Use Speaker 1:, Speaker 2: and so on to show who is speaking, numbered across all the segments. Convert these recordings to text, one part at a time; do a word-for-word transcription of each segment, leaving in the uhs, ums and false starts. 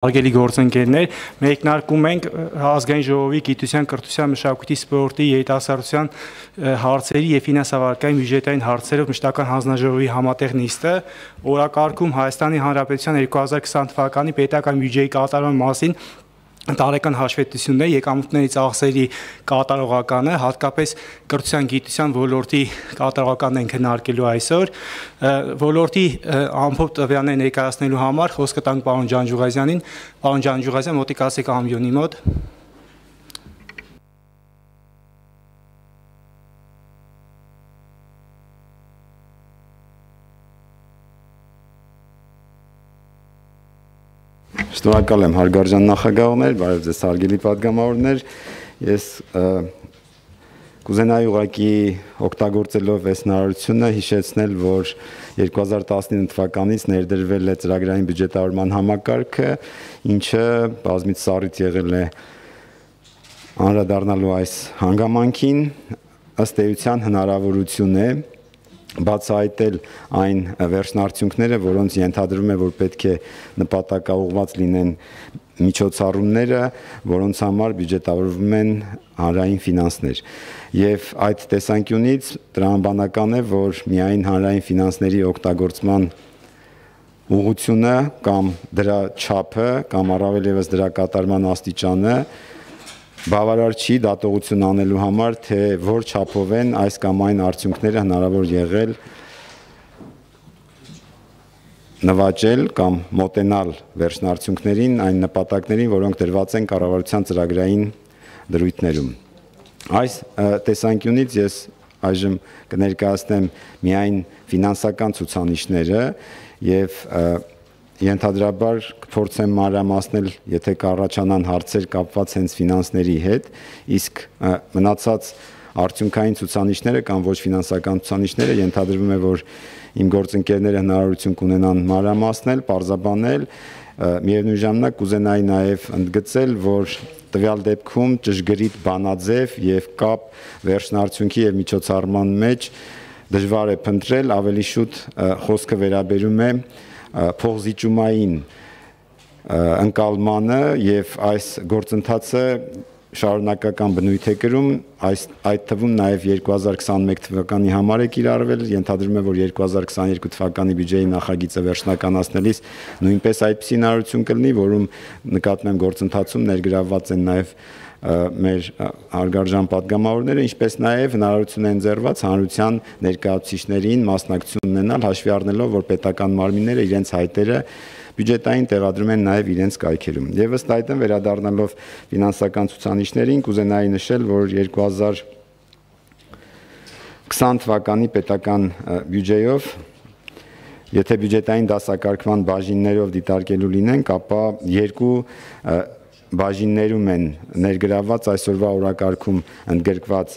Speaker 1: Արգելի գործընկերներ, մեկնարկում ենք ազգային ժողովի գիտության, կրթության, մշակույթի, սպորտի, երիտասարդության հարցերի և ֆինանսավարկային բյուջետային հարցերով մշտական հանձնաժողովի համատեղ նիստը, օրակարգում Հայաստանի Հանրապետության երկու հազար քսան թվականի պետական բյուջեի կատարման մասին տարեկան հաշվետվություններ, եկամուտների ծախսերի կատարողականը, հատկապես կրթության գիտության ոլորտի կատարողականն են քննարկելու այսօր, ոլորտի ամփոփ տվյալներ ներկայացնելու համար խոսքը տանք պարոն Ջանջուղազյանին, պարոն Ջանջուղազյան, մոտիկ ասեք ամբիոնի մոտ։
Speaker 2: Շնորհակալ եմ հարգարժան նախագահներ, բարև ձեզ հարգելի պատգամավորներ, ես կուզենայի ուղղակի օգտագործելով այս հնարավորությունը հիշեցնել, որ երկու հազար տասնինը թվականից ներդրվել է ծրագրային բյուջետավորման համակարգը, ինչը բազմիցս առիթ եղել է անդրադառնալու այս հանգամանքին, ըստ էության հնարավորություն է բացահայտել այն վերջնարդյունքները, որոնց ենթադրվում է, որ պետք է նպատակաուղղված լինեն միջոցառումները, որոնց համար բյուջետավորվում են հանրային ֆինանսներ։ Եվ այդ տեսանկյունից տրամաբանական է, որ միայն հանրային ֆինանսների օգտագործման ուղղությունը կամ դրա չափը կամ առավել ևս դրա կատարման աստիճանը բավարար չի դատողություն անելու համար, թե որ չափով են այս կամ այն արդյունքները հնարավոր եղել նվաճել կամ մոտենալ վերջնարդյունքներին, այն նպատակներին, որոնք դրված են կառավարության ծրագրային դրույթներում։ Այս տեսանկյունից ես այժմ կներկայացնեմ միայն ֆինանսական ցուցանիշները եւ ենթադրաբար կփորձեմ մանրամասնել, եթե կառաջանան հարցեր կապված հենց ֆինանսների հետ, իսկ մնացած արդյունքային ցուցանիշները կամ ոչ ֆինանսական ցուցանիշները ենթադրվում է, որ իմ գործընկերները հնարավորություն կունենան մանրամասնել, պարզաբանել, միևնույն ժամանակ կուզենայի նաև ընդգծել, որ տվյալ դեպքում ճշգրիտ բանաձև եւ կապ վերջնարդյունքի եւ միջոցառման մեջ դժվար է փնտրել, ավելի շուտ խոսքը վերաբերում է փոխզիջումային ընկալմանը եւ այս գործընթացը շարունակական բնույթ է կրում, այս այդ թվում նաեւ երկու հազար քսանմեկ թվականի համար է կիրառվել, ենթադրում է, որ երկու հազար քսաներկու թվականի բյուջեի նախագիծը վերջնականացնելիս նույնպես այդպիսի հնարավորություն կլինի, որում նկատում եմ գործընթացում ներգրավված են նաեւ մեր հարգարժան պատգամավորները, ինչպես նաև հնարավորություն է ընձեռված հանրության ներկայացուցիչներին մասնակցություն ունենալ, հաշվի առնելով, որ պետական մարմինները իրենց հայտերը բյուջետային տեղադրում են նաև իրենց կայքերում։ Եվ ըստ այդմ վերադառնալով ֆինանսական ցուցանիշներին, կուզենայի նշել, որ երկու հազար քսան թվականի պետական բյուջեով, եթե բյուջետային դասակարգման բաժիններով դիտարկելու լինենք, ապա երկու բաժիններում են ներգրավված այսօրվա օրակարգում ընդգրկված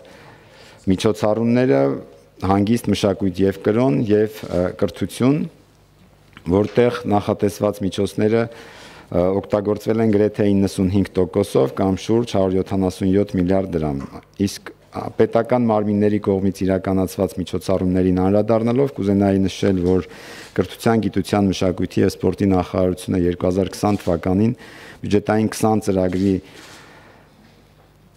Speaker 2: միջոցառումները, հանգիստ, մշակույթ եւ կրոն եւ կրթություն, որտեղ նախատեսված միջոցները օգտագործվել են գրեթե իննսունհինգ տոկոսով կամ շուրջ հարյուր յոթանասունյոթ միլիարդ դրամ։ Իսկ պետական մարմինների կողմից իրականացված միջոցառումներին անդրադառնալով կուզենայի նշել, որ կրթության, գիտության, մշակույթի եւ սպորտի նախարարությունը երկու հազար քսան թվականին բյուջետային քսան ծրագրի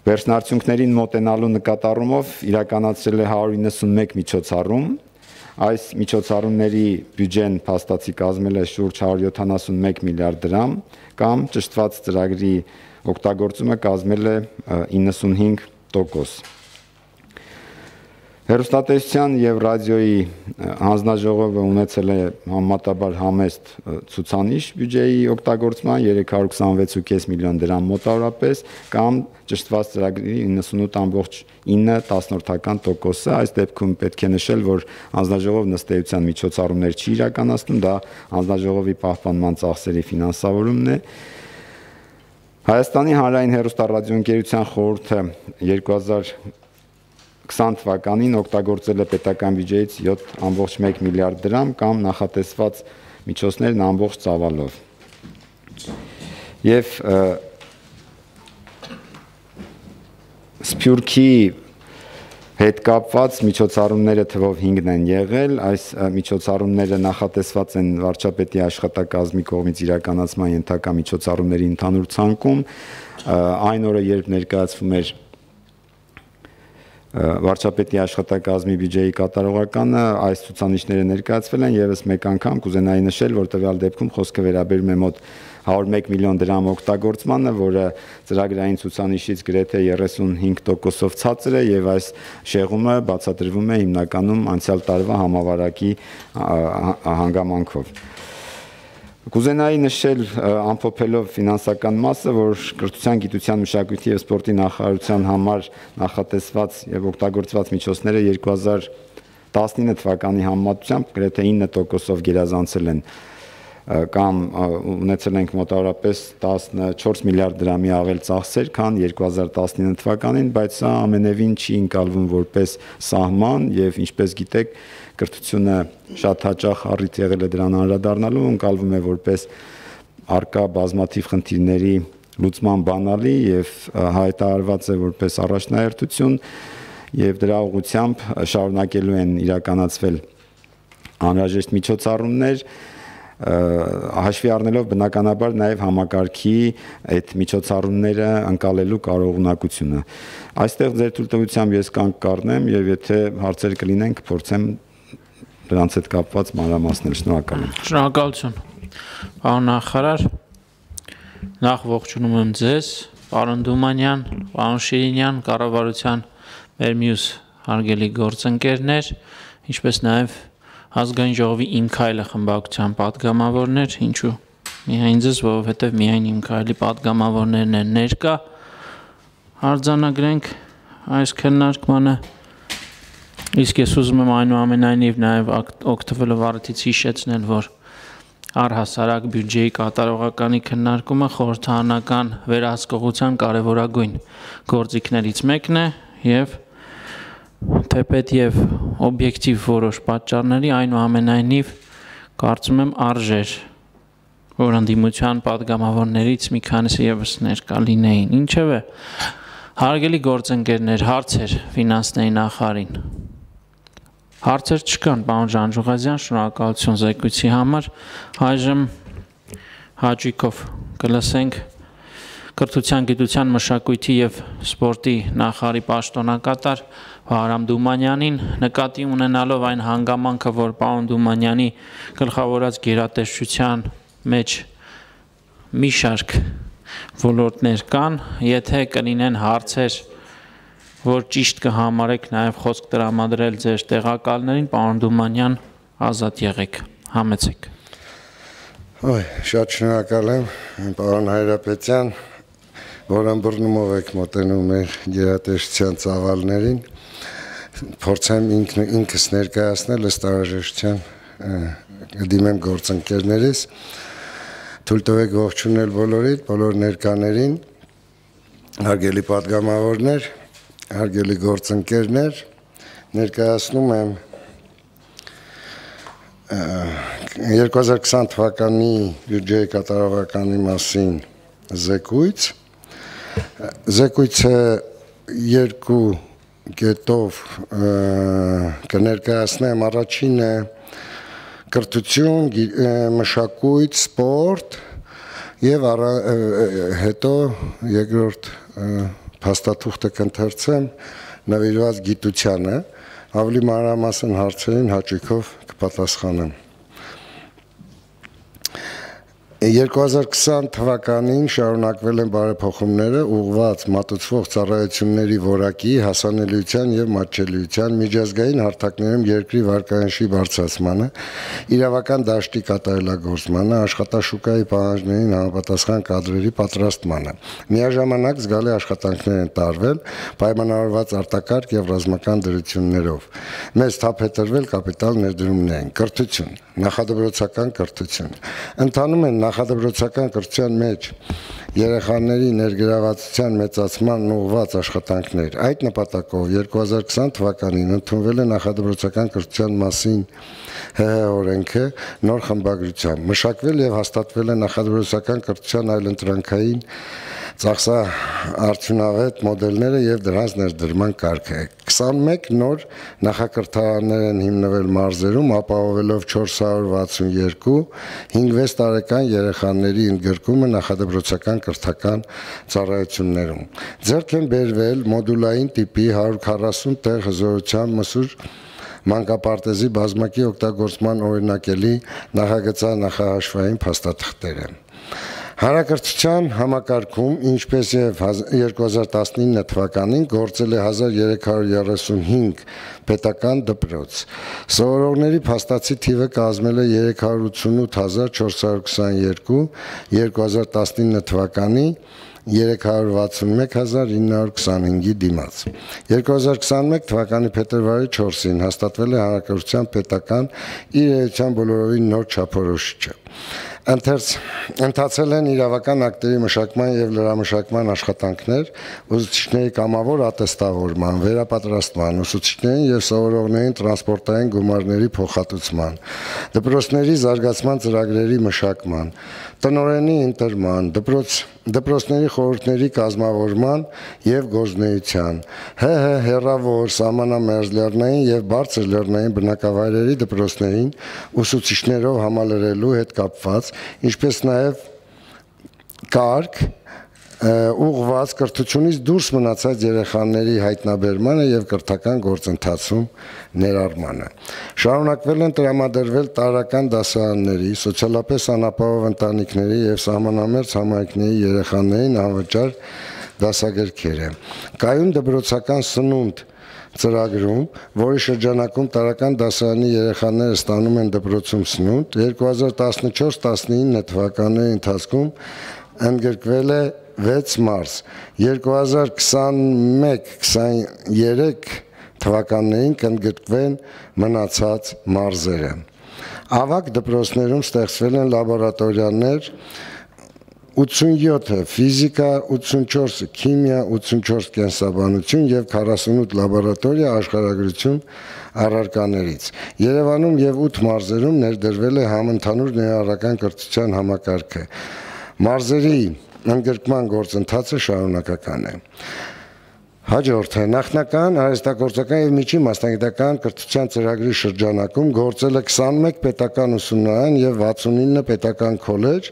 Speaker 2: վերջնարդյունքներին մոտենալու նկատառումով իրականացրել է հարյուր իննսունմեկ միջոցառում։ Այս միջոցառումների բյուջեն փաստացի կազմել է շուրջ հարյուր յոթանասունմեկ միլիարդ դրամ կամ ճշտված ծրագրի օգտագործումը կազմել է իննսունհինգ տոկոս։ Հեռուստատեսության եւ ռադիոյի հանձնաժողովը ունեցել է համեմատաբար համեստ ցուցանիշ բյուջեի օգտագործման երեք հարյուր քսանվեց ու կես միլիոն դրամ մոտավորապես կամ ճշտված ծրագրի իննսունութ ամբողջ ինը տասնորդական տոկոսը։ Այս դեպքում պետք է նշել, որ հանձնաժողովն ըստ էության միջոցառումներ չի իրականացնում, դա հանձնաժողովի պահպանման ծախսերի ֆինանսավորումն է։ Հայաստանի հանրային հեռուստառադիոընկերության խորհուրդը երկու հազար քսան թվականին օգտագործել է պետական բյուջեից յոթ ամբողջ մեկ միլիարդ դրամ կամ նախատեսված միջոցներն ամբողջ ծավալով։ Եվ Սփյուռքի հետ կապված միջոցառումները թվով հինգն են եղել, այս միջոցառումները նախատեսված են վարչապետի աշխատակազմի կողմից իրականացման ենթակա միջոցառումների ընդհանուր ցանկում, այն օրը, երբ ներկայացվում էր վարչապետի աշխատակազմի բյուջեի կատարողականը, այս ցուցանիշները ներկայացվել են եւս մեկ անգամ կուզենայի նշել, որ տվյալ դեպքում խոսքը վերաբերում է մոտ հարյուր մեկ միլիոն դրամ օգտագործմանը, որը ծրագրային ցուցանիշից գրեթե երեսունհինգ տոկոսով ցածր է եւ այս շեղումը բացատրվում է հիմնականում անցյալ տարվա համավարակի հանգամանքով։ Կուզենայի նշել ամփոփելով ֆինանսական մասը, որ կրթության, գիտության, մշակույթի եւ սպորտի նախարարության համար նախատեսված եւ օգտագործված միջոցները երկու հազար տասնինը թվականի համեմատությամբ գրեթե ինը տոկոսով գերազանցել են կամ ունեցել ենք մոտավորապես տասնչորս միլիարդ դրամի ավել ծախսեր, քան երկու հազար տասնինը թվականին, բայց սա ամենևին չի ընկալվում որպես սահման եւ ինչպես գիտեք, կրթությունը շատ հաճախ առիթ եղել է դրան անդրադառնալու, ընկալվում է որպես արկա բազմաթիվ խնդիրների լուծման բանալի եւ հայտարարված է որպես առաջնահերթություն եւ դրա ուղղությամբ շարունակելու են իրականացվել անհրաժեշտ միջոցառումներ, հաշվի առնելով բնականաբար նաև համակարգի այդ միջոցառումները ընկալելու կարողունակությունը։ Այստեղ ձեր թույլտվությամբ ես կանգ կառնեմ եւ եթե հարցեր կլինեն կփորձեմ դրանց հետ կապված մանրամասնել։ Շնորհակալ եմ։
Speaker 3: Շնորհակալություն։ Պարոն նախարար, նախ ողջունում եմ ձեզ, պարոն Դումանյան, պարոն Շիրինյան, կառավարության մեր մյուս հարգելի գործընկերներ, ինչպես նաև Ազգային ժողովի Իմ քայլը խմբակցության պատգամավորներ, ինչու միայն ձեզ, որովհետև միայն Իմ քայլի պատգամավորներն են ներկա, արձանագրենք այս քննարկմանը, իսկ ես ուզում եմ այնուամենայնիվ նաև օգտվելով առիթից հիշեցնել, որ առհասարակ բյուջեի կատարողականի քննարկումը խորհրդարանական վերահսկողության կարևորագույն գործիքներից մեկն է եւ թեպետ եւ օբյեկտիվ որոշ պատճառների այնուամենայնիվ կարծում եմ արժեր, որ ընդդիմության պատգամավորներից մի քանիսը եւս ներկա լինեին։ Ինչևէ, հարգելի գործընկերներ, հարցեր ֆինանսների նախարարին։ Հարցեր չկան, պարոն Ժանժուղազյան, շնորհակալություն զեկույցի համար։ Այժմ հաճույքով կլսենք Կրթության, գիտության, մշակույթի եւ սպորտի նախարարի պաշտոնակատար Վահրամ Դումանյանին, նկատի ունենալով այն հանգամանքը, որ պարոն Դումանյանի գլխավորած գերատեսչության մեջ մի շարք ոլորտներ կան, եթե կլինեն հարցեր, որ ճիշտ կհամարեք նաև խոսք տրամադրել ձեր տեղակալներին, պարոն Դումանյան, ազատ եղեք, համեցեք։
Speaker 4: Ոյ, շատ շնորհակալ եմ, պարոն Հայրապետյան, որ ըմբռնումով եք մոտենում մեր գերատեսչության ծավալներին, փորձեմ ինքս ներկայացնել ըստ անհրաժեշտության դիմեմ գործընկերներիս, թույլ տվեք ողջունել բոլորիդ, բոլոր ներկաներին, հարգելի պատգամավորներ, հարգելի գործընկերներ, ներկայացնում եմ երկու հազար քսան թվականի բյուջեի կատարողականի մասին զեկույց։ Զեկույցը երկու կետով կներկայացնեմ, առաջինը կրթություն, մշակույթ, սպորտ եւ հետո երկրորդ փաստաթուղթը կընթերցեմ նվիրված գիտությանը, ավելի մանրամասն հարցերին հաճույքով կպատասխանեմ։ երկու հազար քսան թվականին շարունակվել են բարեփոխումները ուղղված մատուցվող ծառայությունների որակի, հասանելիության եւ մատչելիության միջազգային հարթակներում երկրի վարկանիշի բարձրացմանը, իրավական դաշտի կատարելագործմանը, աշխատաշուկայի պահանջներին համապատասխան կադրերի պատրաստմանը։ Միաժամանակ զգալի աշխատանքներ են տարվել պայմանավորված արտակարգ եւ ռազմական դրություններով։ Մեծ թափ է տրվել կապիտալ ներդրումներին։ Կրթություն, նախադպրոցական կրթություն։ Ընթանում են նախադպրոցական կրթության մեջ երեխաների ներգրավվածության մեծացման ուղղված աշխատանքներ։ Այդ նպատակով երկու հազար քսան թվականին ընդունվել է նախադպրոցական կրթության մասին ՀՀ օրենքը նոր խմբագրությամբ։ Մշակվել եւ հաստատվել է նախադպրոցական կրթության այլընտրանքային ծախսաարդյունավետ մոդելները եւ դրանց ներդրման կարգը։ քսանմեկ նոր նախակրթարաններ են հիմնվել մարզերում, ապահովելով չորս հարյուր վաթսունյոթ հինգ-վեց տարեկան երեխաների ընդգրկումը նախադպրոցական կրթական ծառայություններում։ Ձեռք են բերվել մոդուլային տիպի հարյուր քառասուն տեղ հզորությամբ մսուր մանկապարտեզի բազմակի օգտագործման օրինակելի նախագծային նախահաշվային փաստաթղթերը։ Հանրակրթության համակարգում, ինչպես եւ երկու հազար տասնինը թվականին գործել է հազար երեք հարյուր երեսունհինգ պետական դպրոց։ Սովորողների փաստացի թիվը կազմել է երեք հարյուր ութսունութ հազար չորս հարյուր քսաներկու, երկու հազար տասնինը թվականի երեք հարյուր վաթսունմեկ հազար ինը հարյուր քսանհինգի դիմաց։ երկու հազար քսանմեկ թվականի փետրվարի չորսին հաստատվել է հանրակրթության պետական իր էության բոլորովին նոր չափորոշիչը։ Ընթացել են իրավական ակտերի մշակման եւ լրամշակման աշխատանքներ, ուսուցիչների կամավոր ատեստավորման, վերապատրաստման, ուսուցիչներին եւ սովորողներին տրանսպորտային գումարների փոխհատուցման, դպրոցների զարգացման ծրագրերի մշակման, տնօրենի ընտրման, դպրոց դպրոցների խորհուրդների կազմավորման եւ գործունեության, ՀՀ հեռավոր, սահմանամերձ լեռնային եւ բարձր լեռնային բնակավայրերի դպրոցներին ուսուցիչներով համալրելու հետ կապված, ինչպես նաեւ կարգ ուղղված կրթությունից դուրս մնացած երեխաների հայտնաբերմանը եւ կրթական գործընթացում ներառմանը։ Շարունակվել են տրամադրվել տարրական դասարանների, սոցիալապես անապահով ընտանիքների եւ սահմանամերձ համայնքների երեխաներին անվճար դասագրքերը։ Կայուն դպրոցական սնունդ ծրագրում, որի շրջանակում տարրական դասարանի երեխաները ստանում են դպրոցում սնունդ, երկու հազար տասնչորս տասնինը թվականների ընթացքում ընդգրկվել է վեց մարզ, երկու հազար քսանմեկ քսաներեք թվականներին կընդգրկվեն մնացած մարզերը։ Ավագ դպրոցներում ստեղծվել են լաբորատորիաներ, ութսունյոթը ֆիզիկա, ութսունչորսը քիմիա, ութսունչորս կենսաբանություն եւ քառասունութ լաբորատորիա աշխարհագրություն առարկաներից։ Երևանում եւ ութ մարզերում ներդրվել է համընդհանուր ներառական կրթության համակարգը։ Մարզերի ընդգրկման գործընթացը շարունակական է։ Հաջորդը նախնական արհեստագործական եւ միջին մասնագիտական կրթության ծրագրի շրջանակում գործել է քսանմեկ պետական ուսումնարան եւ վաթսունինը պետական քոլեջ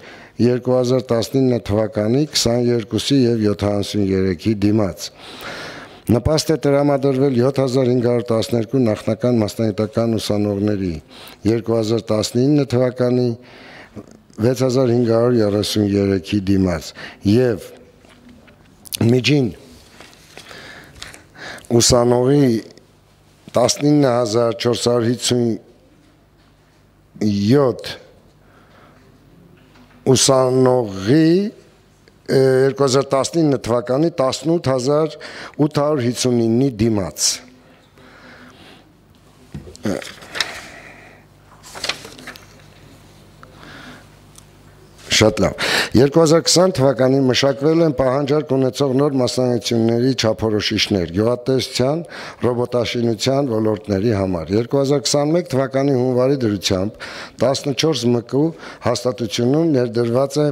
Speaker 4: երկու հազար տասնինը թվականի քսաներկուսի եւ յոթանասուներեքի դիմաց։ Նպաստ է տրամադրվել յոթ հազար հինգ հարյուր տասներկու նախնական մասնագիտական ուսանողների, երկու հազար տասնինը թվականի վեց հազար հինգ հարյուր երեսուներեքի դիմաց եւ միջին ուսանողի տասնինը հազար չորս հարյուր հիսունյոթ ուսանողի երկու հազար տասնինը թվականի տասնութ հազար ութ հարյուր հիսունինի դիմաց։ Շատ լավ։ երկու հազար քսան թվականին մշակվել են պահանջարկ ունեցող նոր մասնագիտությունների չափորոշիչներ գյուղատնտեսության, ռոբոտաշինության ոլորտների համար։ երկու հազար քսանմեկ թվականի հունվարի դրությամբ տասնչորս մկու հաստատությունում ներդրված է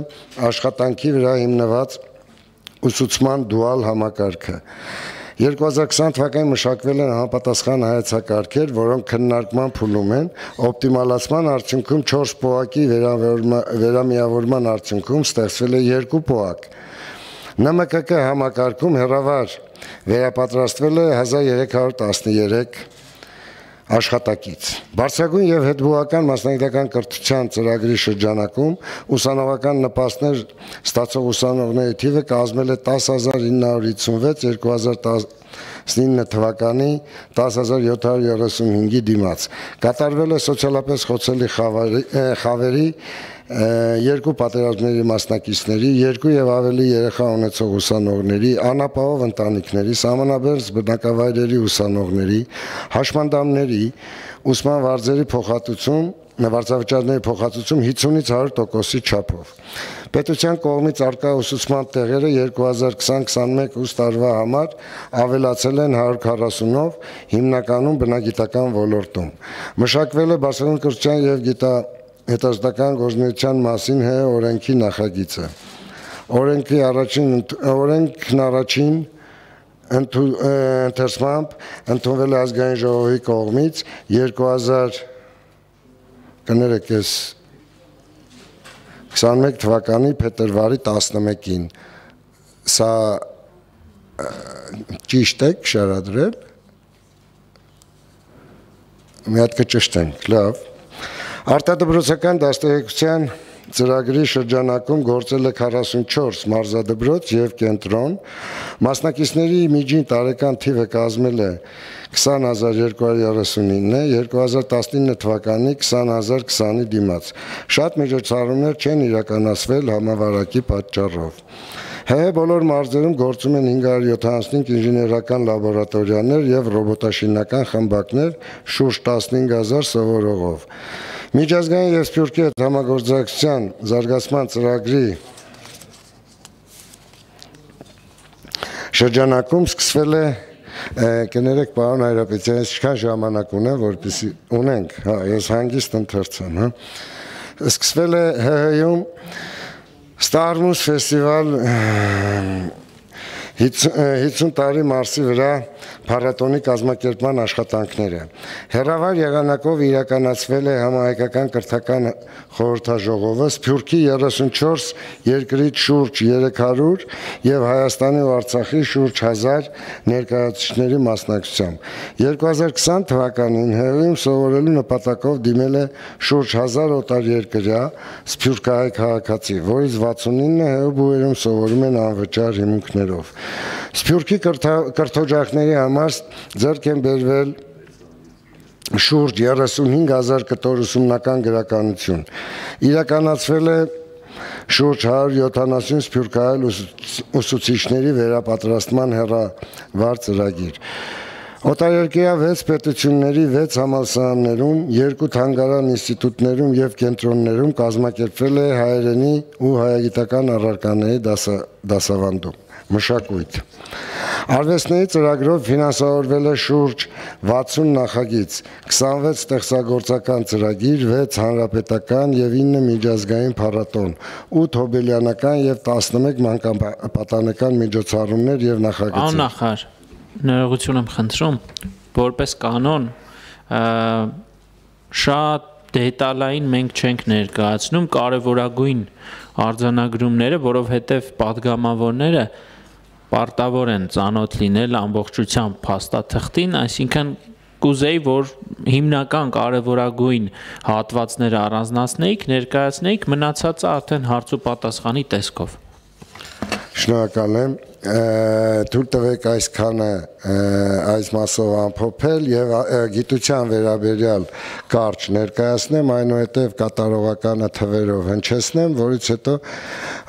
Speaker 4: աշխատանքի վրա հիմնված ուսուցման դուալ համակարգը։ երկու հազար քսան թվականին մշակվել են համապատասխան հայեցակարգեր, որոնք քննարկման փուլում են, օպտիմալացման արդյունքում չորս պոակի վերամիավորման արդյունքում ստեղծվել է երկու պոակ։ Ն M K K համակարգում հեռավար վերապատրաստվել է հազար երեք հարյուր տասներեք աշխատակից։ Բարձրագույն եւ հետբուհական մասնագիտական կրթության ծրագրի շրջանակում ուսանողական նպաստներ ստացող ուսանողների թիվը կազմել է տասը հազար ինը հարյուր հիսունվեց, երկու հազար տասնինը թվականի տասը հազար յոթ հարյուր երեսունհինգի դիմաց։ Կատարվել է սոցիալապես խոցելի խավերի երկու պատերազմների մասնակիցների, երկու եւ ավելի երեխա ունեցող ուսանողների, անապահով ընտանիքների, սահմանաբերձ բնակավայրերի ուսանողների, հաշմանդամների, ուսման վարձերի փոխհատուցում, վարձավճարների փոխհատուցում հիսունից հարյուր տոկոսի չափով։ Պետության կողմից արկա ուսուցման տեղերը երկու հազար քսան քսանմեկ ուսումնական տարվա համար ավելացել են հարյուր քառասունով, հիմնականում բնագիտական ոլորտում։ Մշակվել է բարձրագույն կրթության եւ գիտա հետազոտական գործունեության մասին հ օրենքի նախագիծը։ օրենքի առաջին օրենքն առաջին ընթերցմամբ ընդունվել է ազգային ժողովի կողմից երկու հազար կներեք ես քսանմեկ թվականի փետրվարի տասնմեկին սա ճիշտ է շարադրել մի հատ կճշտենք լավ արտադրոցական դաստիարակության ծրագրի շրջանակում գործել է քառասունչորս մարզադպրոց եւ կենտրոն մասնակիցների միջին տարեկան թիվը կազմել է քսան հազար երկու հարյուր երեսունինը, երկու հազար տասնինը թվականի քսան հազար քսանի դիմաց շատ միջոցառումներ չեն իրականացվել համավարակի պատճառով ՀՀ բոլոր մարզերում գործում են հինգ հարյուր յոթանասունհինգ ինժեներական լաբորատորիաներ եւ ռոբոտաշինական խմբակներ շուրջ տասնհինգ հազար սովորողով Միջազգային եւ Սփյուռքի հետ համագործակցության զարգացման ծրագրի շրջանակում սկսվել է կներեք պարոն Հայրապետյան, ինչքան ժամանակ ունեմ, որպեսզի ունենք, հա, ես հանգիստ ընթերցեմ, հա։ Սկսվել է ՀՀ-ում Starmus ֆեստիվալ հիսուն տարի Մարսի վրա փառատոնի կազմակերպման աշխատանքները։ Հերավար եղանակով իրականացվել է համահայկական կրթական խորհրդաժողովը Սփյուռքի երեսունչորս երկրից շուրջ երեք հարյուր եւ Հայաստանի ու Արցախի շուրջ հազար ներկայացուցիչների մասնակցությամբ։ երկու հազար քսան թվականին ՀՀ-ում սովորելու նպատակով դիմել է շուրջ հազար օտարերկրյա սփյուռքահայ քաղաքացի, որից վաթսունինը ՀՀ բուհերում սովորում են անվճար հիմունքներով։ Սփյուռքի կրթօջախների համար ձեռք են բերվել շուրջ երեսունհինգ հազար կտոր ուսումնական գրականություն։ Իրականացվել է շուրջ հարյուր յոթանասուն սփյուռքահայ ուսուցիչների վերապատրաստման հեռավար ծրագիր։ Օտարերկրյա վեց պետությունների վեց համալսարաններում, երկու թանգարան ինստիտուտներում եւ կենտրոններում կազմակերպվել է հայերենի ու հայագիտական առարկաների դասավանդում։ Մշակույթ Արվեստների ծրագրով ֆինանսավորվել է շուրջ վաթսուն նախագիծ, քսանվեց ստեղծագործական ծրագիր, վեց հանրապետական եւ ինը միջազգային փառատոն, ութ հոբելյանական եւ տասնմեկ մանկապատանեկան միջոցառումներ եւ նախագծեր։
Speaker 3: Աննախար, ներողություն եմ խնդրում, որպես կանոն շատ դետալային մենք չենք ներկայացնում կարևորագույն արձանագրումները, որովհետեւ падգամավորները պարտավոր են ծանոթ լինել ամբողջությամբ փաստաթղթին, այսինքն կուզեի, որ հիմնական կարևորագույն հատվածները առանձնացնեիք, ներկայացնեիք, մնացածը արդեն հարց ու պատասխանի տեսքով։
Speaker 4: Շնորհակալ եմ, թույլ տվեք այսքանը այս մասով ամփոփել եւ գիտության վերաբերյալ կարճ ներկայացնեմ, այնուհետեւ կատարողականը թվերով հնչեցնեմ, որից հետո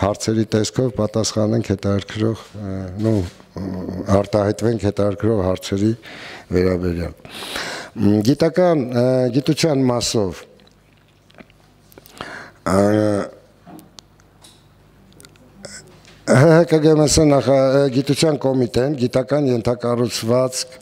Speaker 4: հարցերի տեսքով պատասխանենք հետաքրքրող, նո արտահայտվենք հետաքրքրող հարցերի վերաբերյալ։ Գիտական գիտության մասով ՀՀԿ նախագիտության կոմիտեն գիտական ենթակառուցվածք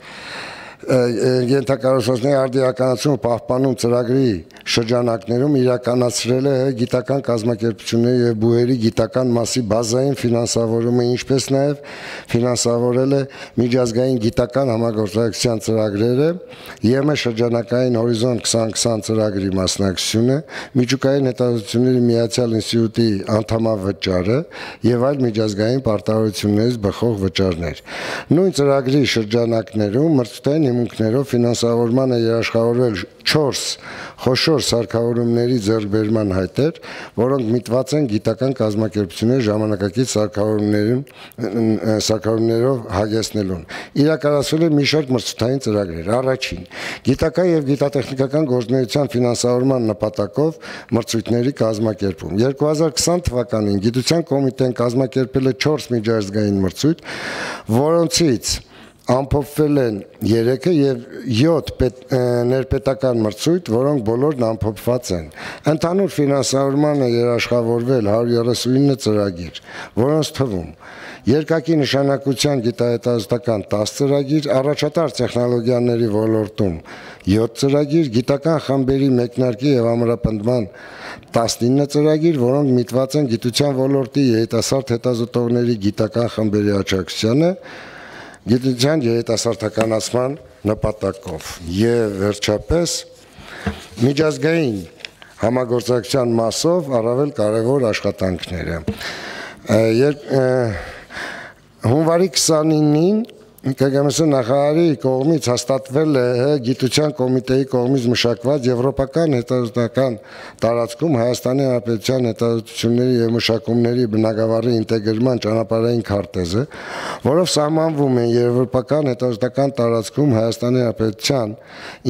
Speaker 4: ենթակառուցվածքների արդիականացումը պահպանում ծրագրի շրջանակներում իրականացրել է գիտական կազմակերպությունների եւ բուհերի գիտական մասի բազային ֆինանսավորումը, ինչպես նաեւ ֆինանսավորել է միջազգային գիտական համագործակցության ծրագրերը, ԵՄ շրջանակային հորիզոնտ քսան քսան ծրագրի մասնակցությունը, միջուկային հետազոտությունների միացյալ ինստիտուտի անդամավճարը եւ այլ միջազգային պարտավորություններից բխող վճարներ։ Նույն ծրագրի շրջանակներում մրցութային հիմունքներով ֆինանսավորման է երաշխավորվել չորս խոշոր սարքավորումների ձեռքբերման հայտեր, որոնք միտված են գիտական կազմակերպությունների ժամանակակից սարքավորումներում սարքավորումներով հագեցնելուն։ Իրականացվել է մի շարք մրցութային ծրագրեր։ Առաջին՝ գիտական եւ գիտատեխնիկական գործունեության ֆինանսավորման նպատակով մրցույթների կազմակերպում։ երկու հազար քսան թվականին գիտության կոմիտեն կազմակերպել է չորս միջազգային մրցույթ, որոնցից ամփոփվել են երեքը եւ յոթ ներպետական մրցույթ, որոնք բոլորն ամփոփված են։ Ընդհանուր ֆինանսավորման է երաշխավորվել հարյուր երեսունինը ծրագիր, որոնց թվում երկակի նշանակության գիտահետազոտական տասը ծրագիր, առաջատար տեխնոլոգիաների ոլորտում յոթ ծրագիր, գիտական խմբերի մեկնարկի եւ ամրապնդման տասնինը ծրագիր, որոնք միտված են գիտության ոլորտի երիտասարդ հետազոտողների գիտական խմբերի աջակցությանը, գիտության երիտասարդականացման նպատակով եւ վերջապես միջազգային համագործակցության մասով առավել կարևոր աշխատանքները հունվարի քսանինին ԿԳՄՍ նախարարի կողմից հաստատվել է գիտության կոմիտեի կողմից մշակված եվրոպական հետազոտական տարածքում Հայաստանի Հանրապետության հետազոտությունների եւ մշակումների բնագավառի ինտեգրման ճանապարհային քարտեզը, որով սահմանվում են եվրոպական հետազոտական տարածքում Հայաստանի Հանրապետության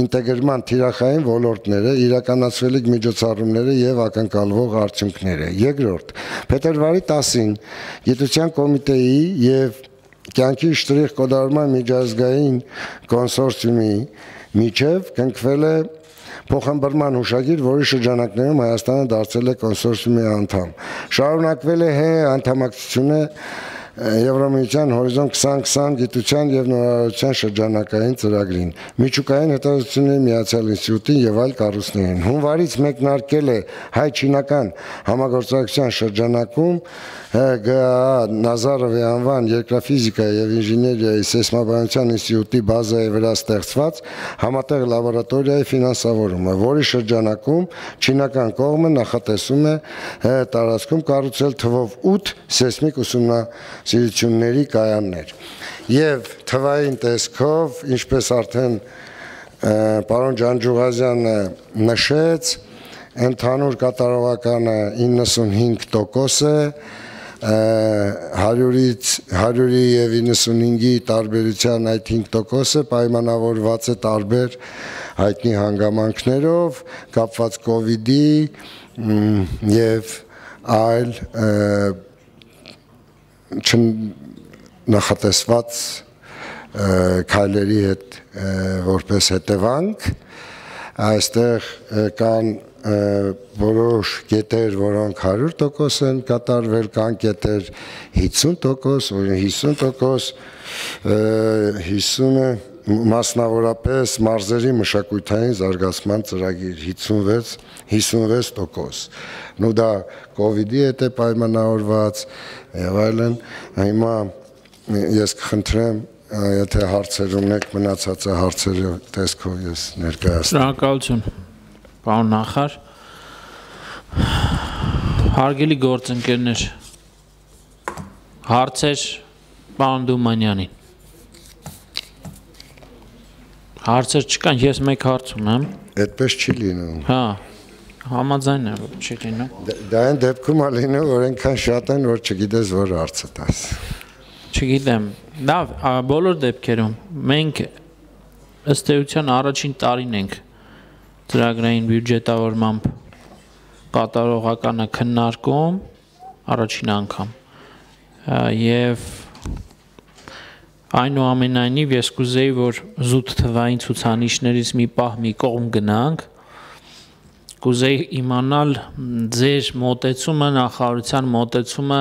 Speaker 4: ինտեգրման թիրախային ոլորտները, իրականացվելիք միջոցառումները եւ ակնկալվող արդյունքները։ Երկրորդ, փետրվարի տասին գիտության կոմիտեի եւ կյանքի շտրիխ կոդարման միջազգային կոնսորցիումի միջև կնքվել է փոխհմբռնման հուշագիր, որի շրջանակներում Հայաստանը դարձել է կոնսորցիումի անդամ։ Շարունակվել է հ անդամակցությունը Եվրամիության հորիզոն քսան քսան գիտության եւ նորարարության շրջանակային ծրագրին, միջուկային հետազոտությունների միացյալ ինստիտուտին եւ այլ կառույցներին։ Հունվարից մեկնարկել է հայ-չինական համագործակցության շրջանակում ԳԱԱ Նազարովի անվան երկրաֆիզիկայի եւ ինժեներիայի սեյսմաբանության ինստիտուտի բազայի վրա ստեղծված համատեղ լաբորատորիայի ֆինանսավորումը, որի շրջանակում չինական կողմը նախատեսում է տարածքում կառուցել թվով ութ սեյսմիկ ուսումնասիրությունների կայաններ։ Եվ թվային տեսքով, ինչպես արդեն պարոն Ջանջուղազյանը նշեց, ընդհանուր կատարողականը իննսունհինգ տոկոս է, հարյուրից հարյուրի եւ իննսունհինգի տարբերության այդ հինգ տոկոսը պայմանավորված է տարբեր հայտնի հանգամանքներով, կապված կովիդի եւ այլ չնախատեսված քայլերի հետ որպես հետևանք այստեղ կան որոշ կետեր, որոնք հարյուր տոկոս են կատարվել, կան կետեր հիսուն տոկոս, հիսուն տոկոս, հիսունը մասնավորապես մարզերի մշակութային զարգացման ծրագիր հիսունվեց տոկոս։ Նու դա կովիդի հետ է պայմանավորված եւ այլն։ Հիմա ես կխնդրեմ, եթե հարցեր ունեք, մնացածը հարցերը տեսքով ես ներկայացնեմ։
Speaker 3: Շնորհակալություն, պարոն նախարար։ Հարգելի գործընկերներ, հարցեր պարոն Դումանյանին։ Հարցեր չկան, ես մեկ հարց ունեմ։
Speaker 4: Այդպես չի լինում։
Speaker 3: Հա, համաձայն եմ, որ չի լինում։
Speaker 4: Դա այն դեպքում է լինում, որ այնքան շատ են, որ չգիտես որ հարցը տաս։
Speaker 3: Չգիտեմ, լավ, բոլոր դեպքերում մենք ըստ էության առաջին տարին ենք ծրագրային բյուջետավորմամբ կատարողականը քննարկում առաջին անգամ եւ այնուամենայնիվ ես կուզեի, որ զուտ թվային ցուցանիշներից մի պահ մի կողմ գնանք, կուզեի իմանալ ձեր մոտեցումը, նախարարության մոտեցումը,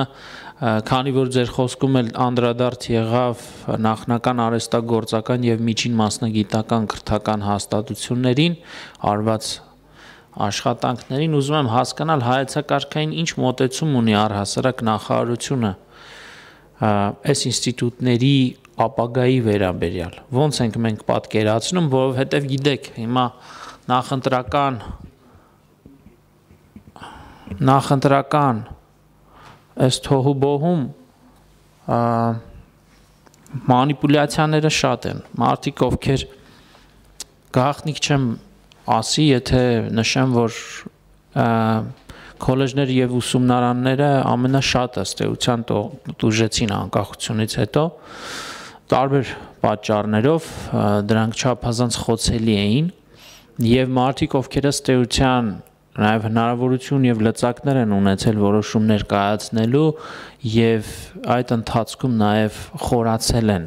Speaker 3: քանի որ ձեր խոսքում էլ անդրադարձ եղավ նախնական արհեստագործական եւ միջին մասնագիտական քրթական հաստատություններին արված աշխատանքներին, ուզում եմ հասկանալ հայեցակարգային ինչ մոտեցում ունի առհասարակ նախարարությունը այս ինստիտուտների ապագայի վերաբերյալ։ Ոնց ենք մենք պատկերացնում, որովհետեւ գիտեք, հիմա նախընտրական նախընտրական այս թոհուբոհում մանիպուլյացիաները շատ են, մարդիկ ովքեր գաղտնիք չեմ ասի, եթե նշեմ, որ քոլեջները եւ ուսումնարանները ամենաշատ ըստ էության տուժեցին անկախությունից հետո, տարբեր պատճառներով դրանք չափազանց խոցելի էին եւ մարդիկ ովքեր ըստ էության նաև հնարավորություն եւ լծակներ են ունեցել որոշումներ կայացնելու եւ այդ ընթացքում նաև խորացել են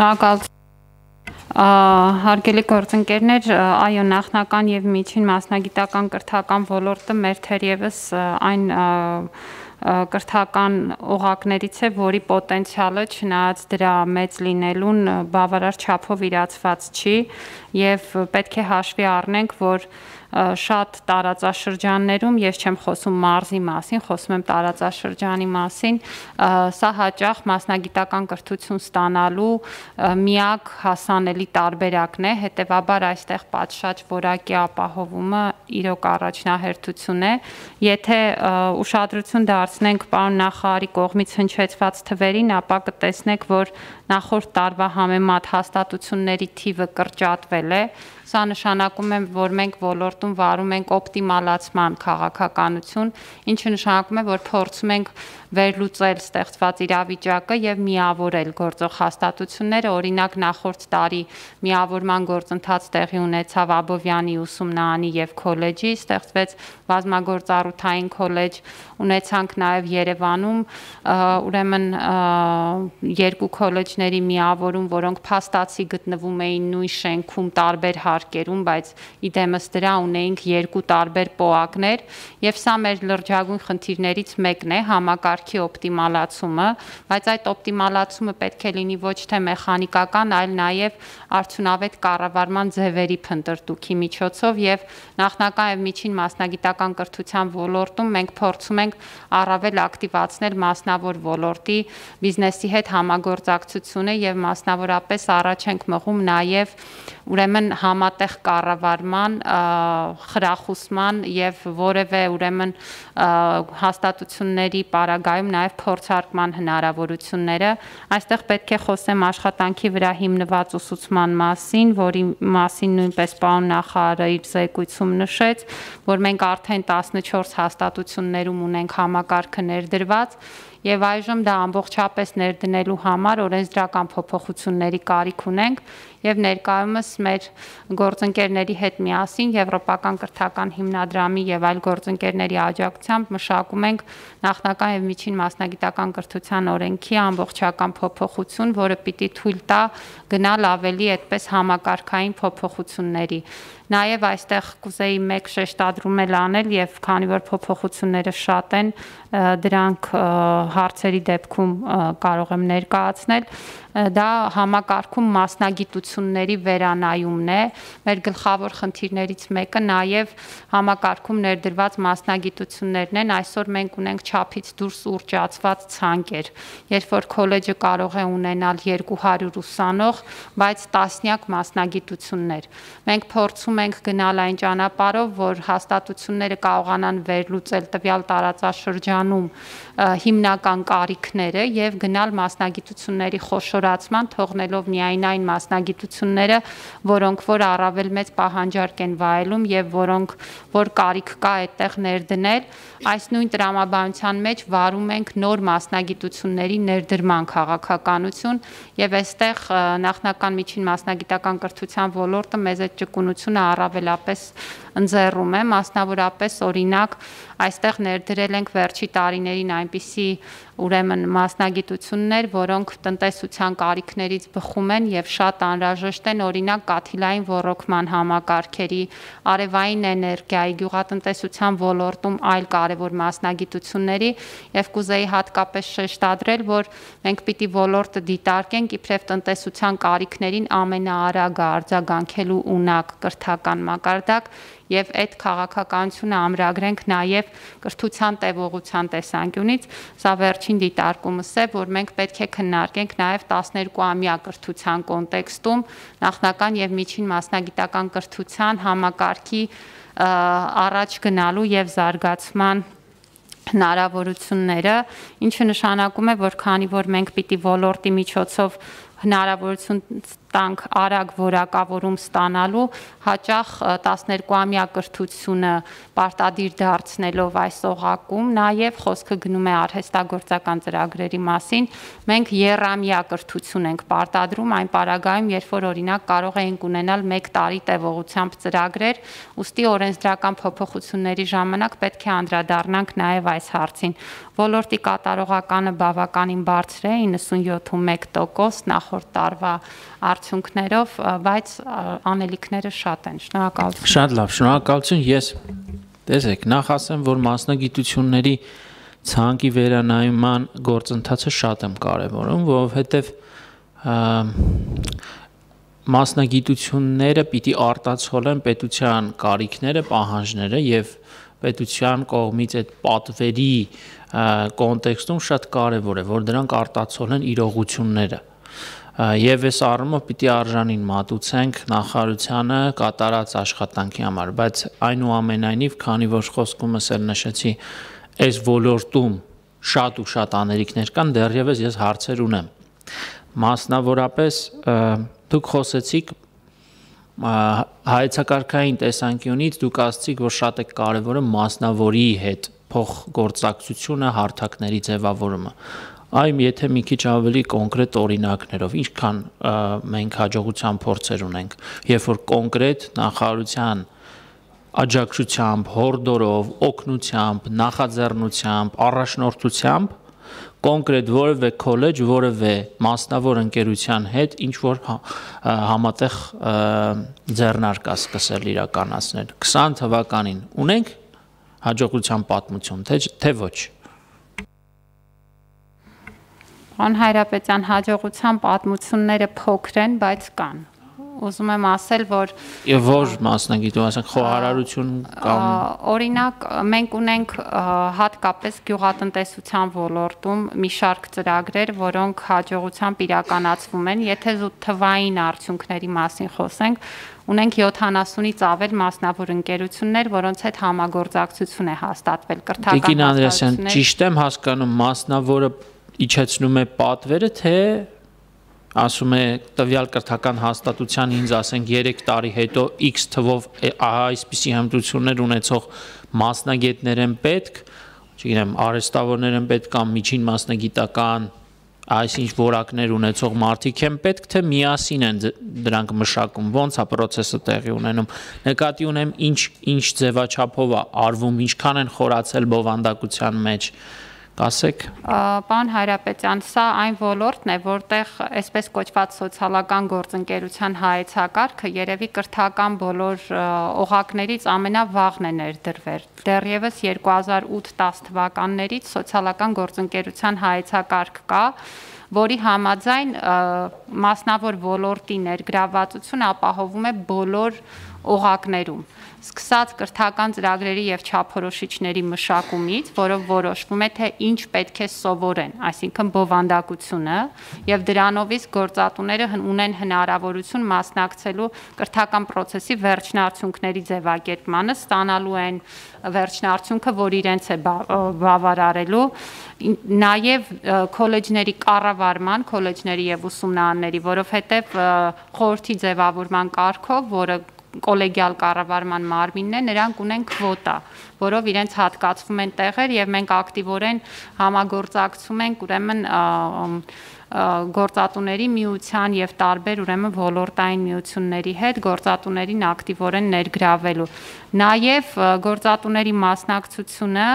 Speaker 5: Շնորհակալություն։ Հարգելի գործընկերներ, այո, նախնական եւ միջին մասնագիտական կրթական ոլորտը մեր թերևս այն կրթական օղակներից է, որի պոտենցիալը չնայած դրա մեծ լինելուն բավարար չափով իրացված չի եւ պետք է հաշվի առնենք, որ շատ տարածաշրջաններում, ես չեմ խոսում մարզի մասին, խոսում եմ տարածաշրջանի մասին, սա հաճախ մասնագիտական կրթություն ստանալու միակ հասանելի տարբերակն է, հետևաբար այստեղ պատշաճ որակի ապահովումը իրոք առաջնահերթություն է, եթե ուշադրություն դարձնենք պարոն նախարարի կողմից հնչեցված թվերին, ապա կտեսնեք, որ նախորդ տարվա համեմատ հաստատությունների թիվը կրճատվել է, սա նշանակում է, որ մենք ոլորտում վարում ենք օպտիմալացման քաղաքականություն, ինչը նշանակում է, որ փորձում ենք վերլուծել ստեղծված իրավիճակը եւ միավորել գործող հաստատությունները, օրինակ նախորդ տարի միավորման գործընթաց տեղի ունեցավ Աբովյանի ուսումնարանի եւ քոլեջի, ստեղծվեց բազմագործառութային քոլեջ, ունեցանք նաեւ Երևանում, ուրեմն երկու քոլեջների միավորում, որոնք փաստացի գտնվում էին նույն շենքում տարբեր հարկերում, բայց իդեմս դրա ունեինք երկու տարբեր պոակներ եւ սա մեր լրջագույն խնդիրներից մեկն է, համակարգի օպտիմալացումը, բայց այդ օպտիմալացումը պետք է լինի ոչ թե մեխանիկական, այլ նաեւ արդյունավետ կառավարման ձևերի փնտրտուքի միջոցով եւ նախնական եւ միջին մասնագիտական կրթության ոլորտում մենք փորձում ենք առավել ակտիվացնել մասնավոր ոլորտի բիզնեսի հետ համագործակցությունը եւ մասնավորապես առաջ ենք մղում նաեւ ուրեմն համատեղ կառավարման, խրախուսման եւ որևէ ուրեմն հաստատությունների պարագայում նաեւ փորձարկման հնարավորությունները, այստեղ պետք է խոսեմ աշխատանքի վրա հիմնված ուսուցման մասին, որի մասին նույնպես պարոն նախարարը իր զեկույցում նշեց, որ մենք արդեն տասնչորս հաստատություններում ունենք համակարգը ներդրված եւ այժմ դա ամբողջապես ներդնելու համար օրենսդրական փոփոխությունների կարիք ունենք եւ ներկայումս մեր գործընկերների հետ միասին Եվրոպական կրթական հիմնադրամի եւ այլ գործընկերների աջակցությամբ մշակում ենք նախնական եւ միջին մասնագիտական կրթության օրենքի ամբողջական փոփոխություն, որը պիտի թույլ տա գնալ ավելի այդպես համակարգային փոփոխությունների։ Նաեւ այստեղ կուզեի մեկ շեշտադրում անել եւ քանի որ փոփոխությունները շատ են, դրանք հարցերի դեպքում կարող եմ ներկայացնել, դա համակարգում մասնագիտությունների վերանայումն է, մեր գլխավոր խնդիրներից մեկը նաեւ համակարգում ներդրված մասնագիտություններն են, այսօր մենք ունենք չափից դուրս ուռճացված ցանկեր, երբ որ քոլեջը կարող է ունենալ երկու հարյուր ուսանող, բայց տասնյակ մասնագիտություններ։ Մենք փորձում ենք գնալ այն ճանապարհով, որ հաստատությունները կարողանան վերլուծել տվյալ տարածաշրջանում հիմնական կարիքները եւ գնալ մասնագիտությունների խոշորացման, թողնելով միայն այն մասնագիտությունները, որոնք որ առավել մեծ պահանջարկ են վայելում եւ որոնք որ կարիք կա այդտեղ ներդնել, այս նույն տրամաբանության մեջ վարում ենք նոր մասնագիտությունների ներդրման քաղաքականություն եւ այստեղ նախնական միջին մասնագիտական կրթության ոլորտը մեծ այդ ճկունությունը առավելապես ընձեռում է, մասնավորապես օրինակ այստեղ ներդրել ենք վերջի տարիներին այնպիսի ուրեմն մասնագիտություններ, որոնք տնտեսության կարիքներից բխում են եւ շատ անհրաժեշտ են, օրինակ կաթիլային ոռոգման համակարգերի, արևային էներգիայի, գյուղատնտեսության ոլորտում այլ կարևոր մասնագիտությունների եւ կուզեի հատկապես շեշտադրել, որ մենք պիտի ոլորտը դիտարկենք իբրև տնտեսության կարիքներին ամենաարագը արձագանքելու ունակ կրթական մակարդակ եւ այդ քաղաքականությունը ամրագրենք նաեւ կրթության տևողության տեսանկյունից, սա վերջին դիտարկումս է, որ մենք պետք է քննարկենք նաեւ տասներկուամյա կրթության կոնտեքստում նախնական եւ միջին մասնագիտական կրթության համակարգի առաջ գնալու եւ զարգացման հնարավորությունները, ինչը նշանակում է, որ քանի որ մենք պիտի ոլորտի միջոցով հնարավորություն տանք արագ որակավորում ստանալու, հաճախ տասներկուամյա կրթությունը պարտադիր դարձնելով այս օղակում, նաև խոսքը գնում է արհեստագործական ծրագրերի մասին, մենք եռամյա կրթություն ենք պարտադրում այն պարագայում, երբ որ օրինակ կարող էինք ունենալ մեկ տարի տևողությամբ ծրագրեր, ուստի օրենսդրական փոփոխությունների ժամանակ պետք է անդրադառնանք նաև այս հարցին։ Ոլորտի կատարողականը բավականին բարձր է, իննսունյոթ մեկ տոկոս նախորդ տարվա արդյունքներով, բայց անելիքները շատ են։ Շնորհակալություն։
Speaker 3: Շատ լավ, շնորհակալություն։ Ես տեսեք, նախ ասեմ, որ մասնագիտությունների ցանկի վերանայման գործընթացը շատ եմ կարևորում, որովհետև մասնագիտությունները պիտի արտացոլեն պետության կարիքները, պահանջները եւ պետության կողմից այդ պատվերի կոնտեքստում շատ կարևոր է, որ դրանք արտացոլեն իրողությունները։ Եվ այս առումով պիտի արժանին մատուցենք նախարարությանը կատարած աշխատանքի համար, բայց այնուամենայնիվ, քանի որ խոսքումս էլ նշեցի, այս ոլորտում շատ ու շատ անելիքներ կան, դեռևս ես հարցեր ունեմ։ Մասնավորապես դուք խոսեցիք հայեցակարգային տեսանկյունից, դուք ասացիք, որ շատ է կարևորը մասնավորի հետ փոխգործակցությունը, հարթակների ձևավորումը։ Այմ եթե մի քիչ ավելի կոնկրետ օրինակներով, ինչքան մենք հաջողության փորձեր ունենք, երբ որ կոնկրետ նախարարության աջակցությամբ, հորդորով, օգնությամբ, նախաձեռնությամբ, առաջնորդությամբ կոնկրետ որևէ քոլեջ, որևէ մասնավոր ընկերության հետ ինչ որ համատեղ ձեռնարկ է սկսել իրականացնել։ քսան թվականին ունենք հաջողության պատմություն, թե ոչ։
Speaker 5: Պարոն Հայրապետյան, հաջողության պատմությունները փոքր են, բայց կան։ Ուզում եմ ասել, որ
Speaker 3: Եվ որ մասնագիտում, ասենք խոհարարություն կամ
Speaker 5: օրինակ մենք ունենք հատկապես գյուղատնտեսության ոլորտում մի շարք ծրագրեր, որոնք հաջողությամբ իրականացվում են, եթե զուտ թվային արդյունքների մասին խոսենք, ունենք յոթանասունից ավել մասնավոր ընկերություններ, որոնց հետ համագործակցություն է հաստատվել կրթական
Speaker 3: Տիկին Անդրեասյան, ճիշտ եմ հասկանում, մասնավորը իջեցնում է պատվերը, թե ասում է տվյալ կրթական հաստատության ինձ ասենք երեք տարի հետո X թվով այսպիսի հմտություններ ունեցող մասնագետներ են պետք, չգիտեմ, արհեստավորներ են պետք կամ միջին մասնագիտական այսինչ որակներ ունեցող մարդիկ են պետք, թե միասին են դրանք մշակում, ոնց է process-ը տեղի ունենում։ Նկատի ունեմ ինչ ինչ ձևաչափով է արվում, ինչքան են խորացել բովանդակության մեջ։ Կասեք։
Speaker 5: Պարոն Հայրապետյան, սա այն ոլորտն է, որտեղ այսպես կոչված սոցիալական գործընկերության հայեցակարգը երևի կրթական բոլոր օղակներից ամենավաղն է ներդրվել։ Դեռևս երկու հազար ութ տաս թվականներից սոցիալական գործընկերության հայեցակարգ կա, որի համաձայն մասնավոր ոլորտի ներգրավվածություն ապահովում է բոլոր օղակներում, սկսած կրթական ծրագրերի եւ չափորոշիչների մշակումից, որով որոշվում է թե ինչ պետք է սովորեն, այսինքն բովանդակությունը, եւ դրանով իսկ գործատուները ունեն հնարավորություն մասնակցելու կրթական process-ի վերջնարդյունքների ձևակերպմանը, ստանալու են վերջնարդյունքը, որ իրենց է բավարարելու, նաեւ քոլեջների կառավարման, քոլեջների եւ ուսումնարանների, որովհետեւ խորհրդի ձևավորման կարգով, որը կոլեգիալ կառավարման մարմինն է, նրանք ունեն քվոտա, որով իրենց հատկացվում են տեղեր եւ մենք ակտիվորեն համագործակցում ենք ուրեմն գործատուների միության եւ տարբեր ուրեմն ոլորտային միությունների հետ գործատուներին ակտիվորեն ներգրավելու։ Նաեւ գործատուների մասնակցությունը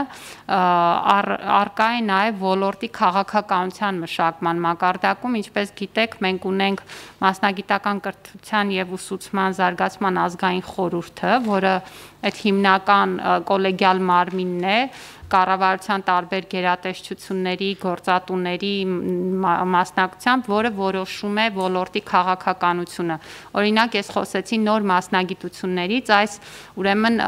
Speaker 5: արկա է նաեւ ոլորտի քաղաքականության մշակման մակարդակում, ինչպես գիտեք, մենք ունենք մասնագիտական կրթության եւ ուսուցման զարգացման ազգային խորհուրդը, որը այդ հիմնական կոլեգիալ մարմինն է, կառավարության տարբեր գերատեսչությունների, գործատուների մասնակցությամբ, որը որոշում է ոլորտի քաղաքականությունը։ Օրինակ, ես խոսեցի նոր մասնագիտություններից, այս ուրեմն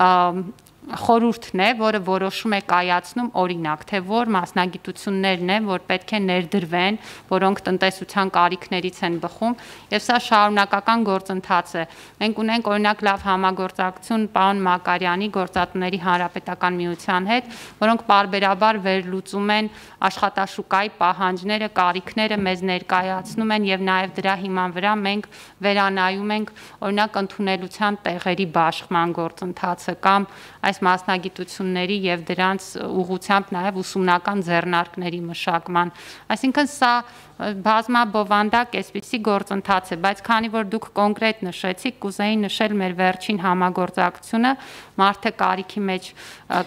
Speaker 5: խորհուրդն է, որը որոշում է կայացնում օրինակ, թե որ մասնագիտություններն են, որ պետք է ներդրվեն, որոնք տնտեսության կարիքներից են բխում, եւ սա շարունակական գործընթաց է։ Մենք ունենք օրինակ լավ համագործակցություն պարոն Մակարյանի Գործատուների Հանրապետական միության հետ, որոնք պարբերաբար վերլուծում են աշխատաշուկայի պահանջները, կարիքները, մեզ ներկայացնում են եւ նաեւ դրա հիման վրա մենք վերանայում ենք օրինակ ընդունելության տեղերի բաշխման գործընթացը կամ այս մասնագիտությունների եւ դրանց ուղղությամբ նաեւ ուսումնական ձեռնարկների մշակման, այսինքն սա բազմաբովանդակ այսպիսի գործընթաց է, բայց քանի որ դուք կոնկրետ նշեցիք, կուզեի նշել մեր վերջին համագործակցությունը Մարդը կարիքի մեջ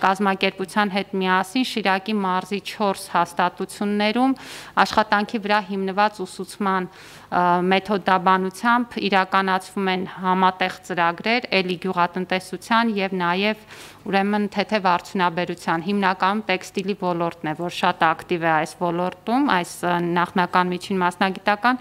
Speaker 5: կազմակերպության հետ միասին Շիրակի մարզի չորս հաստատություններում աշխատանքի վրա հիմնված ուսուցման մեթոդաբանությամբ իրականացվում են համատեղ ծրագրեր էլի գյուղատնտեսության եւ նաեւ ուրեմն թեթև արդյունաբերության հիմնականում տեքստիլի ոլորտն է, որ շատ ակտիվ է այս ոլորտում, այս նախնական միջին մասնագիտական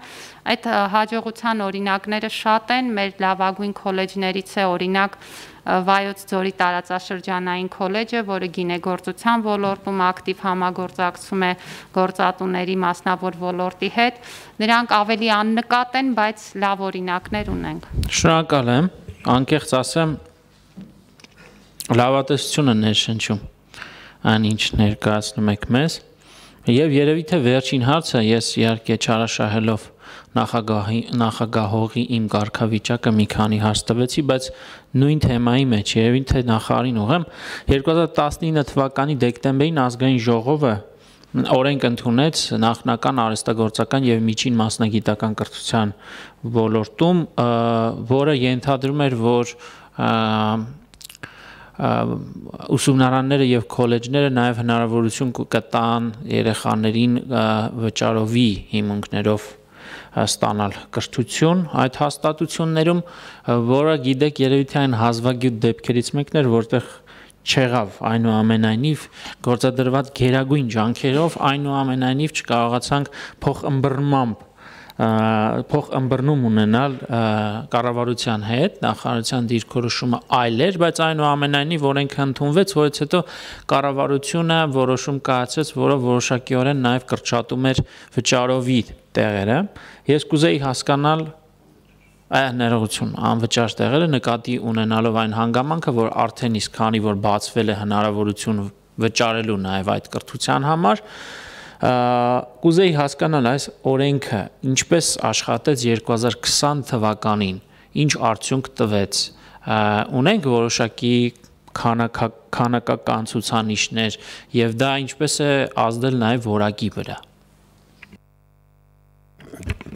Speaker 5: այդ հաջողության օրինակները շատ են, մեր լավագույն քոլեջներից է օրինակ Վայոց ձորի տարածաշրջանային քոլեջը, որը գինեգործության ոլորտում ակտիվ համագործակցում է գործատուների մասնավոր ոլորտի հետ, նրանք ավելի աննկատ են, բայց լավ օրինակներ ունենք։
Speaker 3: Շնորհակալ եմ, անկեղծ ասեմ, լավատեսությունը ներշնչում այն ինչ ներկայացնում եք մեզ, եւ երևի թե վերջին հարցը ես իհարկե չարաշահելով նախագահի նախագահողի իմ կարգավիճակը մի քանի հարց տվեցի, բայց նույն թեմայի մեջ երևի թե նախարարին ուղեմ երկու հազար տասնինը թվականի դեկտեմբերին ազգային ժողովը օրենք ընդունեց նախնական արհեստագործական եւ միջին մասնագիտական կրթության ոլորտում, որը ենթադրում էր, որ ուսումնարանները եւ քոլեջները նաեւ հնարավորություն կտան երեխաներին վճարովի հիմունքներով ստանալ կրթություն այդ հաստատություններում, որը գիտեք երևի թե այն հազվագյուտ դեպքերից մեկն էր, որտեղ չեղավ այնուամենայնիվ գործադրված գերագույն ջանքերով այնուամենայնիվ չկարողացանք փոխըմբռնմամբ փոխըմբռնում ունենալ կառավարության հետ, նախարարության դիրքորոշումը այլ էր, բայց այնուամենայնիվ օրենքը ընդունվեց, որից հետո կառավարությունը որոշում կայացրեց, որը որոշակիորեն նաև կրճատում էր վճարովի տեղերը։ Ես կուզեի հասկանալ այն ներողություն, անվճար տեղերը նկատի ունենալով այն հանգամանքը, որ արդեն իսկ քանի որ բացվել է հնարավորություն վճարելու նաև այդ կրթության համար, կուզեի հասկանալ այս օրենքը ինչպես աշխատեց երկու հազար քսան թվականին, ինչ արդյունք տվեց, ունենք որոշակի քանակական ցուցանիշներ եւ դա ինչպես է ազդել նաեւ որակի վրա։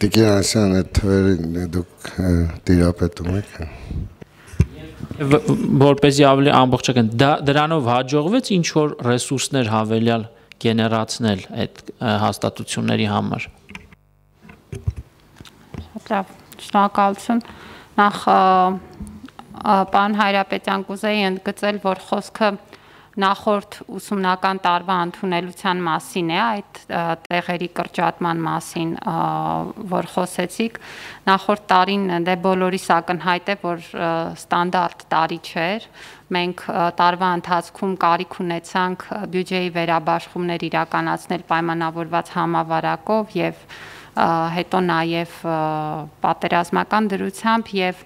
Speaker 4: Տիկին Ասյան, այդ թվերին դուք տիրապետում եք։
Speaker 3: Որպեսզի ավելի ամբողջական դրանով հաջողվեց ինչ որ ռեսուրսներ հավելյալ գեներացնել այդ հաստատությունների համար։
Speaker 5: Լավ, շնորհակալություն։ Նախ պարոն Հայրապետյան կուզեի ընդգծել, որ խոսքը նախորդ ուսումնական տարվա ընդունելության մասին է, այդ տեղերի կրճատման մասին, որ խոսեցիք, նախորդ տարին դե բոլորիս ակնհայտ է, որ ստանդարտ տարի չէր, մենք տարվա ընթացքում կարիք ունեցանք բյուջեի վերաբաշխումներ իրականացնել պայմանավորված համավարակով եւ հետո նաև պատերազմական դրությամբ եւ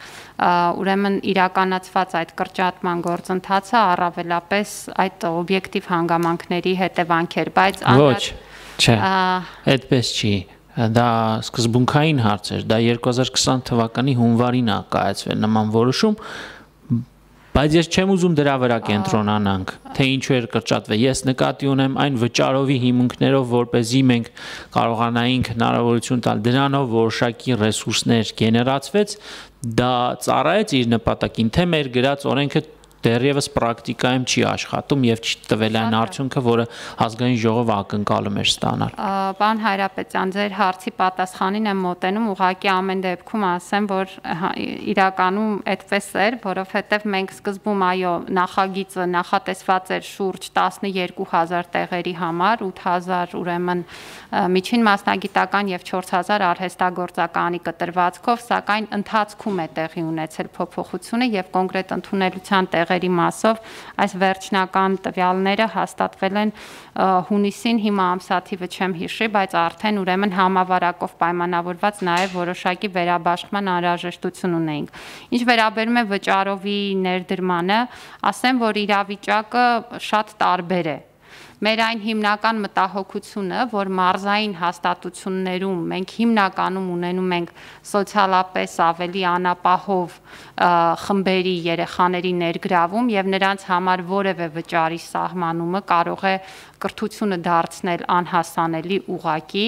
Speaker 5: ուրեմն իրականացված այդ կրճատման գործընթացը առավելապես այդ օբյեկտիվ հանգամանքների հետևանք էր, բայց
Speaker 3: ոչ, չէ, այդպես չի, դա սկզբունքային հարց էր, դա երկու հազար քսան թվականի հունվարին է կայացվել նման որոշում, բայց ես չեմ ուզում դրա վրա կենտրոնանանք, թե ինչու էր կրճատվել։ Ես նկատի ունեմ այն վճարովի հիմունքներով, որպեսզի մենք կարողանայինք հնարավորություն տալ դրանով որոշակի ռեսուրսներ գեներացվեց, դա ծառայեց իր նպատակին, թե մեր գրած օրենքը դեռևս պրակտիկայում չի աշխատում եւ չտվել այն արդյունքը, որը ազգային ժողովը ակնկալում էր ստանալ։
Speaker 5: Պարոն Հայրապետյան, ձեր հարցի պատասխանին եմ մոտենում, ուղղակի ամեն դեպքում ասեմ, որ իրականում այդպես էր, որովհետեւ մենք սկզբում այո, նախագիծը նախատեսված էր շուրջ տասնյոթ հազար տեղերի համար, ութ հազար ուրեմն միջին մասնագիտական եւ չորս հազար արհեստագործականի կտրվածքով, սակայն ընթացքում է տեղի ունեցել փոփոխությունը եւ կոնկրետ ընդունելության տեղ տեղերի մասով այս վերջնական տվյալները հաստատվել են հունիսին, հիմա ամսաթիվը չեմ հիշի, բայց արդեն ուրեմն համավարակով պայմանավորված նաև որոշակի վերաբաշխման անհրաժեշտություն ունեինք։ Ինչ վերաբերում է վճարովի ներդրմանը, ասեմ, որ իրավիճակը շատ տարբեր է։ Մեր այն հիմնական մտահոգությունը, որ մարզային հաստատություններում մենք հիմնականում ունենում ենք սոցիալապես ավելի անապահով խմբերի երեխաների ներգրավում եւ նրանց համար որևէ վճարի սահմանումը կարող է կրթությունը դարձնել անհասանելի ուղակի,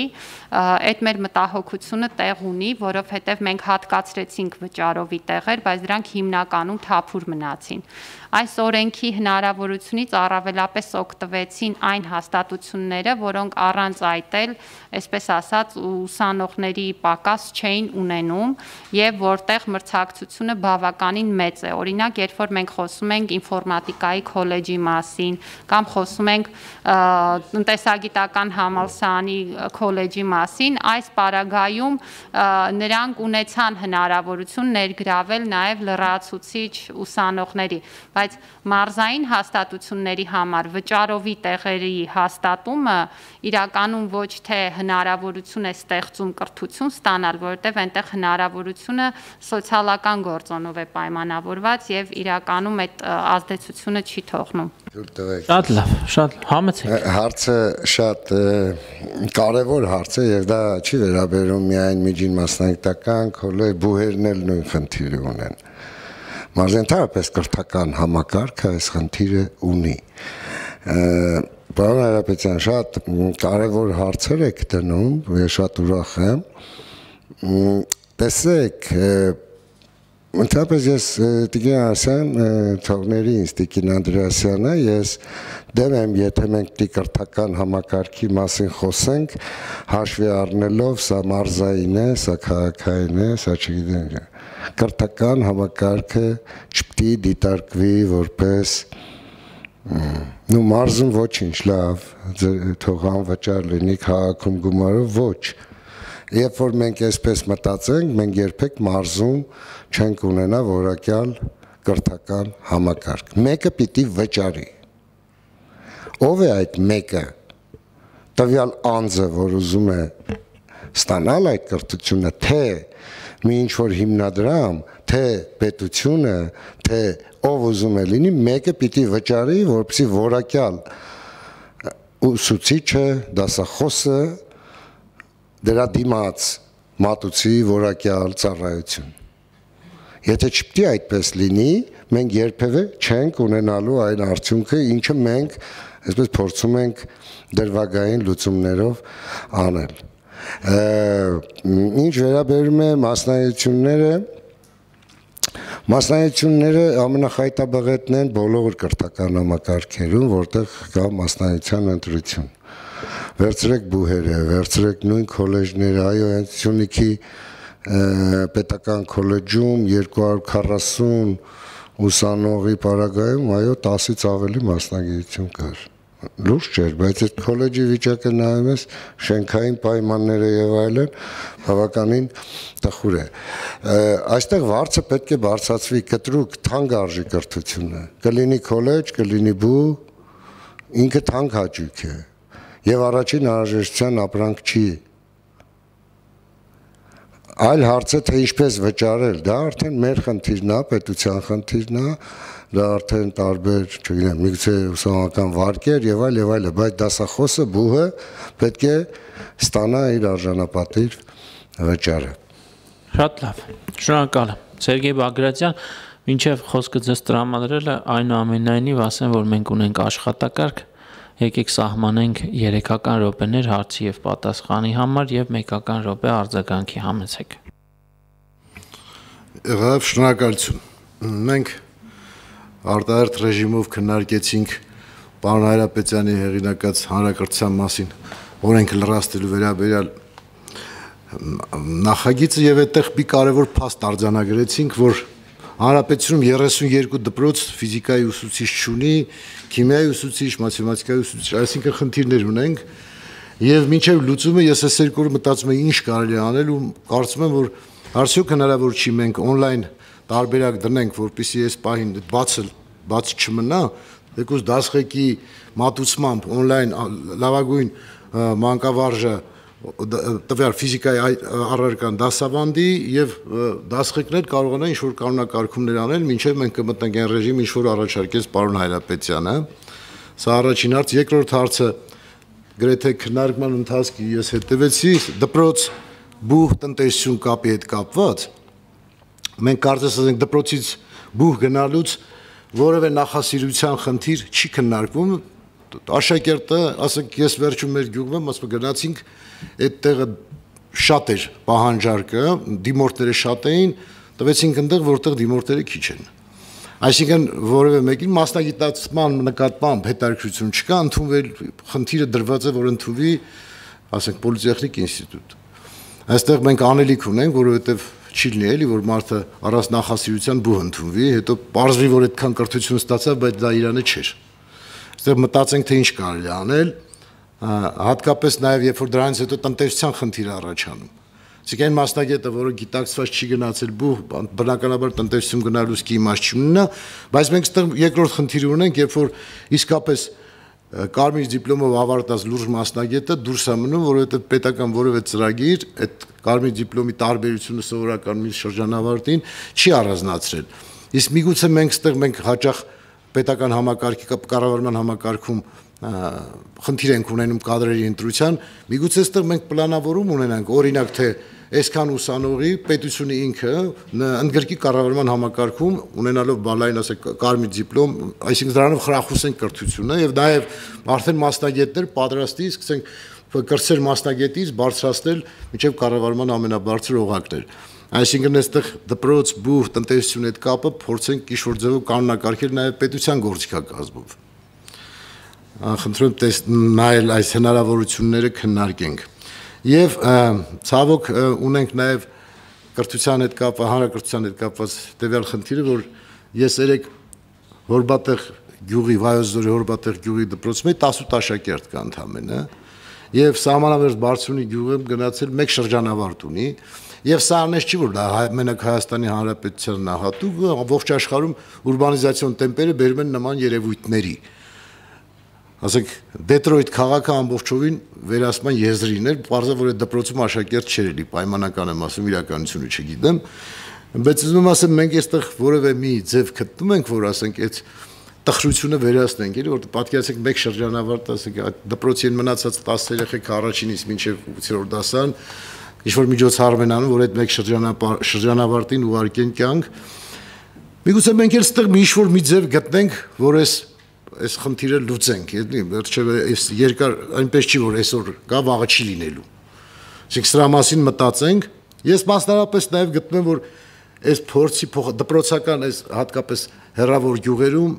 Speaker 5: այդ մեր մտահոգությունը տեղ ունի, որովհետև մենք հատկացրեցինք վճարովի տեղեր, բայց դրանք հիմնականում թափուր մնացին։ Այս օրենքի հնարավորությունից առավելապես օգտվեցին այն հաստատությունները, որոնք առանց այդ էլ, այսպես ասած, ուսանողների պակաս չէին ունենում եւ որտեղ մրցակցությունը բավականին մեծ է։ Օրինակ, երբ որ մենք խոսում ենք ինֆորմատիկայի քոլեջի մասին կամ խոսում ենք տնտեսագիտական համալսարանի քոլեջի մասին, այս պարագայում նրանք ունեցան հնարավորություն ներգրավել նաև լրացուցիչ ուսանողների, բայց մարզային հաստատությունների համար վճարովի տեղերի հաստատումը իրականում ոչ թե հնարավորություն է ստեղծում կրթություն ստանալ, որովհետև այնտեղ հնարավորությունը սոցիալական գործոնով է պայմանավորված եւ իրականում այդ ազդեցությունը չի թողնում։
Speaker 3: Շատ լավ, շատ համեցեք։
Speaker 4: Հարցը շատ կարևոր հարց է եւ դա չի վերաբերում միայն միջին մասնագիտական քոլեջ, բուհերն էլ նույն խնդիրը ունեն։ Մարզենթարապես կրթական համակարգը այս խնդիրը ունի։ Պարոն Հայրապետյան, շատ կարևոր հարցեր եք դնում, ես շատ ուրախ եմ։ Տեսեք, ընդհանրապես ես Տիկին Արսյան թողների ինձ Տիկին Անդրեասյանը, ես դեմ եմ, եթե մենք կրթական համակարգի մասին խոսենք, հաշվի առնելով սա մարզային է, սա քաղաքային է, սա չգիտեմ։ Կրթական համակարգը չպետք է դիտարկվի որպես նու մարզում ոչինչ լավ, թող անվճար լինի, քաղաքում գումարով ոչ։ Երբ որ մենք այսպես մտածենք, մենք երբեք մարզում չենք ունենա որակյալ կրթական համակարգ։ Մեկը պիտի վճարի։ Ով է այդ մեկը։ Տվյալ անձը, որ ուզում է ստանալ այդ կրթությունը, թե մի ինչ-որ հիմնադրամ, թե պետությունը, թե ով ուզում է լինի, մեկը պիտի վճարի, որպեսզի որակյալ ուսուցիչը, դասախոսը դրա դիմաց մատուցի որակյալ ծառայություն։ Եթե չպետք է այդպես լինի, մենք երբևէ չենք ունենալու այն արդյունքը, ինչը մենք այսպես փորձում ենք դրվագային լուծումներով անել։ Ինչ վերաբերում է մասնագիտությունները, մասնագիտությունները ամենախայտաբղետն են բոլոր կրթական համակարգերում, որտեղ կա մասնագիտության ընտրություն։ Վերցրեք բուհերը, վերցրեք նույն քոլեջները, այո, հենց Սյունիքի պետական քոլեջում երկու հարյուր քառասուն ուսանողի պարագայում, այո, տասից ավելի մասնագիտություն կար։ Լուրջ չէր, բայց այդ քոլեջի վիճակը նայում ես, շենքային պայմանները եւ այլն, բավականին տխուր է։ Այստեղ վարձը պետք է բարձրացվի կտրուկ թանկ արժի կրթությունը։ Կլինի քոլեջ, կլինի բու, ինքը թանկ հաճույք է։ Եվ առաջին անհրաժեշտության ապրանք չի։ Այլ հարցը թե ինչպես վճարել, դա արդեն մեր խնդիրն է, պետության խնդիրն է, դա արդեն տարբեր, չգիտեմ, միգուցե ուսանողական վարկեր եւ այլ եւ այլ, բայց դասախոսը բուհը պետք է ստանա իր արժանապատիվ վճարը։
Speaker 3: Շատ լավ։ Շնորհակալ եմ։ Սերգեյ Բագրատյան, մինչև խոսքը ձեզ տրամադրելը, այնուամենայնիվ ասեմ, որ մենք ունենք աշխատակարգ, եկեք սահմանենք երեքական րոպեներ հարցի եւ պատասխանի համար եւ մեկական րոպե արձագանքի համեցեք։
Speaker 6: Եղավ, շնորհակալություն։ Մենք արտահերթ ռեժիմով քննարկեցինք պարոն Հայրապետյանի հեղինակած հանրակրթության մասին օրենքը լրացնելու վերաբերյալ նախագիծը եւ այդտեղ մի կարևոր փաստ արձանագրեցինք, որ Հանրապետությունում երեսուն երկու դպրոց ֆիզիկայի ուսուցիչ չունի, քիմիայի ուսուցիչ, մաթեմատիկայի ուսուցիչ, այսինքն խնդիրներ ունենք եւ մինչեւ լուծումը ես այս երկու օրը մտածում եմ ինչ կարելի է անել ու կարծում եմ, որ արդյոք հնարավոր չի մենք on-line տարբերակ դնենք, որպեսզի այս պահին բացել բաց չմնա, եկուս դասղեկի մատուցմամբ on-line լավագույն մանկավարժը տվյալ ֆիզիկայի առարկան դասավանդի եւ դասղեկներ կարողանան ինչ-որ կանոնակարգումներ անել, մինչեւ մենք կմտնենք այն ռեժիմ, ինչ-որ առաջարկեց պարոն Հայրապետյանը։ Սա առաջին հարց, երկրորդ հարցը գրեթե քննարկման ընթացքի ես հետևեցի դպրոց բուհ տնտեսություն կապի հետ կապված։ Մենք կարծես ասենք դպրոցից բուհ գնալուց որևէ նախասիրության խնդիր չի քննարկվում։ Աշակերտը, ասենք ես վերջում մեր գյուղում եմ, ասում գնացինք, այդ տեղը շատ էր պահանջարկը, դիմորդները շատ էին, տվեցինք այնտեղ, որտեղ դիմորդները քիչ են։ Այսինքն որևէ մեկին մասնագիտացման նկատմամբ հետաքրքրություն չկա, ընդունվել խնդիրը դրված է, որ ընդունվի, ասենք պոլիտեխնիկ ինստիտուտ։ Այստեղ մենք անելիք ունենք, որովհետև չի լինի էլի, որ մարդը առանց նախասիրության բուհ ընդունվի, հետո պարզվի, որ այդքան կրթություն ստացավ, բայց դա իրանը չէր։ Այստեղ մտածենք, թե ինչ կարելի անել, հատկապես նաև երբ որ դրանից հետո տնտեսության խնդիր առաջանում։ Իսկ այն մասնագետը, որը գիտակցված չի գնացել բուհ, բնականաբար տնտեսություն գնալուց კი իմաստ չի ունենա, բայց մենք այստեղ երկրորդ խնդիր ունենք, երբ որ իսկապես կարմիր դիպլոմով ավարտած լուրջ մասնագետը դուրս է մնում, որովհետև պետական որևէ ծրագիր այդ կարմիր դիպլոմի տարբերությունը սովորական մի շրջանավարտին չի առանձնացրել։ Իսկ միգուցե մենք այստեղ մենք հաճախ պետական համակարգի կառավարման համակարգում խնդիր ենք ունենում կադրերի ընտրության, միգուցե այստեղ մենք պլանավորում ունենանք, օրինակ թե այսքան ուսանողի պետությունը ինքը ընդգրկի կառավարման համակարգում ունենալով բալային, ասենք, կարմիր դիպլոմ, այսինքն դրանով խրախուսենք կրթությունը եւ նաեւ արդեն մասնագետներ պատրաստի, սկսենք կրտսեր մասնագետից բարձրացնել մինչեւ կառավարման ամենաբարձր օղակներ։ Այսինքն այստեղ դպրոց, բուհ, տնտեսություն այդ կապը փորձենք ինչ-որ ձևով կանոնակարգել նաեւ պետության գործիքակազմով։ Խնդրում եմ նայել այս հնարավորությունները քննարկենք։ Եվ ցավոք ունենք նաև կրթության հետ կապված, հանրակրթության հետ կապված տվյալ խնդիրը, որ ես երեք Հորբատեղ գյուղի, Վայոց ձորի Հորբատեղ գյուղի դպրոցում տասուտ աշակերտ կա ընդամենը, եւ սահմանամերձ Բարձունի գյուղում գնացել մեկ շրջանավարտ ունի, եւ սա անես չի, որ դա մենակ Հայաստանի Հանրապետությանն է հատուկ, ողջ աշխարհում ուրբանիզացիոն տեմպերը բերում են նման երևույթների։ Ասենք Դետրոյթ քաղաքը ամբողջովին վերահսկման եզրին էր, պարզը որ այդ դպրոցում աշակերտ չէր էլի, պայմանական եմ ասում, իրականությունը չգիտեմ, բայց ուզում ասեմ մենք այստեղ որևէ մի ձև գտնում ենք, որ ասենք այդ տխրությունը վերահսկենք, էլի, որ պատկերացեք մեկ շրջանավարտ, ասենք դպրոցին մնացած տասը երեխեք առաջինից մինչև ութերորդ դասարան, ինչ որ միջոցառում են անում, որ այդ մեկ շրջանավարտին ուղարկեն կյանք։ Միգուցե մենք էլ այստեղ մի ինչ-որ մի ձև գտնենք, որ այս այս խնդիրը լուծենք, էլի, վերջեւե այս երկար այնպես չի, որ այսօր կա, վաղը չի լինելու։ Իսկ սրա մասին մտածենք, ես մասնավորապես նաև գտնում եմ, որ այս փորձի դպրոցական այս հատկապես հեռավոր գյուղերում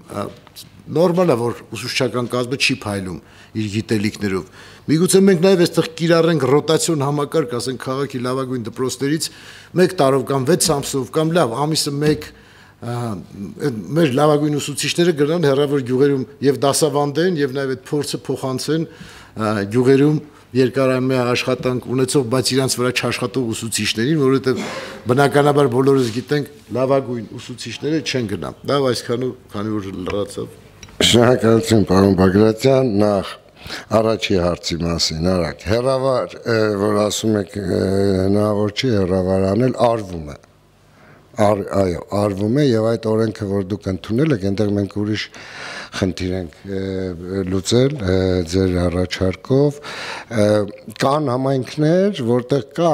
Speaker 6: նորմալ է, որ ուսուցչական կազմը չի փայլում իր գիտելիքներով։ Միգուցե մենք նաև այստեղ կիրառենք ռոտացիոն համակարգ, ասենք քաղաքի լավագույն դպրոցներից մեկ տարով կամ վեց ամսով կամ լավ ամիսը մեկ մեր լավագույն ուսուցիչները գնան հեռավոր գյուղերում եւ դասավանդեն եւ նաեւ այդ փորձը փոխանցեն գյուղերում երկարամյա աշխատանք ունեցող, բայց իրանց վրա չաշխատող ուսուցիչներին, որովհետեւ բնականաբար բոլորս գիտենք լավագույն ուսուցիչները չեն գնա։ Դա այսքանով, քանի որ լրացավ։
Speaker 4: Շնորհակալություն, պարոն Բագրատյան, նախ առաջի հարցի մասին, արագ։ Հեռավար, որ ասում եք հնարավոր չի հեռավար անել, արվում է։ Այո, արվում է եւ այդ օրենքը, որ դուք ընդունել եք, այնտեղ մենք ուրիշ խնդիր ենք լուծել ձեր առաջարկով, կան համայնքներ, որտեղ կա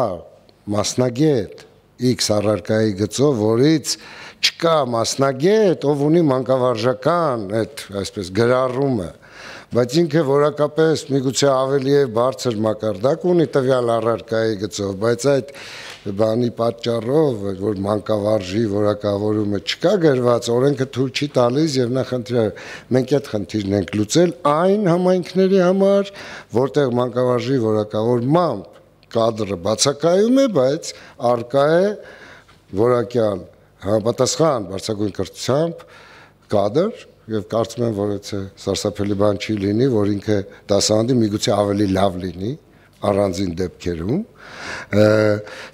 Speaker 4: մասնագետ X առարկայի գծով, որից չկա մասնագետ, ով ունի մանկավարժական այդ այսպես գրառումը, բայց ինքը որակապես միգուցե ավելի է բարձր մակարդակ ունի տվյալ առարկայի գծով, բայց այդ բանի պատճառով, որ մանկավարժի որակավորումը չկա գրված, օրենքը թույլ չի տալիս եւ նա խնդրի մենք այդ խնդիրն ենք լուծել այն համայնքների համար, որտեղ մանկավարժի որակավորմամբ կադրը բացակայում է, բայց արկա է որակյալ համապատասխան բարձրագույն կրթությամբ կադր եւ կարծում եմ, որ այդ սարսափելի բան չի լինի, որ ինքը դասավանդի միգուցե ավելի լավ լինի, առանձին դեպքերում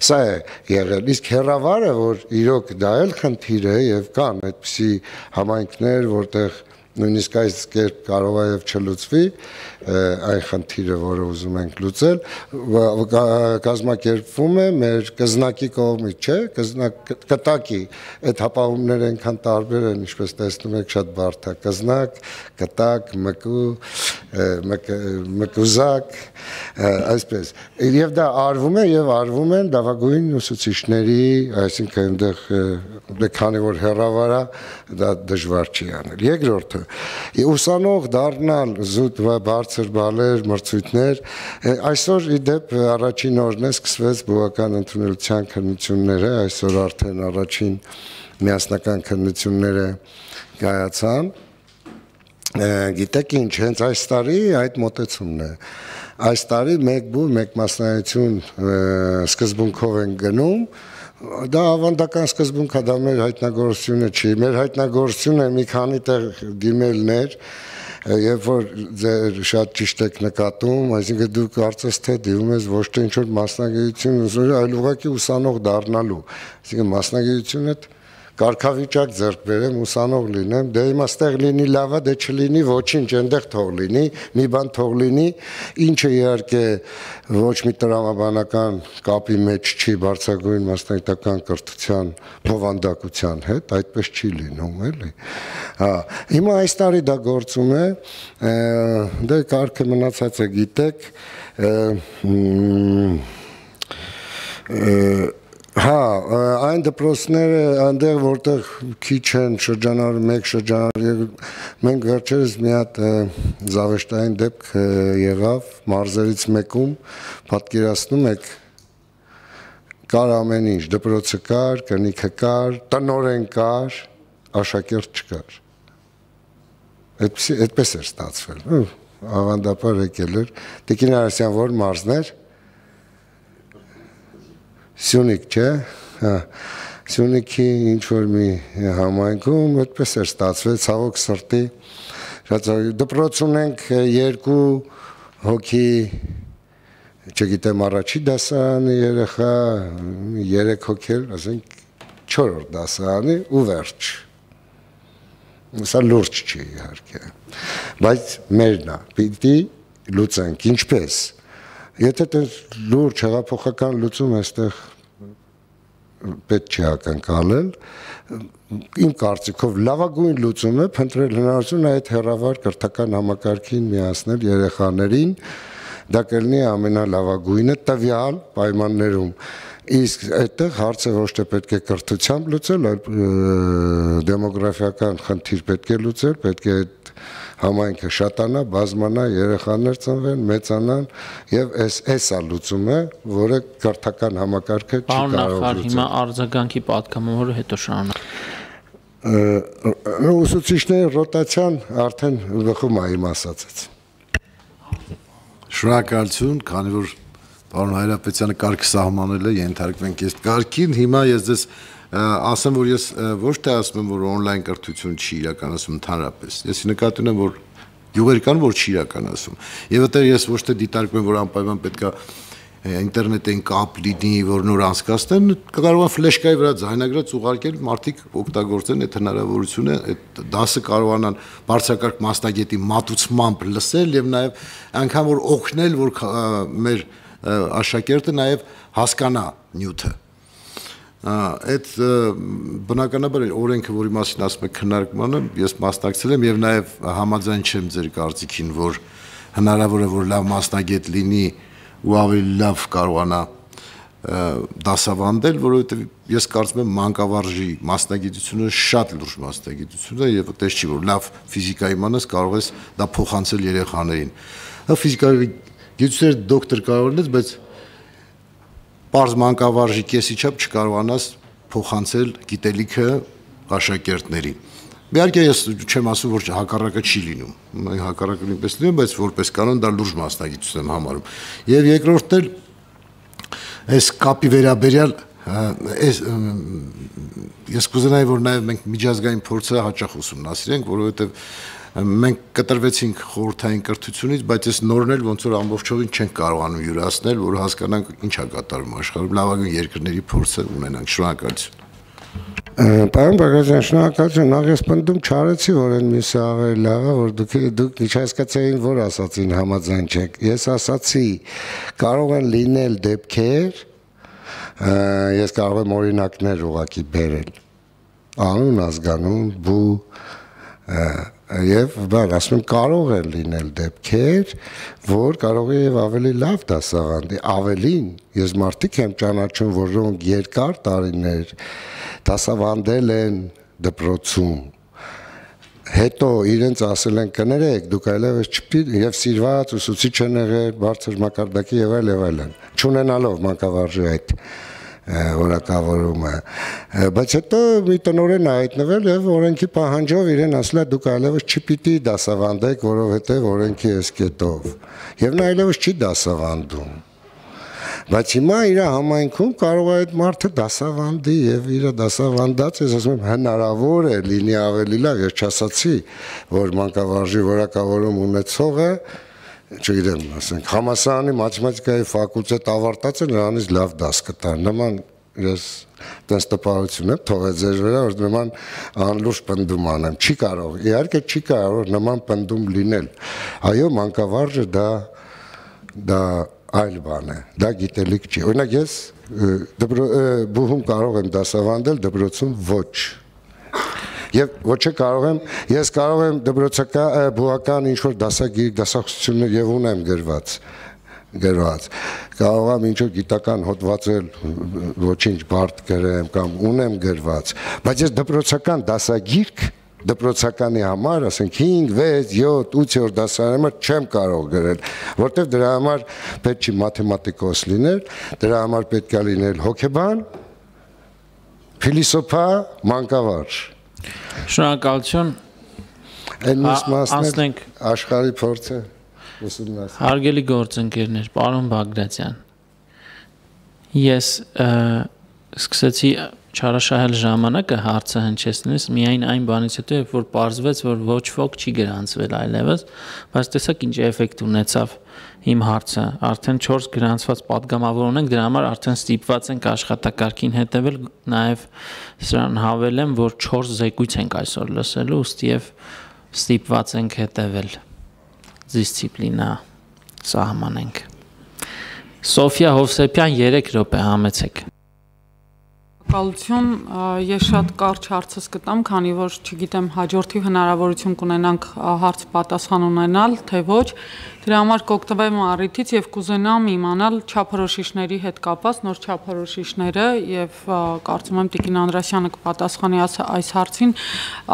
Speaker 4: սա է եղել, իսկ հեռավարը, որ իրոք դա էլ խնդիր է եւ կան այդպիսի համայնքներ, որտեղ նույնիսկ այս կերպ կարող է եւ չլուծվի այն խնդիրը, որը ուզում ենք լուծել, կազմակերպվում է մեր կզնակի կողմից, չէ, կզնակ կտակի այդ հապաղումները այնքան տարբեր են, ինչպես տեսնում եք, շատ բարդ է, կզնակ, կտակ, մկու, մկուզակ, այսպես, եւ դա արվում է եւ արվում են լավագույն ուսուցիչների, այսինքն այնտեղ քանի որ հեռավար է, դա դժվար չի անել։ Երկրորդը, ուսանող դառնալ զուտ բարձր բալեր, մրցույթներ, այսօր ի դեպ առաջին օրն է սկսվեց բուհական ընդունելության քննությունները, այսօր արդեն առաջին միասնական քննությունները կայացան։ Գիտեք ինչ, հենց այս տարի այդ մոտեցումն է։ Այս տարի մեկ բու, մեկ մասնայություն սկզբունքով են գնում, դա ավանդական սկզբունք է, դա մեր հայտնագործությունը չի, մեր հայտնագործությունը մի քանի տեղ դիմելներ, երբ որ ձեր շատ ճիշտ եք նկատում, այսինքն դուք կարծես թե դիմում ես ոչ թե ինչ-որ մասնագիտություն, այլ ուղղակի ուսանող դառնալու, այսինքն մասնագիտությունը կարգավիճակ ձեռք բերեմ, ուսանող լինեմ, դե հիմա ստեղ լինի լավա, դե չլինի ոչինչ, այնտեղ թող լինի, մի բան թող լինի, ինչը իհարկե ոչ մի տրամաբանական կապի մեջ չի բարձրագույն մասնագիտական կրթության բովանդակության հետ, այդպես չի լինում, էլի։ Հա, հիմա այս տարի դա գործում է, դե կարգը մնացած է գիտեք, Հա, այն դպրոցները այնտեղ որտեղ քիչ են շրջանառ մեկ շրջանառ մենք վերջերս մի հատ զավեշտային դեպք եղավ մարզերից մեկում պատկերացնում եք կար ամեն ինչ դպրոցը կար, կնիքը կար, տնօրեն կար, աշակերտ չկար։ Այդպես էր ստացվել։ Ավանդաբար եկել էր Տիկին Արասյան որ մարզներ Սյունիք, չէ, Սյունիքի ինչ-որ մի համայնքում այդպես էր ստացվել, ցավոք սրտի, դպրոց ունենք երկու հոգի, չգիտեմ առաջի դասարանի երեխա, երեք հոգել, ասենք չորրորդ դասարանի ու վերջ, սա լուրջ չի իհարկե, բայց մերն է, պիտի լուծենք, ինչպես, Եթե դες լուրջ հեղափոխական լուծում այստեղ պետք չի ակնկալել, իմ կարծիքով լավագույն լուծումը փնտրել հնարավորություն այդ հեռավար կրթական համակարգին միացնել երեխաներին, դա կլինի ամենալավագույնը տվյալ պայմաններում։ Իսկ այդտեղ հարցը ոչ թե պետք է կրթությամբ լուծել, այլ դեմոգրաֆիական խնդիր պետք է լուծել, պետք է այդ համայնքը շատանա, բազմանա, երեխաներ ծնվեն, մեծանան եւ այս էսա լուծումը, որը կրթական համակարգը չի կարող լուծել։
Speaker 3: Հիմա արձագանքի պատգամավորը հետո շարունակ։
Speaker 4: Ուսուցիչների ռոտացիան արդեն բխում է իմ ասածից։
Speaker 6: Շնորհակալություն, քանի որ պարոն Հայրապետյանը կարգ սահմանել է, ենթարկվենք այս կարգին, հիմա ես ձեզ ասեմ, որ ես ոչ թե ասում եմ, որ on-line կրթություն չի իրականացում ընդհանրապես։ Ես նկատում եմ, որ յուղեր կան, որ չի իրականացում։ Եվ այդտեղ ես ոչ թե դիտարկում եմ, որ անպայման պետք է ինտերնետային կապ լինի, որ նոր անցկացնեն, կարող է ֆլեշկայի վրա ձայնագրած ուղարկել, մարդիկ օգտագործեն այդ հնարավորությունը, այդ դասը կարողանան բարձրակարգ մասնագետի մատուցմամբ լսել եւ նաեւ անգամ որ օգնել, որ մեր աշակերտը նաեւ հասկանա նյութը։ Այդ բնականաբար օրենքը, որի մասին ասում եք քննարկմանը, ես մասնակցել եմ եւ նաեւ համաձայն չեմ ձեր կարծիքին, որ հնարավոր է որ լավ մասնագետ լինի ու ավելի լավ կարողանա դասավանդել, որովհետեւ ես կարծում եմ մանկավարժի մասնագիտությունը շատ լուրջ մասնագիտություն է եւ այդպես չի որ լավ ֆիզիկա իմանաս կարող ես դա փոխանցել երեխաներին։ Ֆիզիկայի գիտությունների դոկտոր կարող ես, բայց Պարզ մանկավարժի կեսի չափ չկարողանաս փոխանցել գիտելիքը աշակերտներին։ Իհարկե ես չեմ ասում, որ հակառակը չի լինում։ Հակառակը նույնպես լինում, բայց որպես կանոն դա լուրջ մասնագիտություն եմ համարում։ Եվ երկրորդն էլ այս կապի վերաբերյալ այս ես կուզենայի, որ նաև մենք միջազգային փորձը հաճախ ուսումնասիրենք, որովհետև մենք կտրվեցինք խորհրդային կրթությունից, բայց այս նորն էլ ոնց որ ամբողջովին չենք կարողանում յուրացնել, որ հասկանանք ինչ է կատարվում աշխարհում, լավագույն երկրների փորձը ունենանք։ Շնորհակալություն։
Speaker 4: Պարոն Բագրատյան, շնորհակալություն, նախ ես պնդում չարեցի, որ այն մյուսը ավելի լավ է, որ դուք դուք չհասկացային, որ ասացին համաձայն չեք։ Ես ասացի, կարող են լինել դեպքեր, ես կարող եմ օրինակներ ուղղակի բերել։ Անուն, ազգանուն, բու եւ բան, ասում եմ կարող են լինել դեպքեր, որ կարող է եւ ավելի լավ դասավանդի, ավելին, ես մարդիկ եմ ճանաչում, որոնք երկար տարիներ դասավանդել են դպրոցում, հետո իրենց ասել են կներեք, դուք այլևս չպիտի եւ սիրված ուսուցիչ են եղել, բարձր մակարդակի եւ այլ եւ այլն, չունենալով մանկավարժի այդ որակավորումը, բայց հետո մի տնօրեն հայտնվել եւ օրենքի պահանջով իրեն ասել է դուք այլևս չպիտի դասավանդեք, որովհետեւ օրենքի էս կետով եւ նա այլևս չի դասավանդում, բայց հիմա իր համայնքում կարող է այդ մարդը դասավանդի եւ իր դասավանդած ես ասում եմ հնարավոր է լինի ավելի լավ, ես չասացի, որ մանկավարժի որակավորում ունեցողը չգիտեմ, ասենք, համալսարանի մաթեմատիկայի ֆակուլտետ ավարտած է, նրանից լավ դաս կտար, նման ես տենց տպարություն եմ թողել ձեր վրա, որ նման անլուրջ պնդում անեմ, չի կարող, իհարկե չի կարող նման պնդում լինել, այո, մանկավարժը դա դա այլ բան է, դա գիտելիք չի, օրինակ ես բուհում կարող եմ դասավանդել, դպրոցում ոչ, եւ ոչ է կարող եմ, ես կարող եմ դպրոցական բուհական ինչ-որ դասագիր, դասախոսություններ եւ ունեմ գրված, գրված, կարող եմ ինչ-որ գիտական հոդվածել, ոչինչ բարդ գրեմ կամ ունեմ գրված, բայց ես դպրոցական դասագիրք, դպրոցականի համար, ասենք հինգ, վեց, յոթ, ութ-րդ դասարանի համար չեմ կարող գրել, որտեղ դրա համար պետք չի մաթեմատիկոս լինել, դրա համար պետք է լինել հոգեբան, փիլիսոփա, մանկավարժ։
Speaker 3: Շնորհակալություն։
Speaker 4: Այն մյուս մասն
Speaker 3: Անցնենք
Speaker 4: աշխարհի փորձը ուսումնասիրել։
Speaker 3: Հարգելի գործընկերներ, պարոն Բագրատյան, ես սկսեցի չարաշահել ժամանակը հարցը հնչեցնելիս միայն այն բանից հետո, երբ որ պարզվեց, որ ոչ ոք չի գրանցվել այլևս, բայց տեսակ ինչ էֆեկտ ունեցավ իմ հարցը, արդեն չորս գրանցված պատգամավոր ունենք, դրա համար արդեն ստիպված ենք աշխատակարգին հետևել, նաև սրան հավելեմ, որ չորս զեկույց ենք այսօր լսելու, ուստի եւ ստիպված ենք հետևել դիսցիպլինա սահմանենք։ Սոֆիա Հովսեփյան երեք րոպե համեցեք։
Speaker 7: Շնորհակալություն, ես շատ կարճ հարցս կտամ, քանի որ չգիտեմ հաջորդի հնարավորություն կունենանք հարց պատասխան ունենալ, թե ոչ, դրա համար կօգտվեմ առիթից եւ կուզենամ իմանալ չափորոշիչների հետ կապված նոր չափորոշիչները եւ կարծում եմ Տիկին Անդրասյանը կպատասխանի այս հարցին,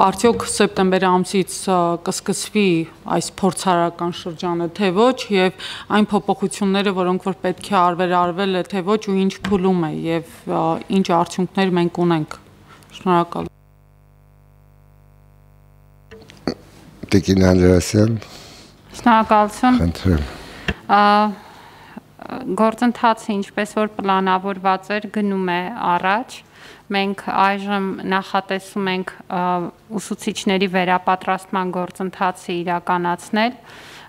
Speaker 7: արդյոք սեպտեմբեր ամսից կսկսվի այս փորձարարական շրջանը, թե ոչ եւ այն փոփոխությունները, որոնք որ պետք է արվեր արվել է, թե ոչ ու ինչ փուլում է եւ ինչ արդյունքներ մենք ունենք։ Շնորհակալ։
Speaker 4: Տիկին Անդրասյան։
Speaker 5: Շնորհակալություն։
Speaker 4: Խնդրեմ։
Speaker 5: Գործընթացը ինչպես որ պլանավորված էր գնում է առաջ, մենք այժմ նախատեսում ենք ուսուցիչների վերապատրաստման գործընթացը իրականացնել,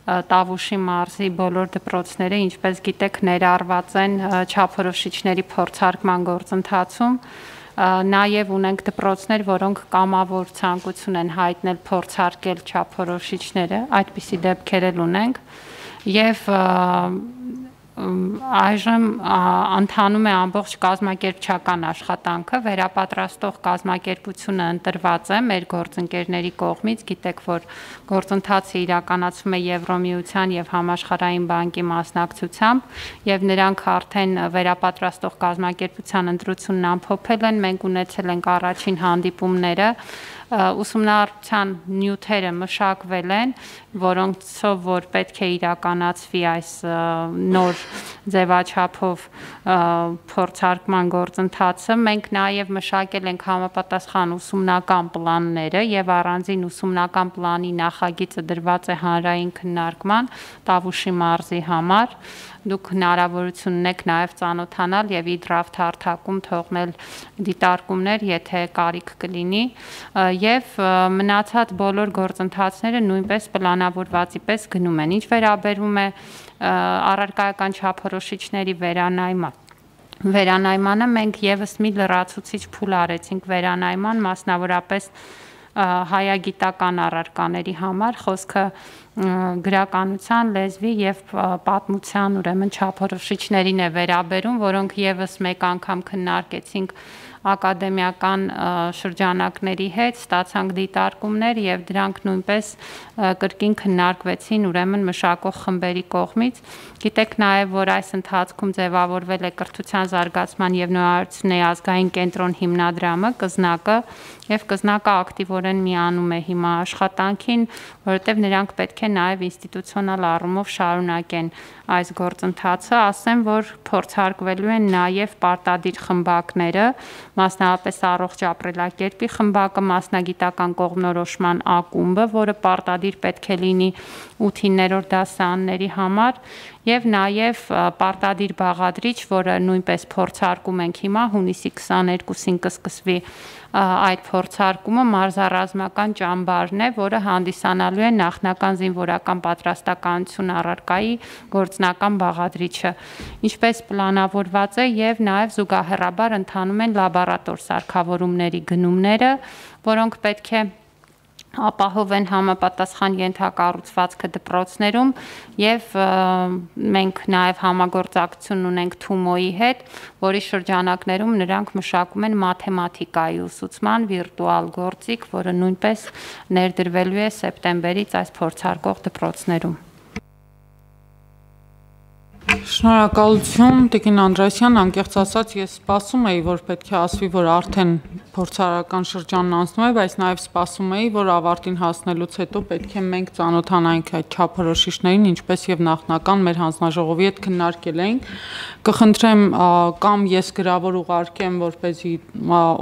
Speaker 5: Տավուշի մարզի բոլոր դպրոցները, ինչպես գիտեք, ներառված են չափորոշիչների փորձարկման գործընթացում, նաև ունենք դպրոցներ, որոնք կամավոր ցանկություն են հայտնել փորձարկել չափորոշիչները, այդպիսի դեպքեր էլ ունենք, եւ այժմ ընթանում է ամբողջ կազմակերպչական աշխատանքը, վերապատրաստող կազմակերպությունը ընտրված է մեր գործընկերների կողմից, գիտեք, որ գործընթացը իրականացվում է Եվրոմիության եւ Համաշխարհային բանկի մասնակցությամբ, եւ նրանք արդեն վերապատրաստող կազմակերպության ընտրությունն ամփոփել են, մենք ունեցել ենք առաջին հանդիպումները, ուսումնառության նյութերը մշակվել են, որոնցով որ պետք է իրականացվի այս նոր ձևաչափով փորձարկման գործընթացը, մենք նաև մշակել ենք համապատասխան ուսումնական պլանները եւ առանձին ուսումնական պլանի նախագիծը դրված է հանրային քննարկման Տավուշի մարզի համար, դուք հնարավորություն ունեք նաև ծանոթանալ եւ ի դրաֆտ հարթակում թողնել դիտարկումներ, եթե կարիք կլինի, եւ մնացած բոլոր գործընթացները նույնպես պլանավորվածի պես գնում են։ Ինչ վերաբերում է առարկայական չափորոշիչների վերանայման Վերանայմանը մենք եւս մի լրացուցիչ փուլ արեցինք վերանայման, մասնավորապես հայագիտական առարկաների համար, խոսքը գրականության, լեզվի եւ պատմության ուրեմն չափորոշիչներին է վերաբերում, որոնք եւս մեկ անգամ քննարկեցինք ակադեմիական շրջանակների հետ, ստացանք դիտարկումներ եւ դրանք նույնպես կրկին քննարկվեցին ուրեմն մշակող խմբերի կողմից։ Գիտեք նաեւ, որ այս ընթացքում ձևավորվել է կրթության զարգացման եւ նորարարությունների ազգային կենտրոն հիմնադրամը, կզնակը, եւ կզնակը ակտիվորեն միանում է հիմա աշխատանքին, որովհետեւ նրանք պետք է նաեւ ինստիտուցիոնալ առումով շարունակեն այս գործընթացը, ասեմ, որ փորձարկվելու են նաեւ պարտադիր խմբակները, մասնավորապես առողջ ապրելակերպի խմբակը, մասնագիտական կողմնորոշման ակումբը, որը պարտադիր պետք է լինի ութերորդ դասարանների համար, եւ նաեւ պարտադիր բաղադրիչ, որը նույնպես փորձարկում ենք հիմա, հունիսի քսաներկուսին կսկսվի այդ փորձարկումը, մարզառազմական ճամբարն է, որը հանդիսանալու է նախնական զինվորական պատրաստականություն առարկայի գործնական բաղադրիչը, ինչպես պլանավորված է, եւ նաեւ զուգահեռաբար ընթանում են լաբորատոր սարքավորումների գնումները, որոնք պետք է ապահովեն համապատասխան ենթակառուցվածքը դպրոցներում եւ մենք նաեւ համագործակցություն ունենք Թումոյի հետ, որի շրջանակներում նրանք մշակում են մաթեմատիկայի ուսուցման վիրտուալ գործիք, որը նույնպես ներդրվելու է սեպտեմբերից այս փորձարկող դպրոցներում։
Speaker 7: Շնորհակալություն Տիկին Անդրեասյան, անկեղծ ասած ես սպասում էի, որ պետք է ասվի, որ արդեն փորձարարական շրջանն անցնում է, բայց նաև սպասում էի, որ ավարտին հասնելուց հետո պետք է մենք ծանոթանանք այդ չափորոշիչներին, ինչպես եւ նախնական մեր հանձնաժողովի հետ քննարկել էինք։ Կխնդրեմ կամ ես գրավոր ուղարկեմ, որպեսզի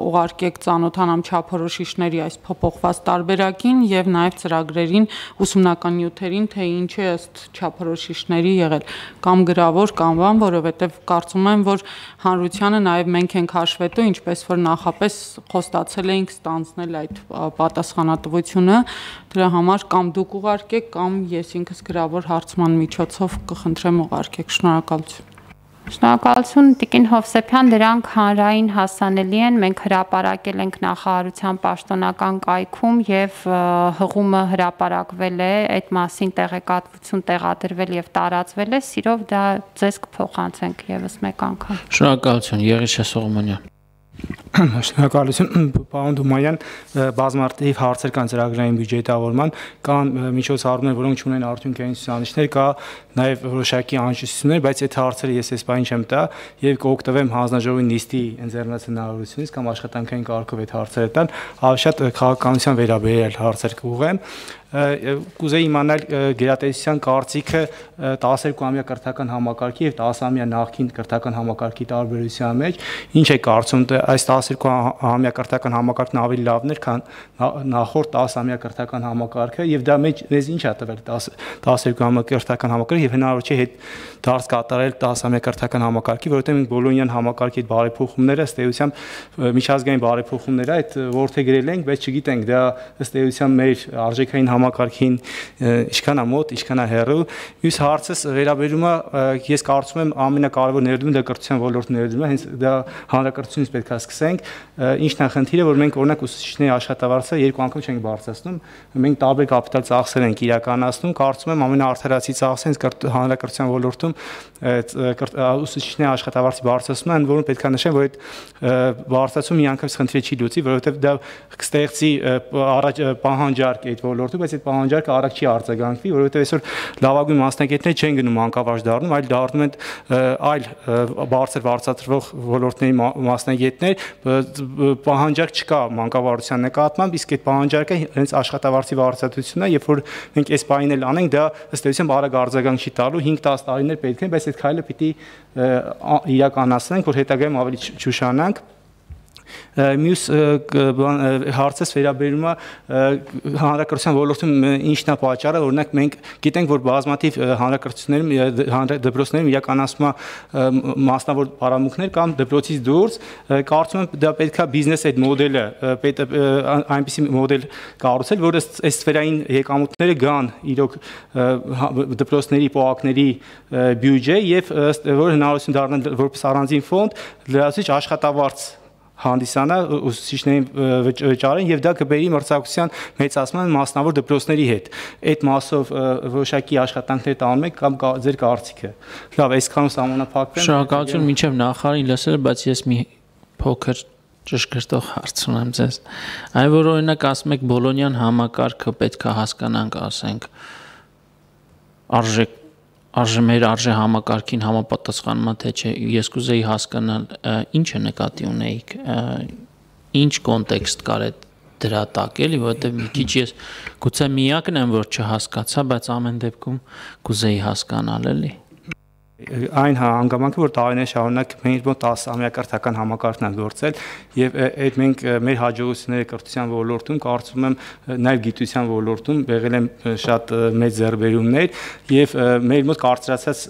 Speaker 7: ուղարկեք ծանոթանամ չափորոշիչների այս փոփոխված տարբերակին եւ նաեւ ծրագրերին, ուսումնական նյութերին, թե ինչ է ըստ չափորոշիչների եղել, կամ գրավոր կամ բան, որովհետեւ կարծում եմ, որ հանրությանը նաեւ մենք ենք հաշվետու, ինչպես որ նախապես խոստացել էինք ստանձնել այդ պատասխանատվությունը, դրա համար կամ դուք ուղարկեք, կամ ես ինքս գրավոր հարցման միջոցով կխնդրեմ ուղարկեք։ Շնորհակալություն։
Speaker 5: Շնորհակալություն Տիկին Հովսեփյան, դրանք հանրային հասանելի են, մենք հրապարակել ենք նախարարության պաշտոնական կայքում եւ հղումը հրապարակվել է, այդ մասին տեղեկատվություն տեղադրվել եւ տարածվել է, սիրով դա ձեզ կփոխանցենք եւս մեկ անգամ։
Speaker 3: Շնորհակալություն, Եղիշե Սողոմոնյան։
Speaker 1: Շնորհակալություն, պարոն Դումայան, բազմարտիվ հարցեր կան ծրագրային բյուջետավորման, կան միջոցառումներ, որոնք ունեն արդյունքային ցուցանիշներ, կա նաև որոշակի անհրաժեշտություններ, բայց այդ հարցերը ես այս բանը չեմ տա եւ կօգտվեմ հանձնաժողովի նիստի ընձեռնած հնարավորությունից կամ աշխատանքային կարգով այդ հարցերը տալ, ավելի շատ քաղաքականության վերաբերյալ հարցեր կուղեմ։ Կուզեի իմանալ գերատեսչության կարծիքը տասներկուամյա կրթական համակարգի եւ տասամյա նախկին կրթական համակարգի տարբերության մեջ, ինչ է կարծում այս տասներկուամյա կրթական համակարգն ավելի լավն էր, քան նախորդ տասամյա կրթական համակարգը եւ դա մեջ մեզ ինչ է տվել տասներկուամյա կրթական համակարգը եւ հնարավոր չէ հետ դարձ կատարել տասամյա կրթական համակարգի, որովհետեւ մենք բոլոնյան համակարգի այդ բարեփոխումները ըստ էության միջազգային բարեփոխումներ այդ որդեգրել ենք, բայց չգիտենք դա ըստ էության մեր արժեքային համակարգին ինչքան է մոտ, ինչքան է հեռու։ Մյուս հարցս վերաբերում է, ես կարծում եմ ամենակարևոր ներդրումը դա կրթության ոլորտի ներդրումն է, հենց դա հանրակրթությունից պետք է սկսենք։ Ինչն է խնդիրը, որ մենք օրինակ ուսուցիչների աշխատավարձը երկու անգամ չենք բարձրացնում, մենք տարբեր կապիտալ ծախսեր ենք իրականացնում, կարծում եմ ամենաարդարացի ծախսը հենց հանրակրթության ոլորտում ուսուցիչների աշխատավարձի բարձրացումն է, ընդ որում պետք է նշեմ, որ այդ բարձրացումը միանգամից խնդիրը չի լուծի, որովհետև դա կստեղծի առաջ պահանջարկ այդ ոլորտում, բայց այդ պահանջարկը արագ չի արձագանքվի, որովհետև այսօր լավագույն մասնագետներ չեն գնում անկավարժ դառնում, այլ դառնում են այլ բարձր բարձրացրվող ոլորտների մասնագետներ, պահանջարկ չկա մանկավարժության նկատմամբ, իսկ այդ պահանջարկը հենց աշխատավարձի բարձրացությունն է, երբ որ մենք այս բանին էլ անենք, դա ըստ էության արագ արձագանք չի տալու, հինգ տաս տարիներ պետք են, բայց այդ քայլը պիտի իրականացնենք, որ հետագայում ավելի չուշանանք։ Մյուս հարցս վերաբերում է հանրակրթության ոլորտում ինչն է պատճառը, օրինակ մենք գիտենք, որ բազմաթիվ հանրակրթություններում դպրոցներում իրականացվում է մասնավոր պարամունքներ կամ դպրոցից դուրս, կարծում եմ դա պետք է բիզնես այդ մոդելը, այնպիսի մոդել կառուցել, որ այս սֆերային եկամուտները գան իրոք դպրոցների, պողակների բյուջե եւ որ հնարավորություն դառնան որպես առանձին ֆոնդ լրացուցիչ աշխատավարձ հանդիսանա ուսուցիչներին վճարեն եւ դա կբերի մրցակցության մեծացման մասնավոր դպրոցների հետ։ Այդ մասով որոշակի աշխատանքներ տանում եք կամ ձեր կարծիքը։ Լավ, այսքանով սահմանափակվեմ։
Speaker 3: Շնորհակալություն, մինչև նախարարին լսել, բայց ես մի փոքր ճշգրտող հարց ունեմ ձեզ։ Այն որ օրինակ ասում եք Բոլոնյան համակարգը պետք է հասկանանք, ասենք արժեք արժե մեր արժե համակարգին համապատասխանում է թե չէ, ես կուզեի հասկանալ ինչը նկատի ունեիք, ինչ կոնտեքստ կար այդ դրա տակ էլի, որովհետև մի քիչ ես գուցե միակն եմ, որ չհասկացա, բայց ամեն դեպքում կուզեի հասկանալ էլի։
Speaker 1: Այն հանգամանքը, որ տարիներ շարունակ մենք մոտ տասը ամյա կրթական համակարգն է գործել եւ այդ մենք մեր հաջողությունները կրթության ոլորտում կարծում եմ նաեւ գիտության ոլորտում եղել են շատ մեծ ձեռքբերումներ եւ մեր մոտ կարծրացած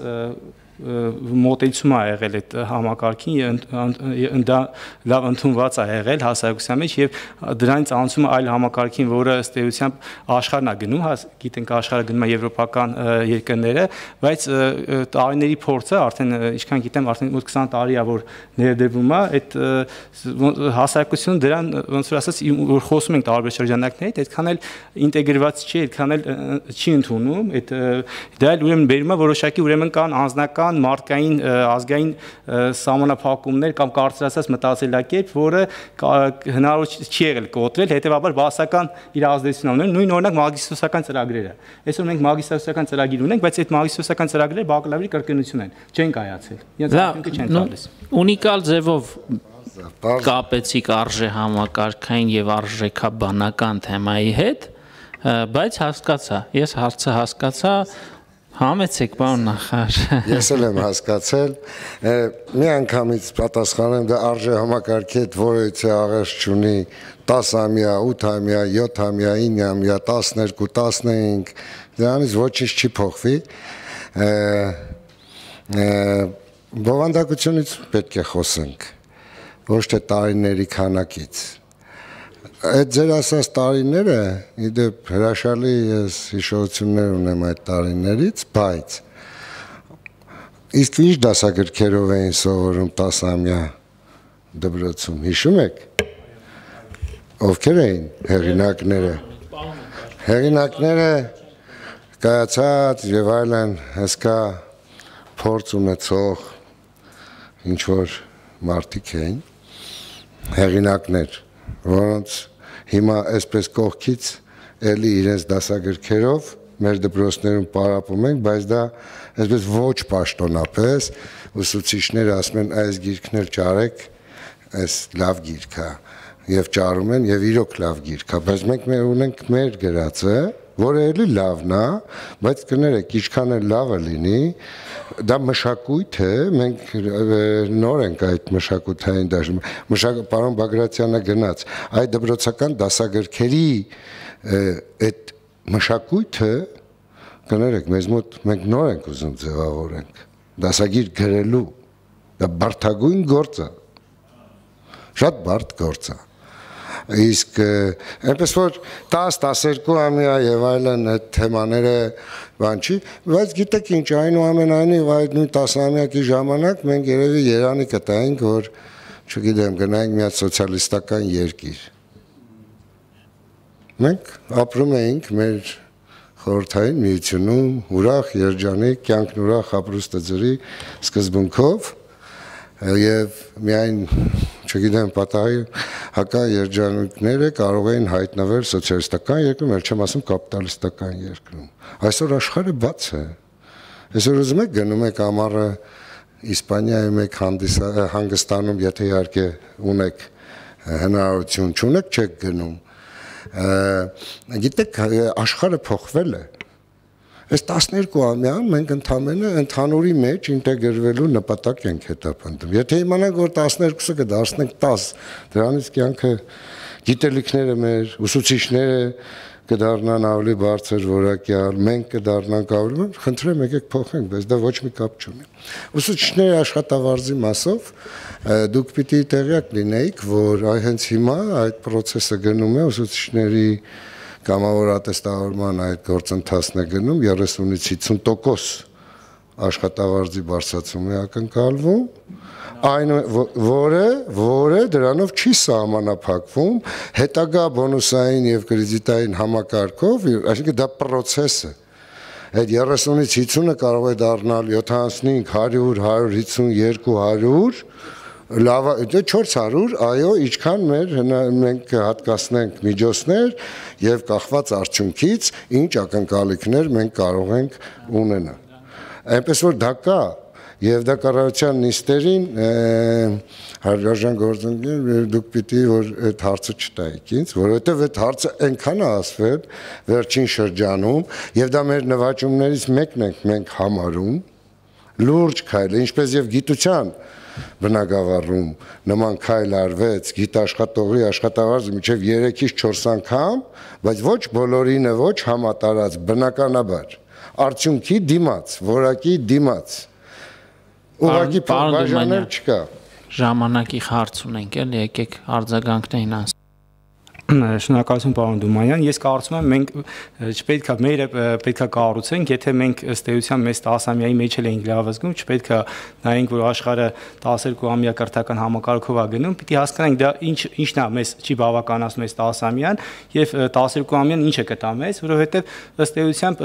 Speaker 1: մոտեցում է եղել այդ համակարգին, դա լավ ընդունված է եղել հասարակության մեջ եւ դրանից անցում այլ համակարգին, որը ըստ էության աշխարհն է գնում, գիտենք աշխարհը գնում է եվրոպական երկրները, բայց տարիների փորձը արդեն ինչքան գիտեմ, արդեն մոտ քսան տարի է, որ ներդրվում է, այդ հասարակությունը դրան ոնց որ ասած, որ խոսում ենք տարբեր շրջանակներից, այդքան էլ ինտեգրված չի, այդքան էլ չի ընդունում, այդ դա էլ ուրեմն բերում է որոշակի ուրեմն կան անձնական մարդկային ազգային սահմանափակումներ կամ կարծրացած մտածելակերպ, որը հնարավոր չի եղել կոտրել, հետեւաբար բասական իր ազդեցություն ունեն, նույն օրինակ մագիստրոսական ծրագրերը։ Այսօր մենք մագիստրոսական ծրագիր ունենք, բայց այդ մագիստրոսական ծրագրերը բակալավրի կրկնություն են, չեն կայացել։ Իրենց արդյունքը չեն տալիս։
Speaker 3: Ունիկալ ձևով կապեցիք արժե համակարգային եւ արժեքաբանական թեմայի հետ, բայց հասկացա, ես հարցը հասկացա, համեցեք, պարոն նախարար։
Speaker 4: Ես էլ եմ հասկացել, մի անգամից պատասխանեմ, դա արժե համակարգի հետ որևիցե աղերս չունի, տասամյա, ութամյա, յոթամյա, իննամյա, տասներկու, տասնհինգ, դրանից ոչինչ չի փոխվի։ Բովանդակությունից պետք է խոսենք, ոչ թե տարիների քանակից։ Այդ ձեր ասած տարիները, իդեպ հրաշալի ես հիշողություններ ունեմ այդ տարիներից, բայց իսկ ինչ դասագրքերով էին սովորում տասամյա դպրոցում, հիշում եք, ովքեր էին հեղինակները, հեղինակները կայացած և այլն հսկա փորձ ունեցող ինչ-որ մարդիկ էին, հեղինակներ, որոնց հիմա այսպես կողքից էլի իրենց դասագրքերով մեր դպրոցներում պարապում ենք, բայց դա այսպես ոչ պաշտոնապես ուսուցիչները ասում են այս գիրքն էլ ճարեք, այս լավ գիրք է եւ ճարում են եւ իրոք լավ գիրք է, բայց մենք մեր ունենք մեր գրածը, որը էլի լավն է, բայց կներեք, ինչքան էլ լավը լինի, դա մշակույթ է, մենք նոր ենք այդ մշակութային դաշտում, պարոն Բագրատյանը գնաց, այդ դպրոցական դասագրքերի այդ մշակույթը, կներեք, մեզ մոտ մենք նոր ենք ուզում ձևավորենք, դասագիր գրելու, դա բարդագույն գործ է, շատ բարդ գործ է, իսկ այնպես որ տաս տասներկու ամյա եւ այլն այդ թեմաները բան չի, բայց գիտեք ինչ, այնուամենայնիվ այդ նույն տասնամյակի ժամանակ մենք երևի երանի կտայինք, որ չգիտեմ, գնայինք մի հատ սոցիալիստական երկիր։ Մենք ապրում էինք մեր խորհրդային միությունում, ուրախ, երջանիկ, կյանքն ուրախ ապրուստը ջրի սկզբունքով եւ միայն չգիտեմ, պատահի հակա երջանիկները կարող էին հայտնվել սոցիալիստական երկրում, էլ չեմ ասում կապիտալիստական երկրում։ Այսօր աշխարհը բաց է։ Այսօր ուզում եք գնում եք ամառը Իսպանիայում եք հանգստանում, եթե իհարկե ունեք հնարավորություն, չունեք չեք գնում։ Գիտեք, աշխարհը փոխվել է։ Այս տասներկու ամյան մենք ընդամենը ընդհանուրի մեջ ինտեգրվելու նպատակ ենք հետապնդում։ Եթե իմանանք, որ տասներկուսը կդարձնենք տաս, դրանից կյանքը գիտելիքները մեր, ուսուցիչները կդառնան ավելի բարձր որակյալ, մենք կդառնանք ավելի, խնդրեմ եկեք փոխենք, բայց դա ոչ մի կապ չունի։ Ուսուցիչների աշխատավարձի մասով դուք պիտի տեղյակ լինեիք, որ այ հենց հիմա այդ process-ը գնում է ուսուցիչների կամավոր ատեստավորման այդ գործընթացն է գնում երեսունից հիսուն տոկոս աշխատավարձի բարձրացում է ակնկալվում, այն որը որը դրանով չի սահմանափակվում հետագա բոնուսային եւ կրեդիտային համակարգով, այսինքն դա process է։ Այդ երեսունից հիսունը կարող է դառնալ յոթանասունհինգ, հարյուր, հարյուր հիսունյոթ, հարյուր, լավ, չորս հարյուր, այո, ինչքան մեր մենք հատկացնենք միջոցներ եւ կախված արդյունքից ինչ ակնկալիքներ մենք կարող ենք ունենալ։ Այնպես որ դա կա եւ դա կառավարության նիստերին հարգարժան գործընկեր դուք պիտի որ այդ հարցը չտայիք ինձ, որովհետեւ այդ հարցը այնքան է ասվել վերջին շրջանում եւ դա մեր նվաճումներից մեկն ենք մենք համարում լուրջ քայլ, ինչպես եւ գիտության բնակավարում նման քայլ արվեց գիտաշխատողի աշխատավարձը մինչև երեքից չորս անգամ, բայց ոչ բոլորինը ոչ համատարած բնականաբար արդյունքի դիմաց, որակի դիմաց ուղղակի բաժանել չկա։
Speaker 3: Ժամանակի հարց ունենք էլ, եկեք արձագանքներին անց։
Speaker 1: Շնորհակալություն պարոն Դումանյան, ես կարծում եմ մենք չպետք է մեր պետք է կառուցենք, եթե մենք ըստ էության մեծ տասամյայի մեջ էլ ենք լավ զգում, չպետք է նայենք, որ աշխարհը տասներկու ամյա կրթական համակարգով է գնում, պիտի հասկանանք դա ինչ ինչն է մեզ չի բավականացնում այս տասամյան եւ տասներկու ամյան ինչ է կտա մեզ, որովհետեւ ըստ էության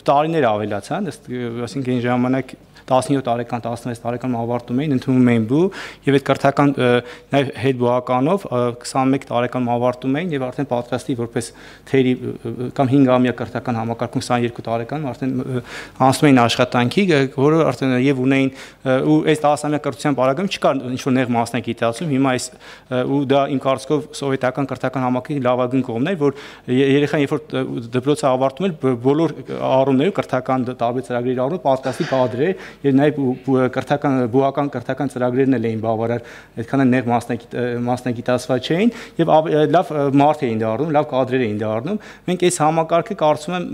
Speaker 1: տարիներ ավելացան, այսինքն այն ժամանակ տասնյոթ տարեկան, տասնվեց տարեկան ավարտում էին, ընդունում էին բու եւ այդ կրթական նաեւ հետ բուականով քսանմեկ տարեկան ավարտում էին եւ արդեն պատրաստի որպես թերի կամ հինգամյա կրթական համակարգում քսաներկու տարեկան արդեն անցնում էին աշխատանքի, որը արդեն եւ ունեին ու այս տասամյա կրթության պարագայում չկար ինչ որ նեղ մասնագիտացում, հիմա այս ու դա իմ կարծիքով սովետական կրթական համակարգի լավագույն կողմն էր, որ երեխան երբ որ դպրոցը ավարտում էր, բոլոր առումներով կրթական տարբեր ծրագրերի առումով պատրաստի կադր էր եւ նաեւ կրթական բուական կրթական ծրագրերն էլ էին բավարար այդքան նեղ մասնագիտացված չէին եւ լավ մարդ էին դառնում, լավ կադրեր էին դառնում։ Մենք այս համակարգը կարծում եմ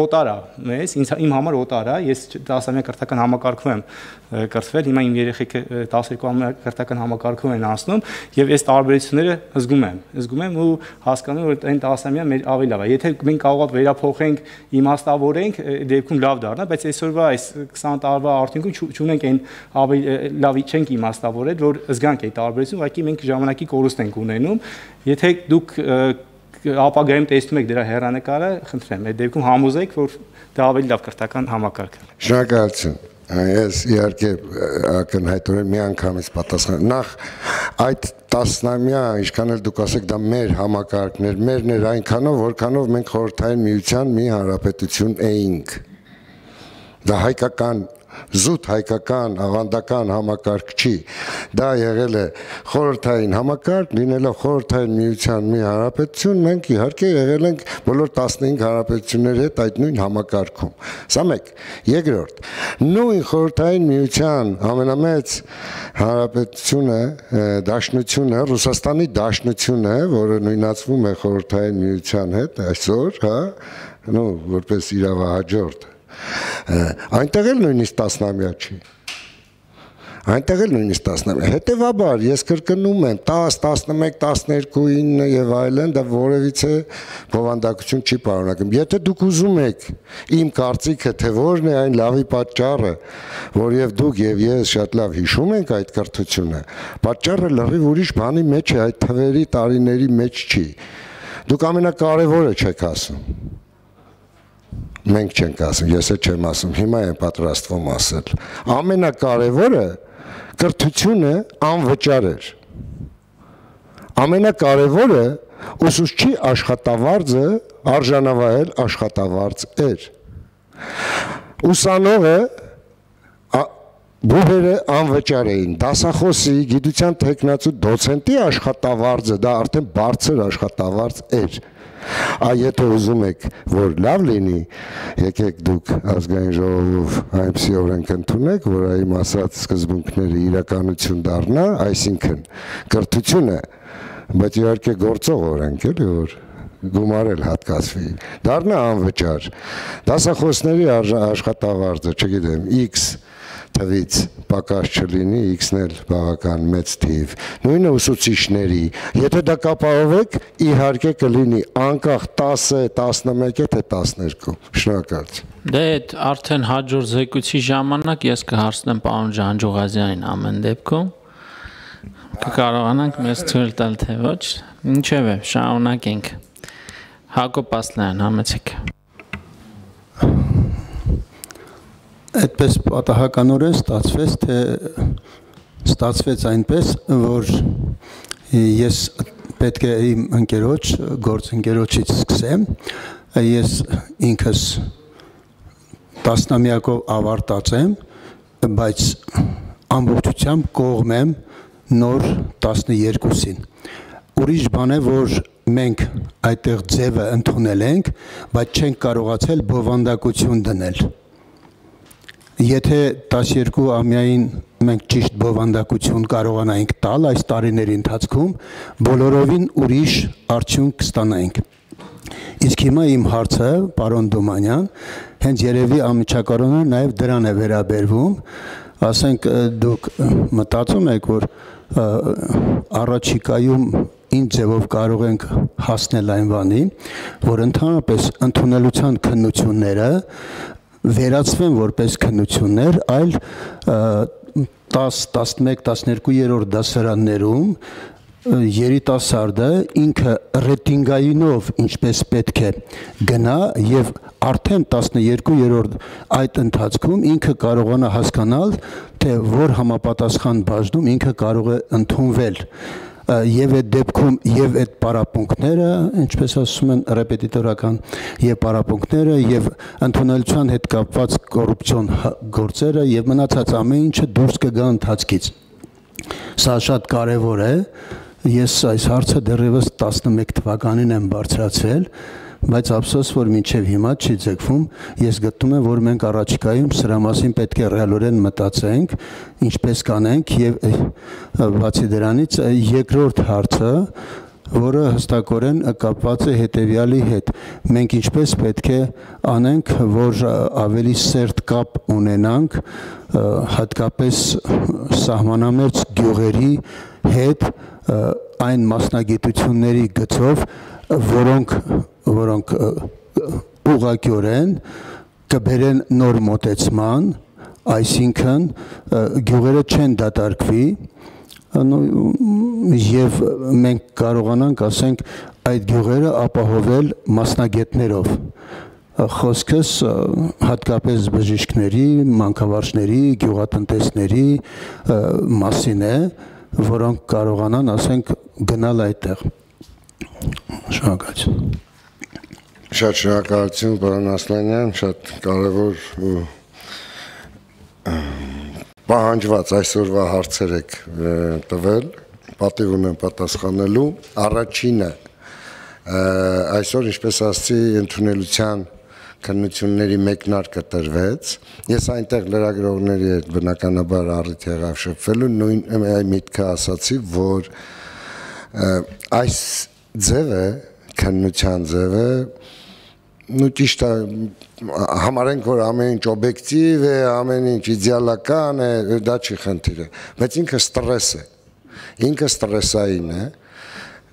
Speaker 1: օտար է մեզ, ինձ իմ համար օտար է, ես տասամյա կրթական համակարգում եմ կրթվել, հիմա իմ երեխեքը տասներկու ամյա կրթական համակարգում են անցնում եւ այս տարբերությունները զգում եմ, զգում եմ ու հասկանում որ այն տասամյա մեր ավելի լավ է։ Եթե մենք կարող է վերափոխենք, իմաստավորենք, դեպքում լավ դառնա, բայց այսօրվա այս քսան տարվա արդյունքում չունենք այն ավելի լավի չենք իմաստավորել, որ զգանք այդ տարբերությունը, ուղղակի մենք ժամանակի կորուստ ենք ունենում։ Եթե դուք ապագայում տեսնում եք դրա հեռանկարը, խնդրեմ, այդ դեպքում համոզեք, որ դա ավելի լավ կրթական համակարգ է։
Speaker 4: Շնորհակալություն։ Ես իհարկե ակնհայտորեն մի անգամից պատասխան։ Նախ այդ տասնամյա, ինչքան էլ դուք ասեք, դա մեր համակարգներ, մերն էր այնքանով, որքանով մենք խորհրդային միության մի հանրապետություն էինք։ Դա հայկական զուտ հայկական ավանդական համակարգ չի, դա եղել է խորհրդային համակարգ, լինելով խորհրդային միության մի հանրապետություն, մենք իհարկե եղել ենք բոլոր տասնհինգ հանրապետությունների հետ այդ նույն համակարգում։ Սա մեկ, երկրորդ, նույն խորհրդային միության ամենամեծ հանրապետությունը, դաշնությունը, Ռուսաստանի դաշնությունը, որը նույնացվում է խորհրդային միության հետ այսօր, հա, նո, որպես իրավահաջորդ այնտեղ էլ նույնիսկ տասնամյա չի, այնտեղ էլ նույնիսկ տասնամյա, հետևաբար ես կրկնում եմ տաս, տասնմեկ, տասներկու, ինը եւ այլն, դա որևիցե բովանդակություն չի պարունակում։ Եթե դուք ուզում եք իմ կարծիքը, թե որն է այն լավի պատճառը, որ եւ դուք եւ ես շատ լավ հիշում ենք այդ կրթությունը, պատճառը լրիվ ուրիշ բանի մեջ է, այդ թվերի տարիների մեջ չի։ Դուք ամենակարևորը չեք ասում։ Մենք չենք ասում, ես էլ չեմ ասում, հիմա եմ պատրաստվում ասել։ Ամենակարևորը կրթությունը անվճար էր։ Ամենակարևորը ուսուցչի աշխատավարձը արժանավայել աշխատավարձ էր։ Ուսանողը բուհերը անվճար էին, դասախոսի, գիտության տեխնացու դոցենտի աշխատավարձը, դա արդեն բարձր աշխատավարձ էր։ Այ եթե ուզում եք, որ լավ լինի, եկեք դուք ազգային ժողովով այնպիսի օրենք ընդունեք, որ այմ ասած սկզբունքները իրականություն դառնա, այսինքն կրթությունը, բայց իհարկե գործող օրենք էլի, որ գումարել հատկացվի, դառնա անվճար, դասախոսների աշխատավարձը, չգիտեմ, X թվից պակաս չլինի, X-ն էլ բավական մեծ թիվ, նույնը ուսուցիչների, եթե դա կապահովեք, իհարկե կլինի անկախ տասը, տասնմեկ, թե տասներկու, շնորհակալություն։
Speaker 3: Դե այդ արդեն հաջորդ զեկույցի ժամանակ ես կհարցնեմ պարոն Ջանջուղազյանին ամեն դեպքում, կկարողանանք մեզ թույլ տալ, թե ոչ, ինչևէ, շարունակենք։ Հակոբ Ասլանյան, համեցեք։
Speaker 8: Այդպես պատահականորեն ստացվեց, թե ստացվեց այնպես, որ ես պետք է իմ ընկերոջ, գործընկերոջից սկսեմ, ես ինքս տասնամյակով ավարտած եմ, բայց ամբողջությամբ կողմեմ նոր տասներկուսին։ Ուրիշ բան է, որ մենք այդտեղ ձևը ընդունել ենք, բայց չենք կարողացել բովանդակություն դնել։ Եթե տասներկու ամյային մենք ճիշտ բովանդակություն կարողանայինք տալ այս տարիների ընթացքում, բոլորովին ուրիշ արդյունք կստանայինք։ Իսկ հիմա իմ հարցը, պարոն Դումանյան, հենց երևի անմիջականորեն նաև դրան է վերաբերվում, ասենք դուք մտածում եք, որ առաջիկայում ինչ ձևով կարող ենք հասնել այն բանի, որ ընդհանրապես ընդունելության քննությունները վերածվեն որպես քննություններ, այլ տաս, տասնմեկ, տասներկու դասարաններում երիտասարդը ինքը ռեյտինգայինով ինչպես պետք է գնա եւ արդեն տասներկու այդ ընթացքում ինքը կարողանա հասկանալ, թե որ համապատասխան բաժնում ինքը կարող է ընդունվել եւ այդ դեպքում եւ այդ պարապմունքները, ինչպես ասում են ռեպետիտորական, եւ պարապմունքները եւ ընդունելության հետ կապված կոռուպցիոն գործերը եւ մնացած ամեն ինչը դուրս կգա ընթացքից։ Սա շատ կարեւոր է։ Ես այս հարցը դեռևս տասնմեկ թվականին եմ բարձրացրել, բայց ափսոս, որ մինչև հիմա չի ձգվում, ես գտնում եմ, որ մենք առաջիկայում սրա մասին պետք է ռեալորեն մտածենք, ինչպես կանենք եւ բացի դրանից երկրորդ հարցը, որը հստակորեն կապված է հետեւյալի հետ։ Մենք ինչպես պետք է անենք, որ ավելի սերտ կապ ունենանք հատկապես սահմանամերձ գյուղերի հետ այն մասնագիտությունների գծով, որոնք որոնք ուղղակիորեն կբերեն նոր մոտեցման, այսինքն գյուղերը չեն դատարկվի եւ մենք կարողանանք, ասենք, այդ գյուղերը ապահովել մասնագետներով։ Խոսքս հատկապես բժիշկների, մանկավարժների, գյուղատնտեսների մասին է, որոնք կարողանան, ասենք, գնալ այդտեղ։ Շնորհակալություն։
Speaker 4: Շատ շնորհակալություն, պարոն Ասլանյան, շատ կարևոր ու պահանջված այսօրվա հարցեր եք տվել, պատիվ ունեմ պատասխանելու։ Առաջինը, այսօր, ինչպես ասացի, ընդունելության քննությունների մեկնարկը տրվեց։ Ես այնտեղ լրագրողների հետ բնականաբար առիթ եղավ շփվելու, նույն միտքը ասացի, որ այս ձևը, քննության ձևը, նու ճիշտ է, համարենք, որ ամեն ինչ օբյեկտիվ է, ամեն ինչ իդեալական է, դա չի խնդիրը, բայց ինքը ստրես է, ինքը ստրեսային է,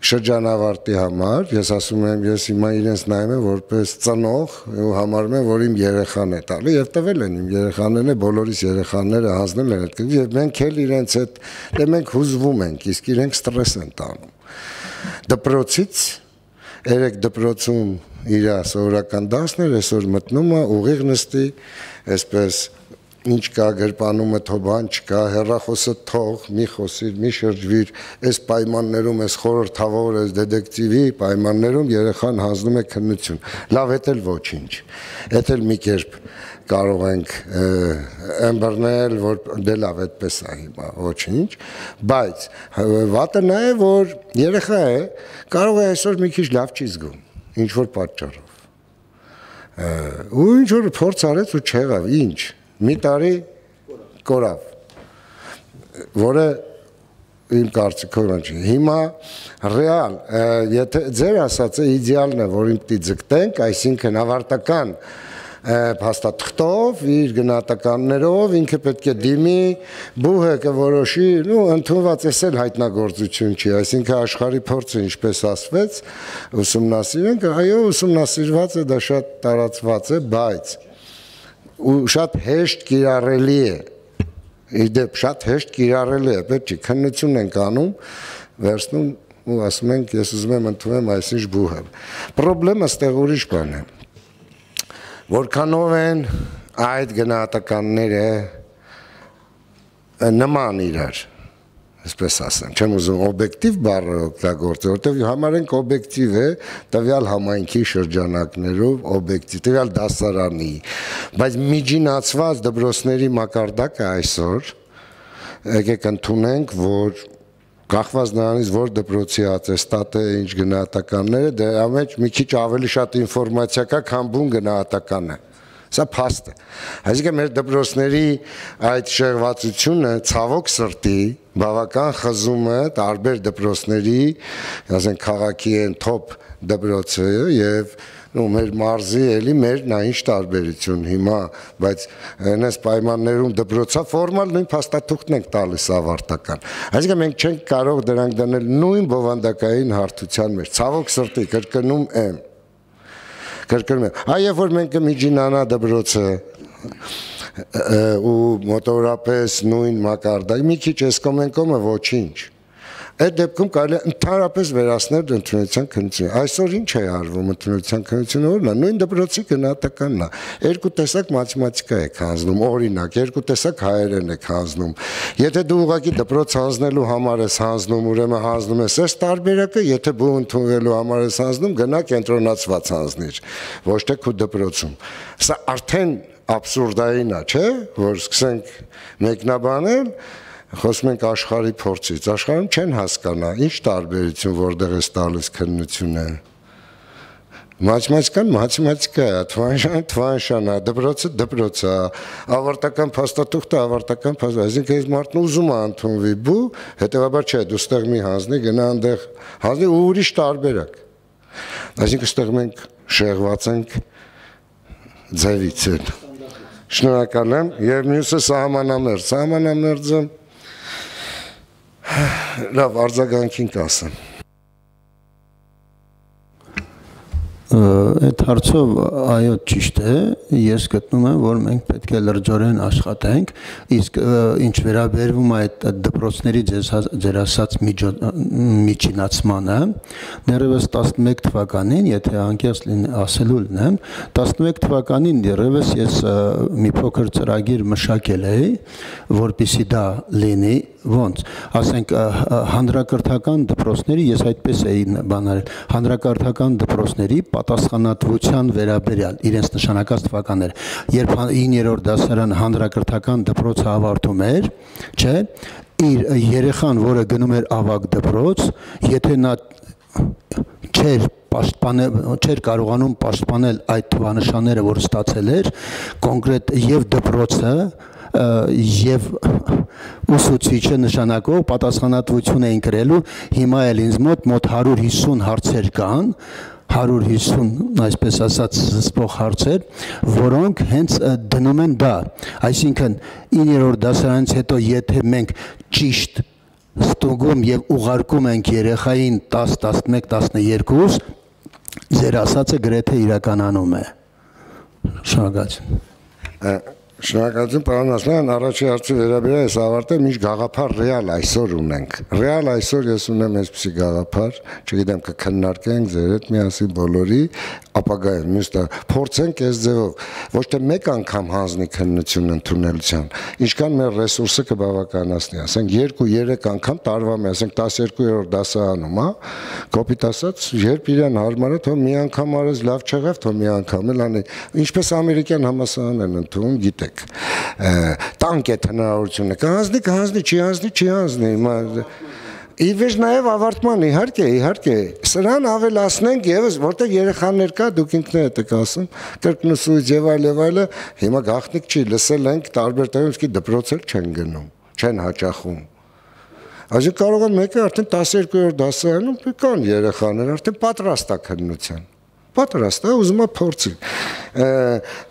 Speaker 4: շրջանավարտի համար, ես ասում եմ, ես հիմա իրենց նայում եմ որպես ծնող ու համարում եմ, որ իմ երեխան է տալի եւ տվել են իմ երեխաներն է, բոլորիս երեխաները հանձնել են այդ եւ մենք էլ իրենց հետ դե մենք հուզվում ենք, իսկ իրենք ստրես են տանում։ Դպրոցից երեք դպրոցում իր սովորական դասներ այսօր մտնում է ուղիղ նստի, այսպես ինչ կա գրպանումը թոբան չկա, հեռախոսը թող, մի խոսիր, մի շրջվիր, այս պայմաններում, այս խորհրդավոր, այս դետեկտիվի պայմաններում երեխան հանձնում է քննություն։ Լավ, էդ էլ ոչինչ։ Էդ էլ մի կերպ կարող ենք ըմբռնել, որ դե լավ այդպես է հիմա, ոչինչ, բայց վատը նա է, որ երեխա է, կարող է այսօր մի քիչ լավ չի զգում, ինչ որ պատճառով։ Ու ինչ որ փորձ արեց ու չեղավ, ինչ, մի տարի կորավ, որը իմ կարծիքով չի։ Հիմա ռեալ, եթե ձեր ասածը իդեալն է, որին պիտի ձգտենք, այսինքն ավարտական փաստաթղթով, իր գնահատականներով, ինքը պետք է դիմի, բուհը կորոշի, ու ընդունված էս էլ հայտնագործություն չի, այսինքն աշխարհի փորձը ինչպես ասվեց, ուսումնասիրենք, այո, ուսումնասիրված է, դա շատ տարածված է, բայց ու շատ հեշտ կիրառելի է, իդեպ շատ հեշտ կիրառելի է, պետք չի, քննություն ենք անում, վերցնում ու ասում ենք, ես ուզում եմ ընդունեմ այսինչ բուհը։ Պրոբլեմը ստեղ ուրիշ բան է։ Որքանով են այդ գնահատականները նման իրար, այսպես ասեմ, չեմ ուզում օբյեկտիվ բառը օգտագործել, որտեղ համարենք օբյեկտիվ է տվյալ համայնքի շրջանակներով օբյեկտիվ, տվյալ դասարանի, բայց միջինացված դպրոցների մակարդակը այսօր եկեք ընդունենք, որ կախված նրանից, որ դպրոցի ատեստատը, ինչ գնահատականները, դրա մեջ մի քիչ ավելի շատ ինֆորմացիա կա, քան բուն գնահատականը։ Սա փաստ է։ Այսինքն մեր դպրոցների այդ շեղվածությունը ցավոք սրտի բավական խզում է տարբեր դպրոցների, ասենք քաղաքի են թոփ դպրոցը եւ ու մեր մարզի էլի մեր նա ինչ տարբերություն հիմա, բայց այնպես պայմաններում դպրոցա ֆորմալ նույն փաստաթուղթն ենք տալիս ավարտական։ Այսինքն մենք չենք կարող դրանք դնել նույն բովանդակային հարթության մեջ։ Ցավոք սրտի կրկնում եմ։ Կրկնում եմ։ Այո, որ մենք կմիջինանա դպրոցը ու մոտորապես նույն մակարդակ, մի քիչ էս կոմենկոմը ոչինչ։ Այդ դեպքում կարելի է ընդհանրապես վերացնել ընդունության քննությունը։ Այսօր ինչ է արվում ընդունության քննությունը, որն է նույն դպրոցի գնահատականն է։ Երկու տեսակ մաթեմատիկա է հանձնում, օրինակ, երկու տեսակ հայերեն է հանձնում։ Եթե դու ուղղակի դպրոց հանձնելու համար ես հանձնում, ուրեմն հանձնում ես այս տարբերակը, եթե բու ընդունվելու համար ես հանձնում, գնա կենտրոնացված հանձնիր, ոչ թե քո դպրոցում։ Սա արդեն աբսուրդային է, չէ՞, որ սկսենք մեկնաբանել խոսում ենք աշխարհի փորձից, աշխարհում չեն հասկանա, ինչ տարբերություն որտեղ է տալիս քննությունը։ Մաթեմատիկան մաթեմատիկա է, թվանշանը թվանշան է, դպրոցը դպրոց է, ավարտական փաստաթուղթը ավարտական փաստ, այսինքն այս մարդն ուզում է ընդունվի բու, հետևաբար չէ, դու ստեղ մի հանձնի, գնա այնտեղ հանձնի ու ուրիշ տարբերակ։ Այսինքն ստեղ մենք շեղված ենք ձևից են։ Շնորհակալ եմ, եւ մյուսը սահմանամերձ, սահմանամերձը լավ արձագանքին կասեմ։
Speaker 8: Այդ հարցով այո ճիշտ է, ես գտնում եմ, որ մենք պետք է լրջորեն աշխատենք, իսկ ինչ վերաբերվում է այդ դպրոցների ձեր ասած միջինացմանը, դեռևս տասնմեկ թվականին, եթե անկեղծ ասելու լինեմ, տասնմեկ թվականին դեռևս ես մի փոքր ծրագիր մշակել էի, որպեսզի դա լինի, ոնց, ասենք հանրակրթական դպրոցների, ես այդպես էի բանարել, հանրակրթական դպրոցների պատասխանատվության վերաբերյալ իրենց նշանակած թվականները, երբ իններորդ դասարան հանրակրթական դպրոցը ավարտում էր, չէ, իր երեխան, որը գնում էր ավագ դպրոց, եթե նա չէր պաշտպանել, չէր կարողանում պաշտպանել այդ թվանշանները, որ ստացել էր, կոնկրետ եւ դպրոցը եւ ուսուցիչը նշանակող պատասխանատվություն էին կրելու, հիմա էլ ինձ մոտ մոտ հարյուր հիսուն հարցեր կան, հարյուր հիսուն, այսպես ասած, զսպող հարցեր, որոնք հենց դնում են դա, այսինքն իններորդ դասարանից հետո եթե մենք ճիշտ ստուգում եւ ուղարկում ենք երեխային տասը, տասնմեկ, տասնյոթ, ձեր ասածը գրեթե իրականանում է։ Շնորհակալություն։
Speaker 4: Շնորհակալություն, պարոն Ասլան, առաջի հարցի վերաբերյալ ես ավարտել, ինչ գաղափար ռեալ այսօր ունենք։ Ռեալ այսօր ես ունեմ այսպիսի գաղափար, չգիտեմ կքննարկենք ձեր հետ միասին բոլորի, ապագայում մյուս տա փորձենք այս ձևով ոչ թե մեկ անգամ հանձնի քննություն ընդունելության, ինչքան մեր ռեսուրսը կբավականացնի, ասենք երկու երեք անգամ տարվա մեջ, ասենք տասներկու-րդ դասարանում, հա, կոպիտ ասած, երբ իրեն հարմար է, թող մի անգամ արես լավ չեղավ, թող մի անգամ էլ անի, ինչպես ամերիկյան համալսարան են ընդունում, գիտեք, տանկ է հնարավորությունը, կհանձնի, կհանձնի, չի հանձնի, չի հանձնի, Իվեջ նաև ավարտման իհարկե, իհարկե, սրան ավելացնենք եւս, որտեղ երեխաներ կա, դուք ինքներդ եք ասում, կրկնուսույց եւ այլ եւ այլը, հիմա գաղտնիք չի, լսել ենք տարբեր տեղերում, իսկ դպրոցել չեն գնում, չեն հաճախում։ Այսինքն կարող է մեկը արդեն տասներկու-րդ դասարանում կան երեխաներ, արդեն պատրաստ է քննության։ Պատրաստ է, ուզում է փորձի։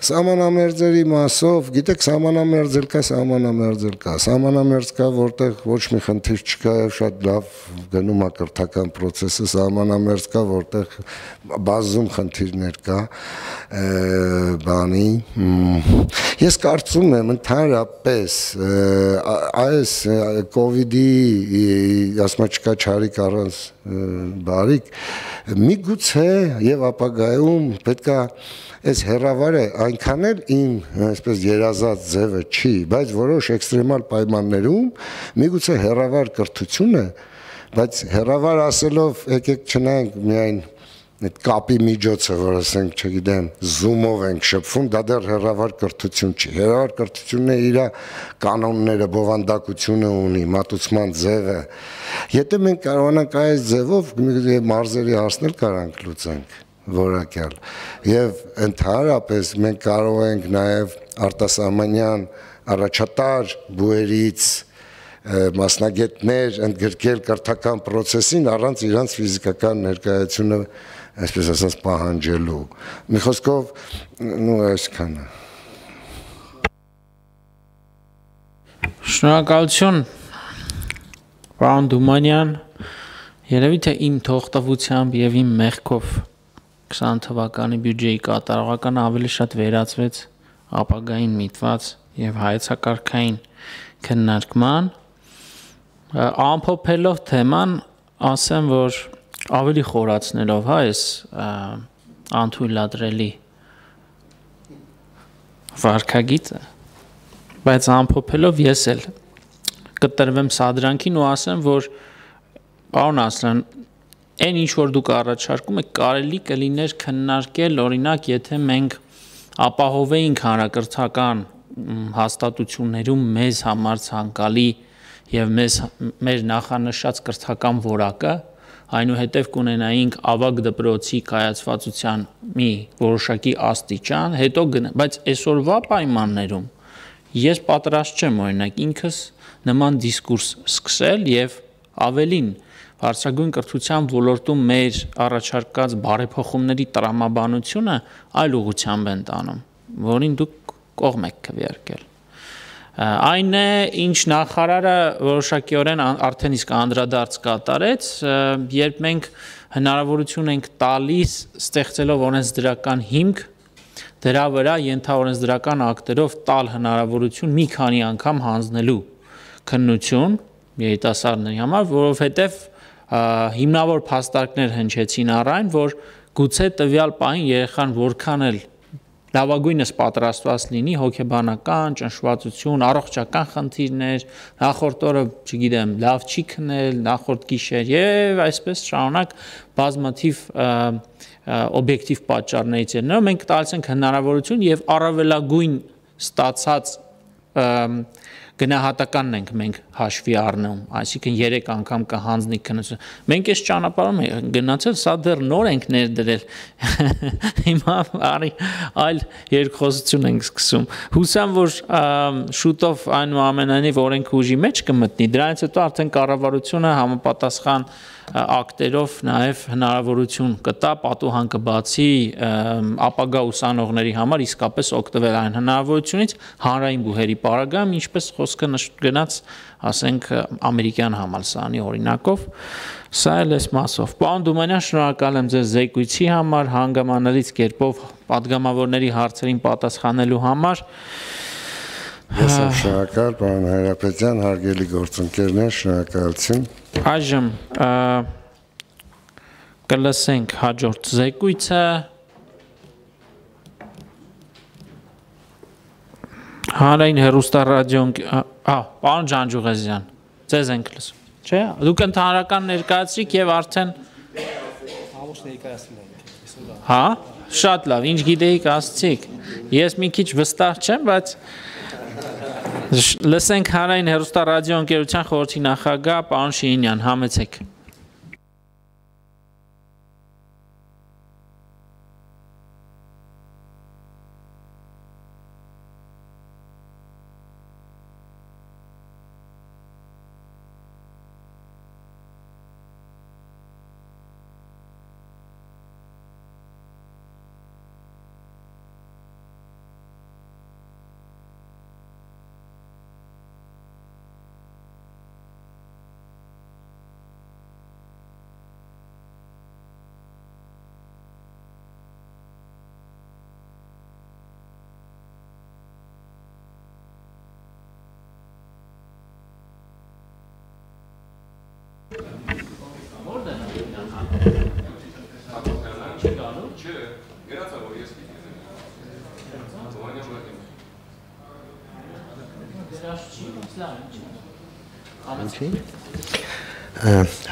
Speaker 4: Սահմանամերձերի մասով, գիտեք, սահմանամերձ էլ կա, սահմանամերձ էլ կա։ Սահմանամերձ կա, որտեղ ոչ մի խնդիր չկա եւ շատ լավ գնում է կրթական process-ը, սահմանամերձ կա, որտեղ բազում խնդիրներ կա, բանի։ Ես կարծում եմ ընդհանրապես այս կոവിഡ്ի, ասма չկա չարիք առանց բարիք, միգուցե եւ ապագայում պետք է այս հերավարը այնքան էլ իմ այսպես երազած ձևը չի, բայց որոշ էքստրեմալ պայմաններում միգուցե հերավար կրթությունը, բայց հերավար ասելով եկեք չնայենք միայն այդ կապի միջոցը, որ ասենք, չգիտեմ, Zoom-ով ենք շփվում, դա դեռ հերավար կրթություն չի։ Հերավար կրթությունն է իր կանոնները, բովանդակությունը ունի, մատուցման ձևը։ Եթե մենք կարողանանք այս ձևով մարզերի հարցնել կարանք լուծենք որակյալ։ Եվ ընդհանրապես մենք կարող ենք նաև արտասահմանյան առաջատար բուերից մասնագետներ ընդգրկել կրթական process-ին առանց իրանց ֆիզիկական ներկայությունը, այսպես ասած, պահանջելու։ Մի խոսքով, նո այսքանը։
Speaker 3: Շնորհակալություն, պարոն Դումանյան, երևի թե իմ թողտվությամբ եւ իմ մեղքով քսան թվականի բյուջեի կատարողականը ավելի շատ վերածվեց ապագային միտված եւ հայեցակարգային քննարկման, ամփոփելով թեման, ասեմ, որ ավելի խորացնելով, հա, այս անթույլատրելի վարքագիծը, բայց ամփոփելով ես էլ կտրվեմ սադրանքին ու ասեմ, որ պարոն Ասլան, այն ինչ որ դուք առաջարկում եք, կարելի կլիներ քննարկել, օրինակ, եթե մենք ապահովեինք հանրակրթական հաստատություններում մեզ համար ցանկալի եւ մեզ մեր նախանշած կրթական որակը, այնուհետև կունենայինք ավագ դպրոցի կայացվածության մի որոշակի աստիճան, հետո գնա, բայց այսօրվա պայմաններում ես պատրաստ չեմ օրինակ ինքս նման դիսկուրս սկսել եւ ավելին բարձրագույն կրթության ոլորտում մեր առաջարկած բարեփոխումների տրամաբանությունը այլ ուղղությամբ են տանում, որին դուք կողմ եք քվեարկել։ Այն է, ինչ նախարարը որոշակիորեն արդեն իսկ անդրադարձ կատարեց, երբ մենք հնարավորություն ենք տալիս ստեղծելով օրենսդրական հիմք, դրա վրա ենթաօրենսդրական ակտերով տալ հնարավորություն մի քանի անգամ հանձնելու քննություն երիտասարդների համար, որովհետև հիմնավոր փաստարկներ հնչեցին առայն, որ գուցե տվյալ պահին երեխան որքան էլ լավագույնս պատրաստված լինի հոգեբանական, ճնշվածություն, առողջական խնդիրներ, նախորդ օրը, չգիտեմ, լավ չի քնել, նախորդ գիշեր եւ այսպես շարունակ բազմաթիվ օբյեկտիվ պատճառներից են։ Մենք տալիս ենք հնարավորություն եւ առավելագույն ստացած գնահատականն ենք մենք հաշվի առնում, այսինքն երեք անգամ կհանձնի քննություն։ Մենք այս ճանապարհում ենք գնացել, սա դեռ նոր ենք ներդրել։ Հիմա արի այլ երկխոսություն ենք սկսում։ Հուսամ, որ շուտով այնուամենայնիվ օրենքը ուժի մեջ կմտնի, դրանից հետո արդեն կառավարությունը համապատասխան ակտերով նաև հնարավորություն կտա պատուհան կբացի ապագա ուսանողների համար իսկապես օգտվել այն հնարավորությունից հանրային բուհերի պարագայում, ինչպես խոսքը գնաց, ասենք, ամերիկյան համալսարանի օրինակով, սա էլ էս մասով։ Պարոն Դումանյան, շնորհակալ եմ ձեզ զեկույցի համար, հանգամանալից կերպով պատգամավորների հարցերին պատասխանելու համար։
Speaker 4: Ես եմ շնորհակալ, պարոն Հայրապետյան, հարգելի գործընկերներ, շնորհակալություն։ Այժմ
Speaker 3: կլսենք հաջորդ զեկույցը, Հանրային հեռուստառադիոն, ահա, պարոն Ջանջուղազյան, ձեզ ենք լսում, չէ՞։ Դուք ընդհանրական ներկայացրիք եւ արդեն
Speaker 1: Ամուշ ներկայացնում ենք։
Speaker 3: Հա, շատ լավ, ինչ գիտեիք ասցիք։ Ես մի քիչ վստահ չեմ, բայց լսենք հանրային հեռուստառադիո ընկերության խորհրդի նախագահ պարոն Շիրինյան, համեցեք։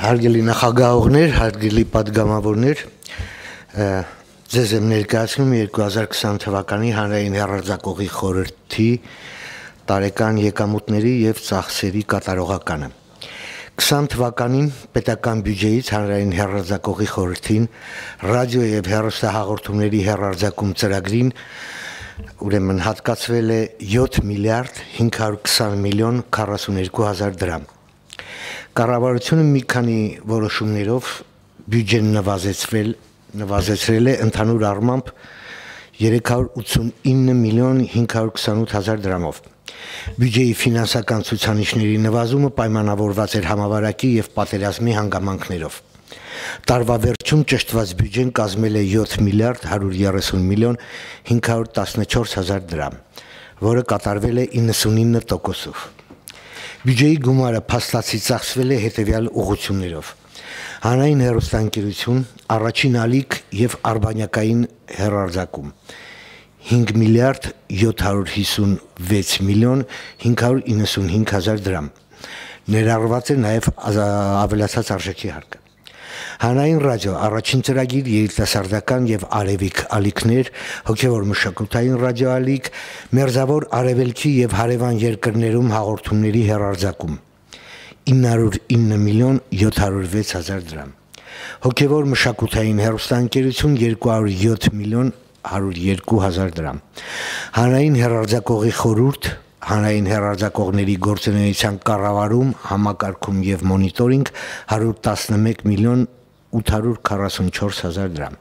Speaker 9: Հարգելի նախագահողներ, հարգելի պատգամավորներ, ձեզ եմ ներկայացնում երկու հազար քսան թվականի հանրային հեռարձակողի խորհրդի տարեկան եկամուտների եւ ծախսերի կատարողականը։ քսան թվականին պետական բյուջեից հանրային հեռարձակողի խորհրդին ռադիո եւ հեռուստահաղորդումների հեռարձակում ծրագրին ուրեմն հատկացվել է յոթ միլիարդ հինգ հարյուր քսան միլիոն քառասուներկու հազար դրամ։ Կառավարությունը մի քանի որոշումներով բյուջեն նվազեցրել, նվազեցրել է ընդհանուր առմամբ երեք հարյուր ութսունինը միլիոն հինգ հարյուր քսանութ հազար դրամով։ Բյուջեի ֆինանսական ցուցանիշների նվազումը պայմանավորված էր համավարակի եւ պատերազմի հանգամանքներով։ Տարվա վերջում ճշտված բյուջեն կազմել է յոթ միլիարդ հարյուր երեսուն միլիոն հինգ հարյուր տասնչորս հազար դրամ, որը կատարվել է իննսունինը տոկոսով։ Բյուջեի գումարը փաստացի ծախսվել է հետևյալ ուղղություններով. հանրային հեռուստաընկերություն, առաջին ալիք եւ արբանյակային հեռարձակում հինգ միլիարդ յոթ հարյուր հիսունվեց միլիոն հինգ հարյուր իննսունհինգ հազար դրամ։ Ներառված է նաեւ ավելացած արժեքի հարկը։ Հանրային ռադիո առաջին ծրագիր երիտասարդական եւ արևիկ ալիքներ, հոգեվոր մշակութային ռադիոալիք, մերձավոր արևելքի եւ հարևան երկրներում հաղորդումների հեռարձակում ինը հարյուր ինը միլիոն յոթ հարյուր վեց հազար դրամ։ Հոգեվոր մշակութային հեռուստաընկերություն երկու հարյուր յոթ միլիոն հարյուր երկու հազար դրամ։ Հանրային հեռարձակողի խորհուրդ, հանրային հեռարձակողների գործունեության կառավարում, համակարգում եւ մոնիտորինգ հարյուր տասնմեկ միլիոն ութ հարյուր քառասունչորս հազար դրամ։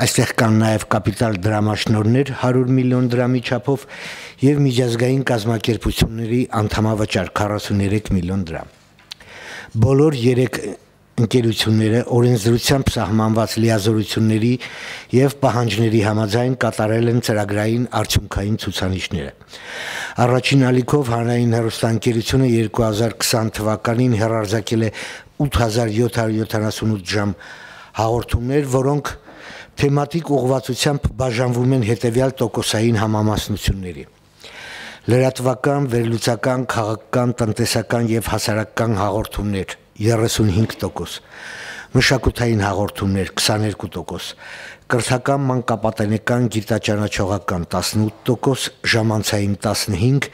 Speaker 9: Այստեղ կան նաեւ կապիտալ դրամաշնորհներ հարյուր միլիոն դրամի չափով եւ միջազգային կազմակերպությունների անդամավճար քառասուներեք միլիոն դրամ։ Բոլոր երեք ընկերությունները օրենսդրությամբ սահմանված լիազորությունների եւ պահանջների համաձայն կատարել են ծրագրային արդյունքային ցուցանիշները։ Առաջին ալիքով հանրային հեռուստաընկերությունը երկու հազար քսան թվականին հեռարձակել է ութ հազար յոթ հարյուր յոթանասունութ ժամ հաղորդումներ, որոնք թեմատիկ ուղղվածությամբ բաժանվում են հետևյալ տոկոսային համամասնությունների. լրատվական, վերլուծական, քաղաքական, տնտեսական եւ հասարակական հաղորդումներ երեսունհինգ տոկոս, մշակութային հաղորդումներ քսաներկու տոկոս, կրթական, մանկապատենեկան, գիտաճանաչողական տասնութ տոկոս, ժամանցային տասնհինգ,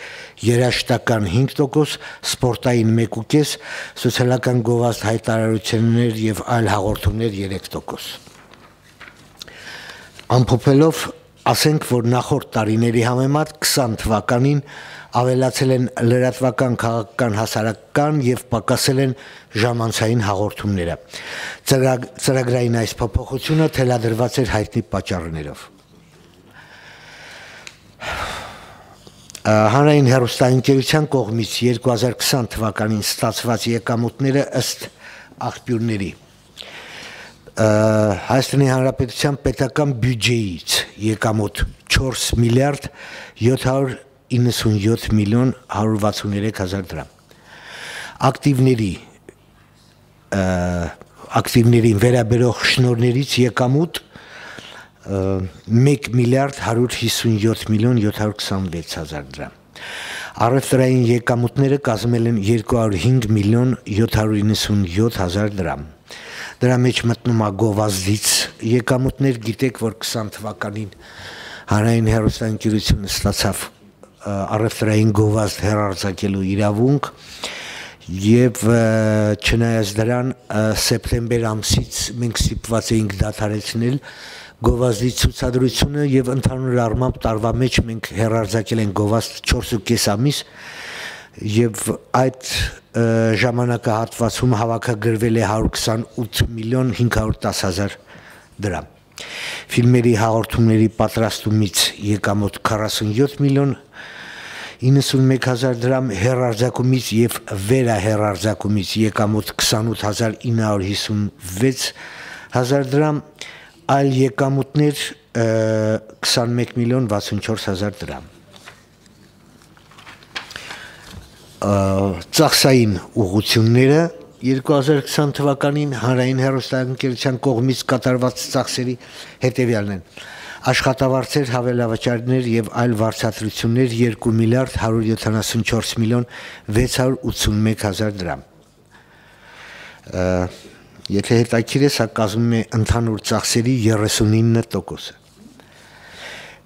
Speaker 9: երաժշտական հինգ տոկոս, սպորտային մեկ ու կես, սոցիալական գովազդ հայտարարություններ եւ այլ հաղորդումներ երեք տոկոս։ Ամփոփելով ասենք, որ նախորդ տարիների համեմատ քսան թվականին ավելացել են լրատվական, քաղաքական, հասարակական եւ պակասել են ժամանցային հաղորդումները։ Ծրագ, ծրագրային այս փոփոխությունը թելադրված էր հայտնի պատճառներով։ Հանրային հեռուստաընկերության կողմից երկու հազար քսան թվականին ստացված եկամուտները ըստ աղբյուրների Հայաստանի Հանրապետության պետական բյուջեից եկամուտ չորս միլիարդ յոթ հարյուր իննսունյոթ միլիոն հարյուր վաթսուներեք հազար դրամ։ Ակտիվների ակտիվներին վերաբերող շնորհներից եկամուտ մեկ միլիարդ հարյուր հիսունյոթ միլիոն յոթ հարյուր քսանվեց հազար դրամ։ Առևտրային եկամուտները կազմել են երկու հարյուր հինգ միլիոն յոթ հարյուր իննսունյոթ հազար դրամ։ Դրա մեջ մտնում է գովազդից եկամուտներ, գիտեք, որ քսան թվականին հանրային հեռուստաընկերությունը ստացավ առևտրային գովազդ հեռարձակելու իրավունք եւ չնայած դրան սեպտեմբեր ամսից մենք ստիպված էինք դադարեցնել գովազդի ցուցադրությունը եւ ընդհանուր առմամբ տարվա մեջ մենք հեռարձակել ենք գովազդ չորս ու կես ամիս եւ այդ ժամանակահատվածում հավաքագրվել է հարյուր քսանութ միլիոն հինգ հարյուր տաս հազար դրամ։ Ֆիլմերի հաղորդումների պատրաստումից եկամուտ քառասունյոթ միլիոն իննսունմեկ հազար դրամ, հեռարձակումից եւ վերահեռարձակումից եկամուտ քսանութ հազար ինը հարյուր հիսունվեց հազար դրամ, այլ եկամուտներ քսանմեկ միլիոն վաթսունչորս հազար դրամ։ Ծախսային ուղղությունները երկու հազար քսան թվականին հանրային հեռուստաընկերության կողմից կատարված ծախսերի հետևյալն են. աշխատավարձեր, հավելավճարներ եւ այլ վարձատրություններ երկու միլիարդ հարյուր յոթանասունչորս միլիոն վեց հարյուր ութսունմեկ հազար դրամ։ Եթե հետաքրքիր է, սա կազմում է ընդհանուր ծախսերի երեսունինը տոկոսը։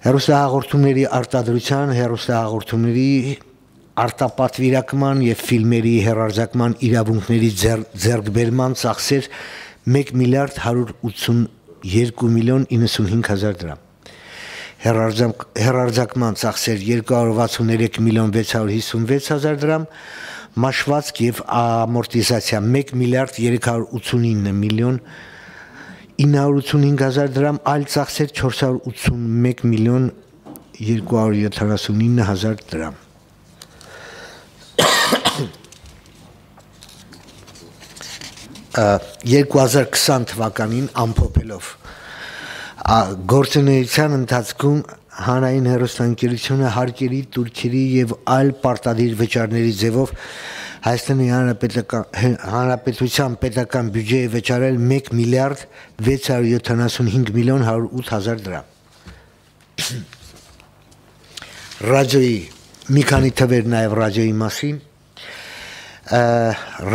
Speaker 9: Հեռուստահաղորդումների արտադրության, հեռուստահաղորդումների արտապատվիրակման եւ ֆիլմերի հեռարձակման իրավունքների ձեռքբերման ծախսեր մեկ միլիարդ հարյուր ութսունյոթ միլիոն իննսունհինգ հազար դրամ։ Հեռարձակման ծախսեր երկու հարյուր վաթսուններեք միլիոն վեց հարյուր հիսունվեց հազար դրամ, մաշվածք եւ ամորտիզացիա մեկ միլիարդ երեք հարյուր ութսունինը միլիոն ինը հարյուր ութսունհինգ հազար դրամ, այլ ծախսեր չորս հարյուր ութսունմեկ միլիոն երկու հարյուր յոթանասունինը հազար դրամ։ երկու հազար քսան թվականին ամփոփելով գործունեության ընթացքում հանրային հեռուստաընկերությունը հարկերի, տուրքերի եւ այլ պարտադիր վճարների ձևով Հայաստանի Հանրապետության պետական բյուջեի վճարել մեկ միլիարդ վեց հարյուր յոթանասունհինգ միլիոն հարյուր ութ հազար դրամ։ Ռադիոյի մի քանի թվեր նաեւ ռադիոյի մասին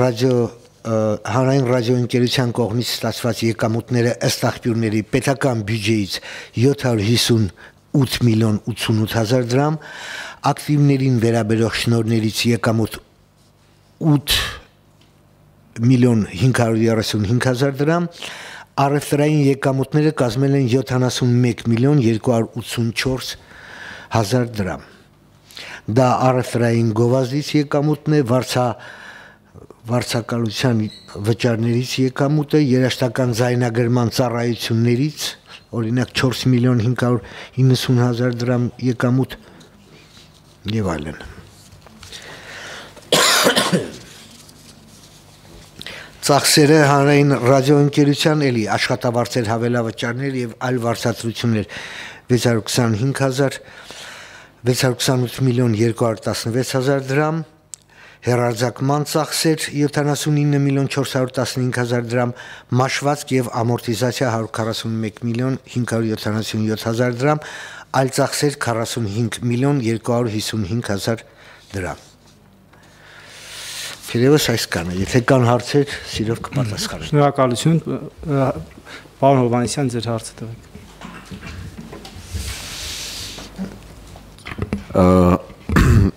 Speaker 9: ռադիո հանրային ռադիոընկերության կողմից ստացված եկամուտները ըստ աղբյուրների պետական բյուջեից յոթ հարյուր հիսունութ միլիոն ութսունութ հազար դրամ, ակտիվներին վերաբերող շնորհներից եկամուտ ութ միլիոն հինգ հարյուր երեսունհինգ հազար դրամ, առևտրային եկամուտները կազմել են յոթանասունմեկ միլիոն երկու հարյուր ութսունչորս հազար դրամ։ Դա առևտրային գովազդից եկամուտն է, վարձա վարձակալության վճարներից եկամուտը, երաշտական ձայնագրման ծառայություններից, օրինակ չորս միլիոն հինգ հարյուր իննսուն հազար դրամ եկամուտ եւ այլն։ Ծախսերը հանրային ռադիոընկերության էլի աշխատավարձեր, հավելավճարներ եւ այլ վարձատրություններ վեց հարյուր քսանհինգ հազար վեց հարյուր քսանութ միլիոն երկու հարյուր տասնվեց հազար դրամ, հեռարձակման ծախսեր յոթանասունինը միլիոն չորս հարյուր տասնհինգ հազար դրամ, մաշվածք եւ ամորտիզացիա հարյուր քառասունմեկ միլիոն հինգ հարյուր յոթանասունյոթ հազար դրամ, այլ ծախսեր քառասունհինգ միլիոն երկու հարյուր հիսունհինգ հազար դրամ։ Թերևս այսքանը, եթե կան հարցեր, սիրով կպատասխանեմ։
Speaker 1: Շնորհակալություն, պարոն Հովհաննիսյան, ձեր հարցը տվեք։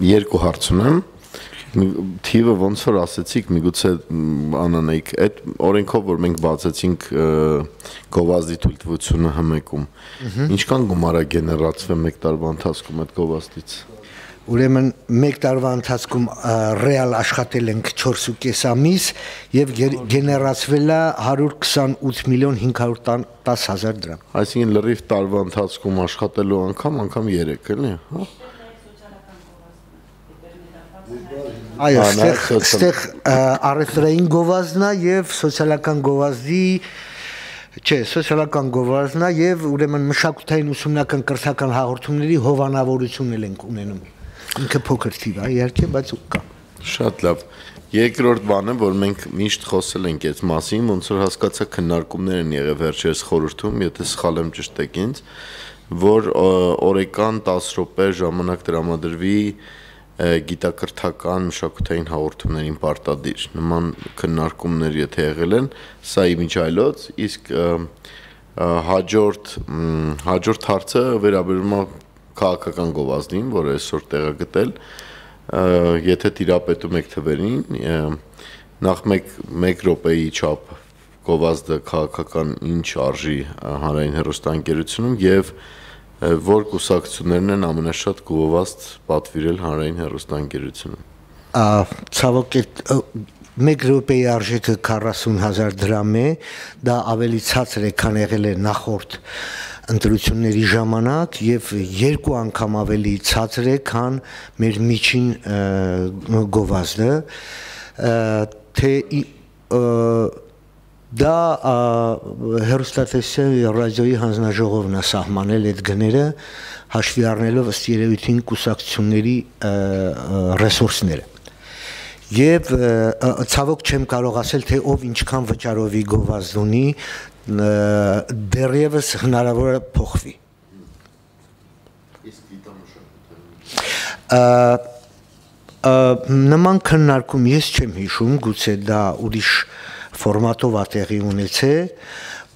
Speaker 10: Երկու հարց ունեմ։ Թիվը ոնց որ ասեցիք, միգուցե անանեիք, այդ օրենքով, որ մենք բացեցինք գովազդի թույլտվությունը հմեկում, ինչքան գումար է գեներացվել մեկ տարվա ընթացքում այդ գովազդից։
Speaker 9: Ուրեմն մեկ տարվա ընթացքում ռեալ աշխատել ենք չորս ու կես ամիս եւ գեներացվել է հարյուր քսանութ միլիոն հինգ հարյուր տաս հազար դրամ։
Speaker 10: Այսինքն լրիվ տարվա ընթացքում աշխատելու անգամ անգամ երեք, էլի, հա։
Speaker 9: Այո, այստեղ առևտրային գովազդն է եւ սոցիալական գովազդի, չէ, սոցիալական գովազդն է եւ ուրեմն մշակութային ուսումնական կրթական հաղորդումների հովանավորություն ենք ունենում։ Ինքը փոքր թիվ է, իհարկե, բայց կա։
Speaker 10: Շատ լավ։ Երկրորդ բանը, որ մենք միշտ խոսել ենք այս մասին, ոնց որ հասկացա քննարկումներ են եղել վերջերս խորհրդում, եթե սխալ եմ ճշտեք ինձ, որ օրական տասը րոպե ժամանակ տրամադրվի գիտակրթական մշակութային հաղորդումներին պարտադիր։ Նման քննարկումներ եթե եղել են, սա իմիջայլոց, իսկ հաջորդ հաջորդ հարցը վերաբերում է քաղաքական գովազդին, որը այսօր տեղը գտել, եթե տիրապետում եք թվերին, նախ մեկ մեկ րոպեի չափ գովազդը քաղաքական ինչ արժի հանրային հեռուստաընկերությունում եւ որ կուսակցություններն են ամենաշատ գովազդ պատվիրել հանրային հեռուստաընկերությունում։
Speaker 9: Ցավոք մեկ րոպեի արժեքը քառասուն հազար դրամ է, դա ավելի ցածր է, քան եղել է նախորդ ընտրությունների ժամանակ եւ երկու անգամ ավելի ցածր է, քան մեր միջին գովազդը, թե դա հեռուստատեսության եւ ռադիոյի հանձնաժողովն է սահմանել այդ գները, հաշվի առնելով ըստ երևույթին կուսակցությունների ռեսուրսները։ Եվ ցավոք չեմ կարող ասել, թե ով ինչքան վճարովի գովազդ ունի, դեռևս հնարավոր է փոխվի։ Նման քննարկում ես չեմ հիշում, գուցե դա ուրիշ ֆորմատով է տեղի ունեցել,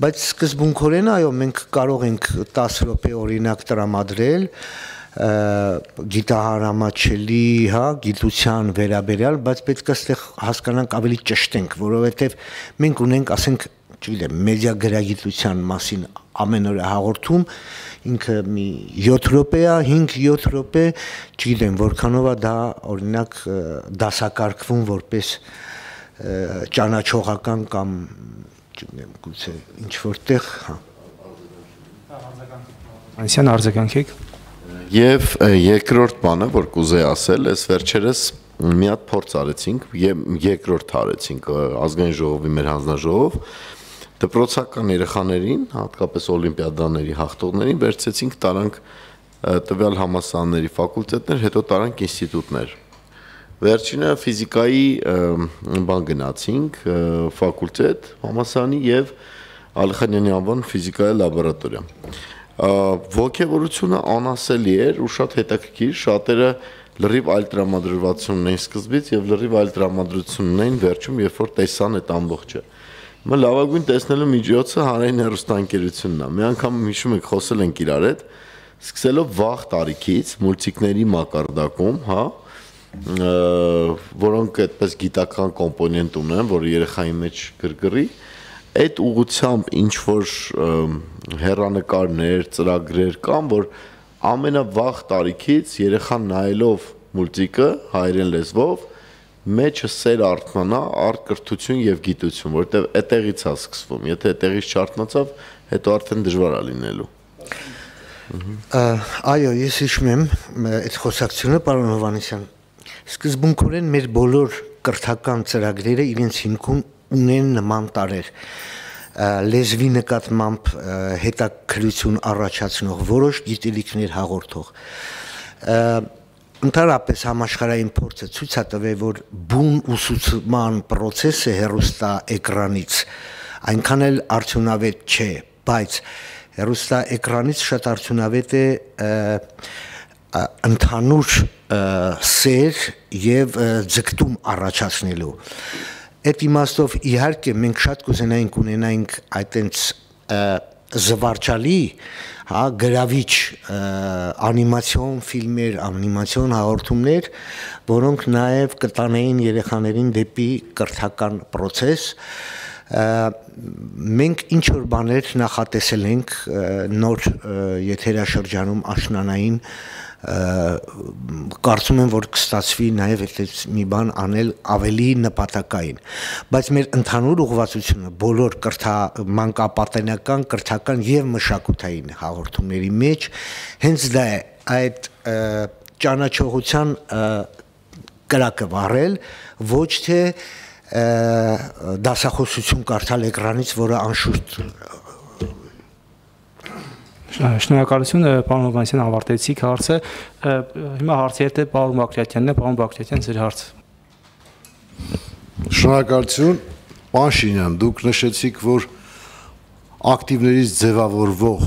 Speaker 9: բայց սկզբունքորեն այո, մենք կարող ենք տասը րոպե օրինակ տրամադրել գիտահարամատչելի, հա, գիտության վերաբերյալ, բայց պետք է այստեղ հասկանանք ավելի ճշտենք, որովհետև մենք ունենք, ասենք, չգիտեմ, մեդիա գրագիտության մասին ամեն օր հաղորդում, ինքը մի յոթ րոպե է, հինգ-յոթ րոպե, չգիտեմ, որքանով է դա օրինակ դասակարգվում որպես ճանաչողական կամ չգիտեմ, գուցե ինչ որտեղ, հա։
Speaker 1: Անսյան արձագանքեք։
Speaker 10: Եվ երկրորդ բանը, որ կուզեի ասել, այս վերջերս մի հատ փորձ արեցինք, երկրորդ արեցինք ազգային ժողովի մեր հանձնաժողով, դպրոցական երեխաներին, հատկապես օլիմպիադաների հաղթողներին վերցեցինք, տարանք տվյալ համալսարանների ֆակուլտետներ, հետո տարանք ինստիտուտներ։ Վերջինը ֆիզիկայի բան գնացինք, ֆակուլտետ, համալսարանի եւ Ալիխանյանի անվան ֆիզիկայի լաբորատորիա։ Ոգևորությունը անասելի էր ու շատ հետաքրքիր, շատերը լրիվ այլ տրամադրվածություն ունեն սկզբից եւ լրիվ այլ տրամադրություն ունեն վերջում, երբ որ տեսան այդ ամբողջը։ Հիմա լավագույն տեսնելու միջոցը հանրային հեռուստաընկերությունն է։ Մի անգամ հիշում եք, խոսել ենք իրար հետ, սկսելով վաղ տարիքից մուլտիկների մակարդակում, հա, որոնք այդպես գիտական կոմպոնենտ ունեն, որը երեխայի մեջ գրգռի, այդ ուղղությամբ ինչ որ հեռանկարներ, ծրագրեր կան, որ ամենավաղ տարիքից երեխան նայելով մուլտիկը հայերեն լեզվով մեջը սեր արթնանա առ կրթություն եւ գիտություն, որտեւ այդտեղից է սկսվում։ Եթե այդտեղից չարթնացավ, հետո արդեն դժվար է լինելու։
Speaker 9: Այո, ես հիշում եմ այդ խոսակցությունը, պարոն Հովհաննիսյան։ Սկզբունքորեն մեր բոլոր կրթական ծրագրերը իրենց հիմքում ունեն նման տարեր, լեզվի նկատմամբ հետաքրություն առաջացնող, որոշ գիտելիքներ հաղորդող։ Ընդհանրապես համաշխարհային փորձը ցույց է տվել, որ բուն ուսուցման process-ը հեռուստա էկրանից այնքան էլ արդյունավետ չէ, բայց հեռուստա էկրանից շատ արդյունավետ է ընդհանուր սեր եւ ձգտում առաջացնելու։ Այդ իմաստով իհարկե մենք շատ կուզենայինք ունենայինք այտենց զվարճալի, հա, գրավիչ անիմացիոն ֆիլմեր, անիմացիոն հաղորդումներ, որոնք նաև կտանեին երեխաներին դեպի կրթական process։ Մենք ինչ որ բաներ նախատեսել ենք նոր եթերաշրջանում աշնանային, կարծում եմ, որ կստացվի նաև այդպես մի բան անել ավելի նպատակային, բայց մեր ընդհանուր ուղղվածությունը բոլոր մանկապատենական, կրթական եւ մշակութային հաղորդումների մեջ հենց դա է, այդ ճանաչողության կրակը վառել, ոչ թե դասախոսություն կարդալ էկրանից, որը անշուշտ
Speaker 1: Շնորհակալություն, պարոն Հովհաննիսյան, ավարտեցիք հարցը։ Հիմա հարցի հետ է պարոն Բակրատյանն է, պարոն Բակրատյան, ձեր հարցը։
Speaker 6: Շնորհակալություն, պարոն Շինյան, դուք նշեցիք, որ ակտիվներից ձևավորվող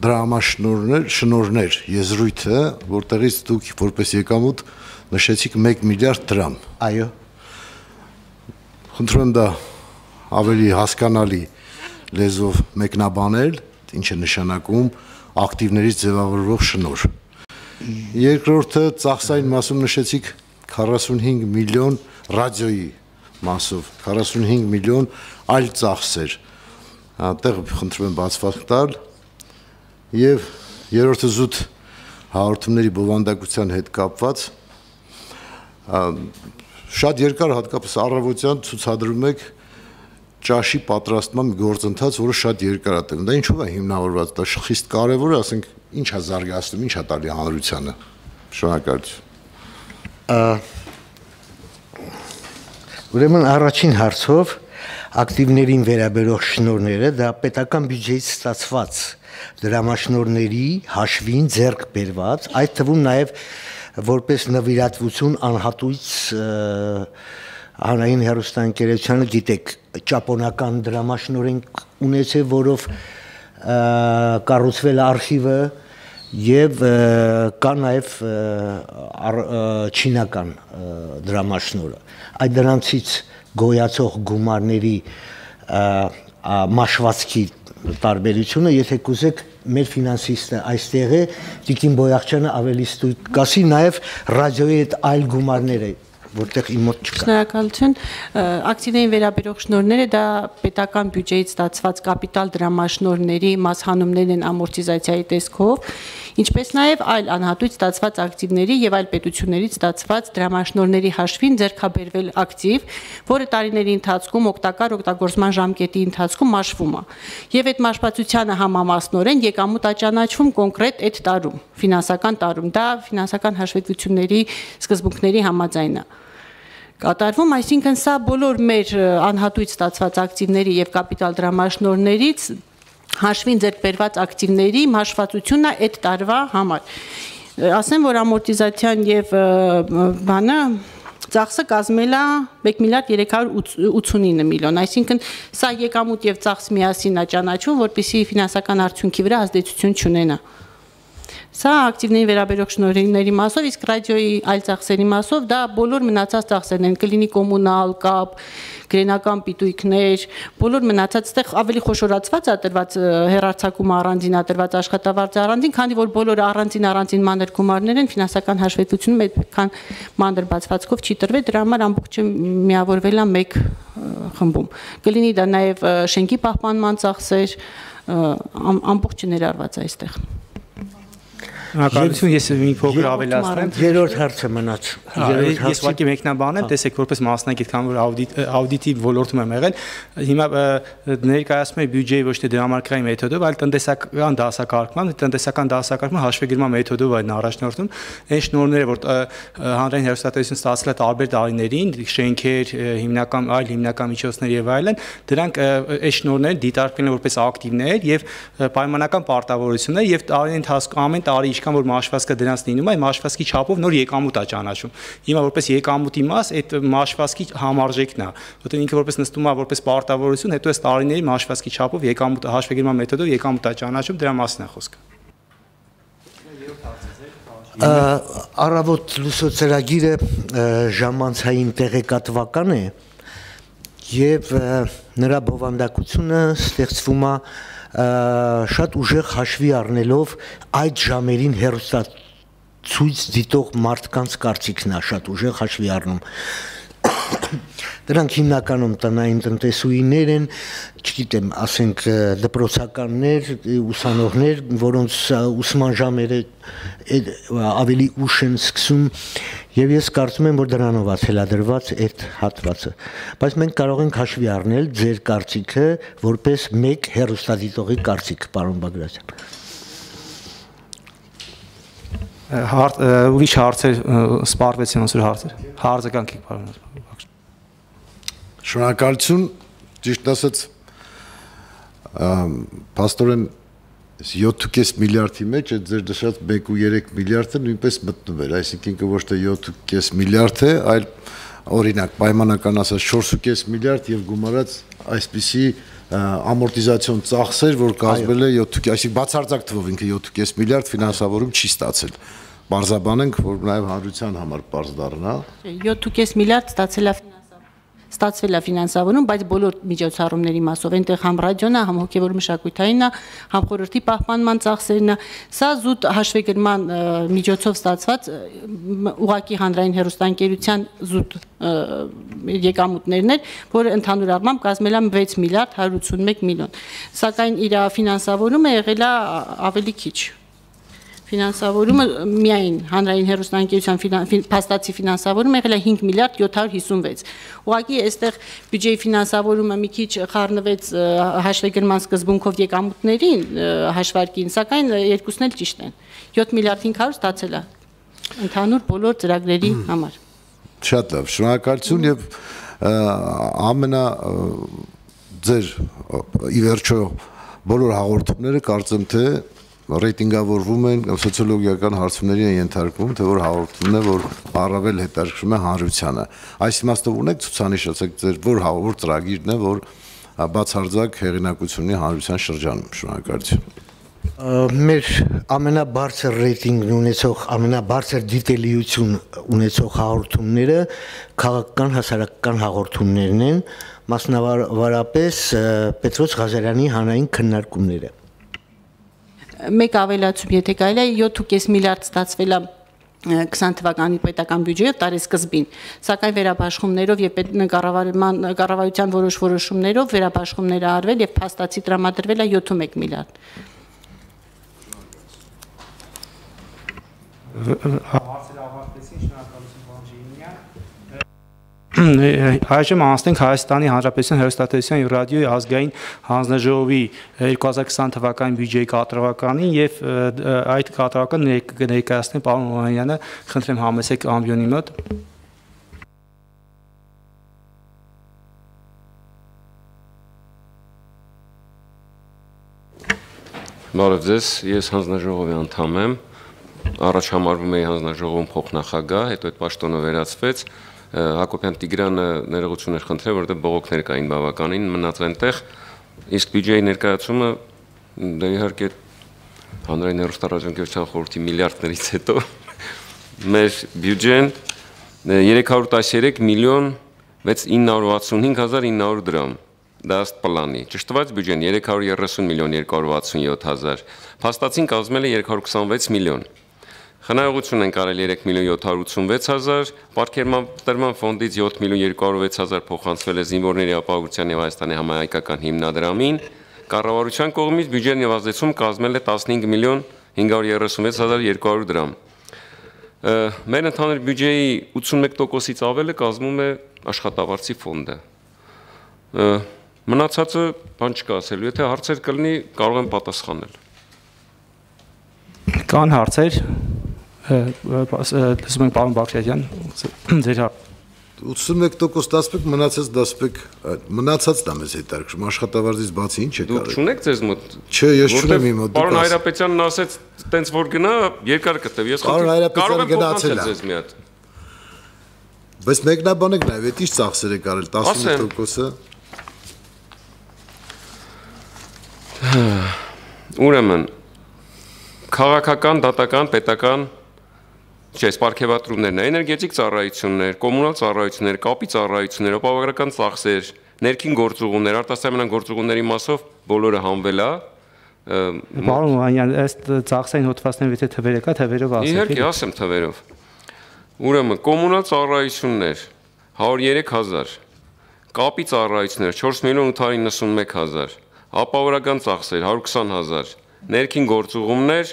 Speaker 6: դրամաշնորհներ, շնորհներ եզրույթը, որտեղից դուք որպես եկամուտ նշեցիք մեկ միլիարդ դրամ։
Speaker 9: Այո։
Speaker 6: Խնդրում եմ դա ավելի հասկանալի լեզվով մեկնաբանել, ինչ է նշանակում ակտիվներից ձևավորվող շնորհ։ Երկրորդը ծախսային մասում նշեցիք քառասունհինգ միլիոն ռադիոյի մասով, քառասունհինգ միլիոն այլ ծախսեր։ Այդտեղ խնդրում եմ բացվածք տալ եւ երրորդը զուտ հաղորդումների բովանդակության հետ կապված շատ երկար հատկապես առավոտյան ցուցադրում եք ճաշի պատրաստման գործընթաց, որը շատ երկար է տևում։ Դա ինչու է հիմնավորված, դա խիստ կարևոր է, ասենք, ինչ է զարգացնում, ինչ է տալի հանրությանը։ Շնորհակալություն։
Speaker 9: Ուրեմն առաջին հարցով ակտիվներին վերաբերող շնորհները դա պետական բյուջեից ստացված դրամաշնորհների հաշվին ձեռք բերված, այդ թվում նաև որպես նվիրատվություն անհատույց հանրային հեռուստաընկերությանը, գիտեք, ճապոնական դրամաշնորհ են ունեցել, որով կառուցվել է արխիվը եւ կա նաև չինական դրամաշնորհը։ Այդ դրանցից գոյացող գումարների մաշվածքի տարբերությունը, եթե կուզեք, մեր ֆինանսիստը այստեղ է, Տիկին Բոյախչյանը ավելի ստույգ կասի, նաև ռադիոյի այդ այլ գումարները, որտեղ իմ մոտ չկա։
Speaker 11: Շնորհակալություն։ Ակտիվներին վերաբերող շնորհները դա պետական բյուջեից ստացված կապիտալ դրամաշնորհների մասհանումներն են ամորտիզացիայի տեսքով, ինչպես նաև այլ անհատույց ստացված ակտիվների եւ այլ պետություններից ստացված դրամաշնորհների հաշվին ձեռքաբերվել ակտիվ, որը տարիների ընթացքում օգտակար օգտագործման ժամկետի ընթացքում մաշվում է։ Եվ այդ մաշվածությանը համամասնորեն եկամուտ աճանաչվում կոնկրետ այդ տարում, ֆինանսական տարում, դա ֆինանսական հաշվետվությունների սկզբունքների համաձայն է կատարվում, այսինքն սա բոլոր մեր անհատույց ստացված ակտիվների եւ կապիտալ դրամաշնորհներից հաշվին ձեռք բերված ակտիվների հաշվվածությունն է այդ տարվա համար։ Ասեմ, որ ամորտիզացիան եւ բանը ծախսը կազմել է մեկ միլիարդ երեք հարյուր ութսունինը միլիոն, այսինքն սա եկամուտ եւ ծախս միասին է ճանաչվում, որպեսզի ֆինանսական արդյունքի վրա ազդեցություն չունենա։ Սա ակտիվների վերաբերող շնորհների մասով, իսկ ռադիոյի այլ ծախսերի մասով դա բոլոր մնացած ծախսերն են, կլինի կոմունալ, կապ, գրենական պիտույքներ, բոլոր մնացած այդտեղ ավելի խոշորացված է տրված հեռարձակումը առանձին է տրված աշխատավարձը առանձին, քանի որ բոլորը առանձին առանձին մանր գումարներ են, ֆինանսական հաշվետվությունում այդքան մանր բացվածքով չի տրվել, դրա համար ամբողջը միավորվել է մեկ խմբում։ Կլինի դա նաև շենքի պահպանման ծախսեր, ամբողջը ներառված է այստեղ։
Speaker 1: Հակառակություն ես մի փոքր ավելացնեմ։
Speaker 9: Երրորդ հարցը մնաց։
Speaker 1: Ես ուղղակի մեկնաբանեմ, տեսեք, որպես մասնակից, քան որ աուդիտի ոլորտում եմ եղել, հիմա ներկայացնում եմ բյուջեի ոչ թե դրամարկղային մեթոդով, այլ տնտեսական դասակարգման, տնտեսական դասակարգման հաշվեգիրման մեթոդով այն առաջնորդում, այն շնորհները, որ հանրային հեռուստատեսություն ստացել է տարբեր տարիներին, շենքեր, հիմնական այլ հիմնական միջոցներ եւ այլն, դրանք այս շնորհները դիտարկվել են որպես ակտիվներ եւ պայմանական պարտավորություններ եւ տարի ընթացքում ամեն տարի ինչքան որ մաշվածքը դրանց լինում է, մաշվածքի չափով նոր եկամուտ է ճանաչում։ Հիմա որպես եկամուտի մաս այդ մաշվածքի համարժեքն է, որտեղ ինքը որպես նստում է որպես պարտավորություն, հետո այս տարիների մաշվածքի չափով եկամուտ հաշվեգիրման մեթոդով եկամուտ է ճանաչում, դրա մասին է խոսքը։
Speaker 9: Առավոտ լուսո ծրագիրը ժամանցային տեղեկատվական է եւ նրա բովանդակությունը ստեղծվում է շատ ուժեղ հաշվի առնելով այդ ժամերին հեռուստացույց դիտող մարդկանց կարծիքն է շատ ուժեղ հաշվի առնում։ Դրանք հիմնականում տնային տնտեսուհիներ են, չգիտեմ, ասենք դպրոցականներ, ուսանողներ, որոնց ուսման ժամերը ավելի ուշ են սկսում, եւ ես կարծում եմ, որ դրանով է թելադրված այդ հատվածը։ Բայց մենք կարող ենք հաշվի առնել ձեր կարծիքը որպես մեկ հեռուստադիտողի կարծիք, պարոն Բագրատյան։
Speaker 1: Ուրիշ հարցեր սպառվեցին ոնց որ հարցեր։ Հարցականք եք, պարոն։
Speaker 6: Շնորհակալություն, ճիշտ ասած, փաստորեն յոթ կես միլիարդի մեջ այդ ձեր դրած մեկ ու երեք միլիարդը նույնպես մտնում էր, այսինքն ոչ թե յոթ կես միլիարդ է, այլ օրինակ պայմանական ասած չորս ու կես միլիարդ եւ գումարած այսպիսի ամորտիզացիոն ծախսեր, որ կազմել է յոթ, այսինքն բացարձակ թվով ինքը յոթ կես միլիարդ ֆինանսավորում չի ստացել։ Բարձաբանենք, որ նաև հանրության համար բարձ դառնա։
Speaker 11: յոթ կես միլիարդ ստացել է ստացվել է ֆինանսավորում, բայց բոլոր միջոցառումների մասով, այնտեղ համ ռադիոն է, համ հոգևոր մշակութային է, համ խորհրդի պահպանման ծախսերն է, սա զուտ հաշվեկրման միջոցով ստացված ուղղակի հանրային հեռուստաընկերության զուտ եկամուտներն էր, որը ընդհանուր առմամբ կազմել է վեց միլիարդ հարյուր ութսունմեկ միլիոն, սակայն իր ֆինանսավորումը եղել է ավելի քիչ։ Ֆինանսավորումը միայն հանրային հեռուստաընկերության փաստացի ֆինանսավորումը եղել է հինգ միլիարդ յոթ հարյուր հիսունվեց։ Ուղղակի այստեղ բյուջեի ֆինանսավորումը մի քիչ խառնվեց հաշվեկրման սկզբունքով եկամուտներին հաշվարկին, սակայն երկուսն էլ ճիշտ են։ յոթ միլիարդ հինգ հարյուր ստացել է ընդհանուր բոլոր ծրագրերի համար։
Speaker 6: Շատ լավ, շնորհակալություն եւ ամենա ձեր ի վերջո բոլոր հաղորդումները կարծեմ թե ռեյտինգավորվում են սոցիոլոգիական հարցումների են ենթարկվում, թե որ հաղորդումն է, որ առավել հետաքրքրում է հանրությանը։ Այս իմաստով ունեք ցուցանիշ, ասեք ձեր որ հաղորդ ծրագիրն է, որ բացարձակ հեղինակությունի հանրության շրջանում։ Շնորհակալություն։
Speaker 9: Մեր ամենաբարձր ռեյտինգն ունեցող, ամենաբարձր դիտելիություն ունեցող հաղորդումները քաղաքական հասարակական հաղորդումներն են, մասնավորապես Պետրոս Ղազարյանի հանրային քննարկումները։
Speaker 11: Մեկ ավելացում, եթե կարելի է յոթ կես միլիարդ ստացվել է քսան թվականի պետական բյուջեով տարեսկզբին, սակայն վերաբաշխումներով եւ կառավարման կառավարության որոշ որոշումներով վերաբաշխումները արվել եւ փաստացի տրամադրվել է յոթ միլիարդ։
Speaker 1: Հարցերը ավարտեցին, շնորհակալություն պարոն Ժիգինյան։ Այժմ անցնենք Հայաստանի Հանրապետության հեռուստատելևիզիոն եւ ռադիոյի ազգային հանձնաժողովի երկու հազար քսան թվականի բյուջեի կատարողականին եւ այդ կատարողականը ներկայացնեն պարոն Օհանյանը, խնդրեմ համեցեք ամբիոնի մոտ։
Speaker 12: Բարև ձեզ, ես հանձնաժողովի անդամ եմ, առաջ համարվում էի հանձնաժողովում փոխնախագահ, հետո այդ պաշտոնը վերացվեց, Հակոբյան Տիգրանը ներողություն էր խնդրել, որտեղ բողոքներ կային բավականին, մնաց այնտեղ, իսկ բյուջեի ներկայացումը դե իհարկե հանրային հեռուստառadiոընկերության խորհրդի միլիարդներից հետո մեր բյուջեն երեք հարյուր տասներեք միլիոն ինը հարյուր վաթսունհինգ հազար ինը հարյուր դրամ, դա ըստ պլանի, ճշտված բյուջեն երեք հարյուր երեսուն միլիոն երկու հարյուր վաթսունյոթ հազար, փաստացին կազմել է երեք հարյուր քսանվեց միլիոն։ Խնայողություն են կարել երեք միլիոն յոթ հարյուր ութսունվեց հազար, Պարգևատրման ֆոնդից յոթ միլիոն երկու հարյուր վեց հազար փոխանցվել է Զինվորների ապահովության եւ Հայաստանի համահայկական հիմնադրամին, կառավարության կողմից բյուջեն եւ ազդեցում կազմել է տասնհինգ միլիոն հինգ հարյուր երեսունվեց հազար երկու հարյուր դրամ։ Մեր ընդհանուր բյուջեի ութսունմեկ տոկոսից ավելը կազմում է աշխատավարձի ֆոնդը։ Մնացածը բան չկա ասելու, եթե հարցեր կլինի, կարող եմ պատասխանել։
Speaker 1: Կան հարցեր, լսում ենք պարոն Բաղդասարյան, ձեր
Speaker 6: ութսունմեկ տոկոս դասպեկ, մնացած դասպեկ, մնացած դա մեզ հետաքրքրում, աշխատավարձից բացի ինչ է կարել։
Speaker 12: Դուք չունեք ձեզ մոտ։
Speaker 6: Չէ, ես չունեմ իմ մոտ։
Speaker 12: Պարոն Հայրապետյանն ասեց, տենց որ գնա, երկար կտև, ես
Speaker 6: կարող եմ փոխանցել
Speaker 12: ձեզ մի հատ։
Speaker 6: Բայց մեկնաբանեք նաև, այդ ինչ ծախսեր է կարել, տասնհինգ տոկոսը։
Speaker 12: Ուրեմն քաղաքական, դատական, պետական, չէ, սպարգևատրումներն, էներգետիկ ծառայություններ, կոմունալ ծառայություններ, կապի ծառայություններ, ապահովագրական ծախսեր, ներքին գործուղումներ, արտասահմանյան գործուղումների մասով բոլորը հանվել է։
Speaker 1: Պարոն Օհանյան, ըստ ծախսային հոդվածների եթե թվերը կա, թվերով ասեք։
Speaker 12: Իհարկե, ասեմ թվերով։ Ուրեմն կոմունալ ծառայություններ հարյուր երեք հազար, կապի ծառայություններ չորս միլիոն ութ հարյուր իննսունմեկ հազար, ապահովագրական ծախսեր հարյուր քսան հազար, ներքին գործուղումներ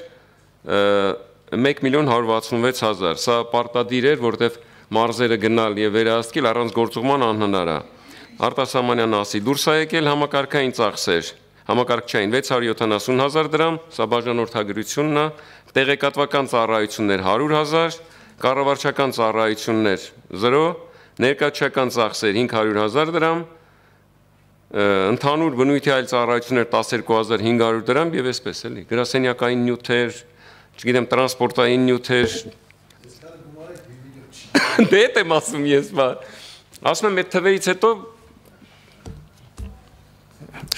Speaker 12: մեկ միլիոն հարյուր վաթսունվեց հազար, սա պարտադիր էր, որտեվ մարզերը գնալ եւ վերահսկել առանց գործուղման անհնար է։ Արտասահմանյան ասի դուրս է եկել համակարգային ծախսեր, համակարգչային վեց հարյուր յոթանասուն հազար դրամ, սա բաժանորդագրությունն է, տեղեկատվական ծառայություններ հարյուր հազար, կառավարչական ծառայություններ զրո, ներկայացական ծախսեր հինգ հարյուր հազար դրամ, ընդհանուր բնույթի այլ ծառայություններ տասներկու հազար հինգ հարյուր դրամ եւ այսպես էլի, գրասենյակային նյութեր, չգիտեմ, տրանսպորտային նյութեր։ Դե դա եմ ասում ես, բա։ Ասում եմ այդ թվերից հետո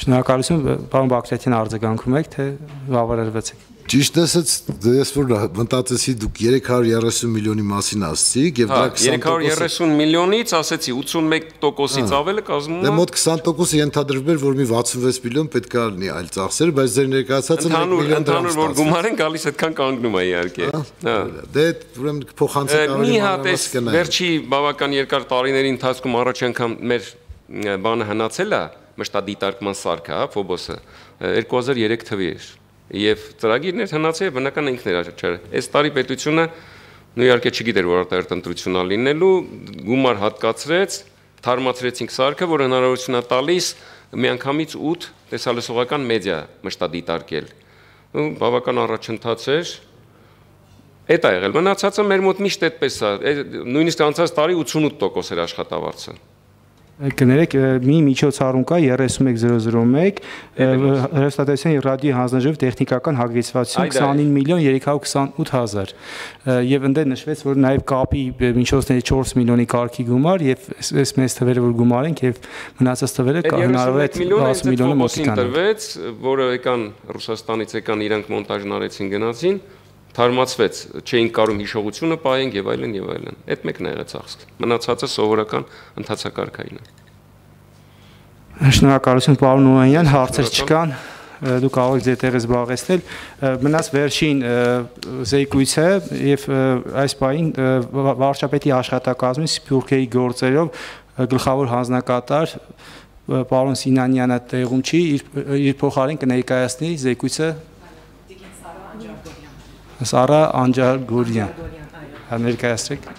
Speaker 1: Շնորհակալություն, պարոն Բակրատյան, արձագանքում եք, թե բավարարվեցեք։
Speaker 6: Ճիշտ ասած, ես որ մտածեցի դուք երեք հարյուր երեսուն միլիոնի մասին ասացիք եւ դա
Speaker 12: երեք հարյուր երեսուն միլիոնից ասեցի ութսունմեկ տոկոսից ավելը կազմում է։
Speaker 6: Դե մոտ քսան տոկոսը ենթադրվել, որ մի վաթսունվեց միլիոն պետք է լինի այլ ծախսեր, բայց ձեր ներկայացածը մեկ միլիոն դրամ
Speaker 12: ընդհանուր որ գումար են գալիս, այդքան կանգնում է իհարկե։
Speaker 6: Դե ուրեմն փոխանցեք ավելի
Speaker 12: մանրամաս կնայեք։ Վերջի բավական երկար տարիների ընթացքում առաջ անգամ մեր բանը հնացել է մշտադիտարկման սարքը, հա, Ֆոբոսը երկու հազար երեք թվի էր։ Եվ ծրագիրներ հնացել բնական ինքն էր աչար։ Այս տարի պետությունը նույն իհարկե չգիտեր, որ արտահերտ ընտրություն ա լինելու, գումար հատկացրեց, թարմացրեցինք սարքը, որ հնարավորություն է տալիս միանգամից ութ տեսալսողական մեդիա մշտադիտարկել։ Ու բավական առաջընթաց էր։ Էդ ա եղել։ Մնացածը մեր մոտ միշտ այդպես է։ Նույնիսկ անցած տարի ութսունութ տոկոս էր աշխատավարձը։
Speaker 1: Կներեք, մի միջոցառում կա երեսուն մեկ հազար մեկ հեռուստատեսային եւ ռադիոյի հանձնաժողով տեխնիկական հագեցվածություն քսանինը միլիոն երեք հարյուր քսանութ հազար եւ ընդ նշվեց, որ նաեւ կապի միջոցների չորս միլիոնի կարգի գումար եւ այս մեծ թվերը որ գումարենք եւ մնացած թվերը հնարավոր է տասը միլիոնը մոտիկան
Speaker 12: տրվեց, որը եկան Ռուսաստանից եկան իրանք մոնտաժն արեցին գնացին թարմացվեց, չէին կարում հիշողությունը պահենք եւ այլն եւ այլն։ Այդ մեկն է եղել ծախսը։ Մնացածը սովորական ընթացակարգային է։
Speaker 1: Շնորհակալություն, պարոն Օհանյան, հարցեր չկան, դուք կարող եք ձեր տեղը զբաղեցնել։ Մնաց վերջին զեկույցը եւ այս պահին վարչապետի աշխատակազմի Սփյուռքերի գործերով գլխավոր հանձնակատար պարոն Սինանյանը տեղում չի, իր փոխարեն կներկայացնի զեկույցը Սարա Անջարգորյան, ներկայացրեք։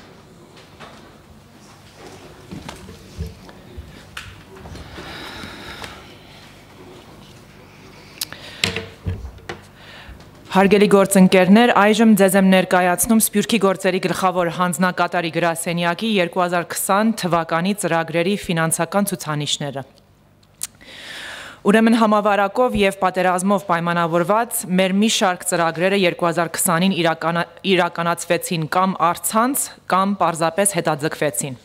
Speaker 13: Հարգելի գործընկերներ, այժմ ձեզ եմ ներկայացնում Սփյուռքի գործերի գլխավոր հանձնակատարի գրասենյակի երկու հազար քսան թվականի ծրագրերի ֆինանսական ցուցանիշները։ Ուրեմն համավարակով եւ պատերազմով պայմանավորված մեր մի շարք ծրագրերը երկու հազար քսանին իրականացվեցին կամ առցանց կամ պարզապես հետաձգվեցին։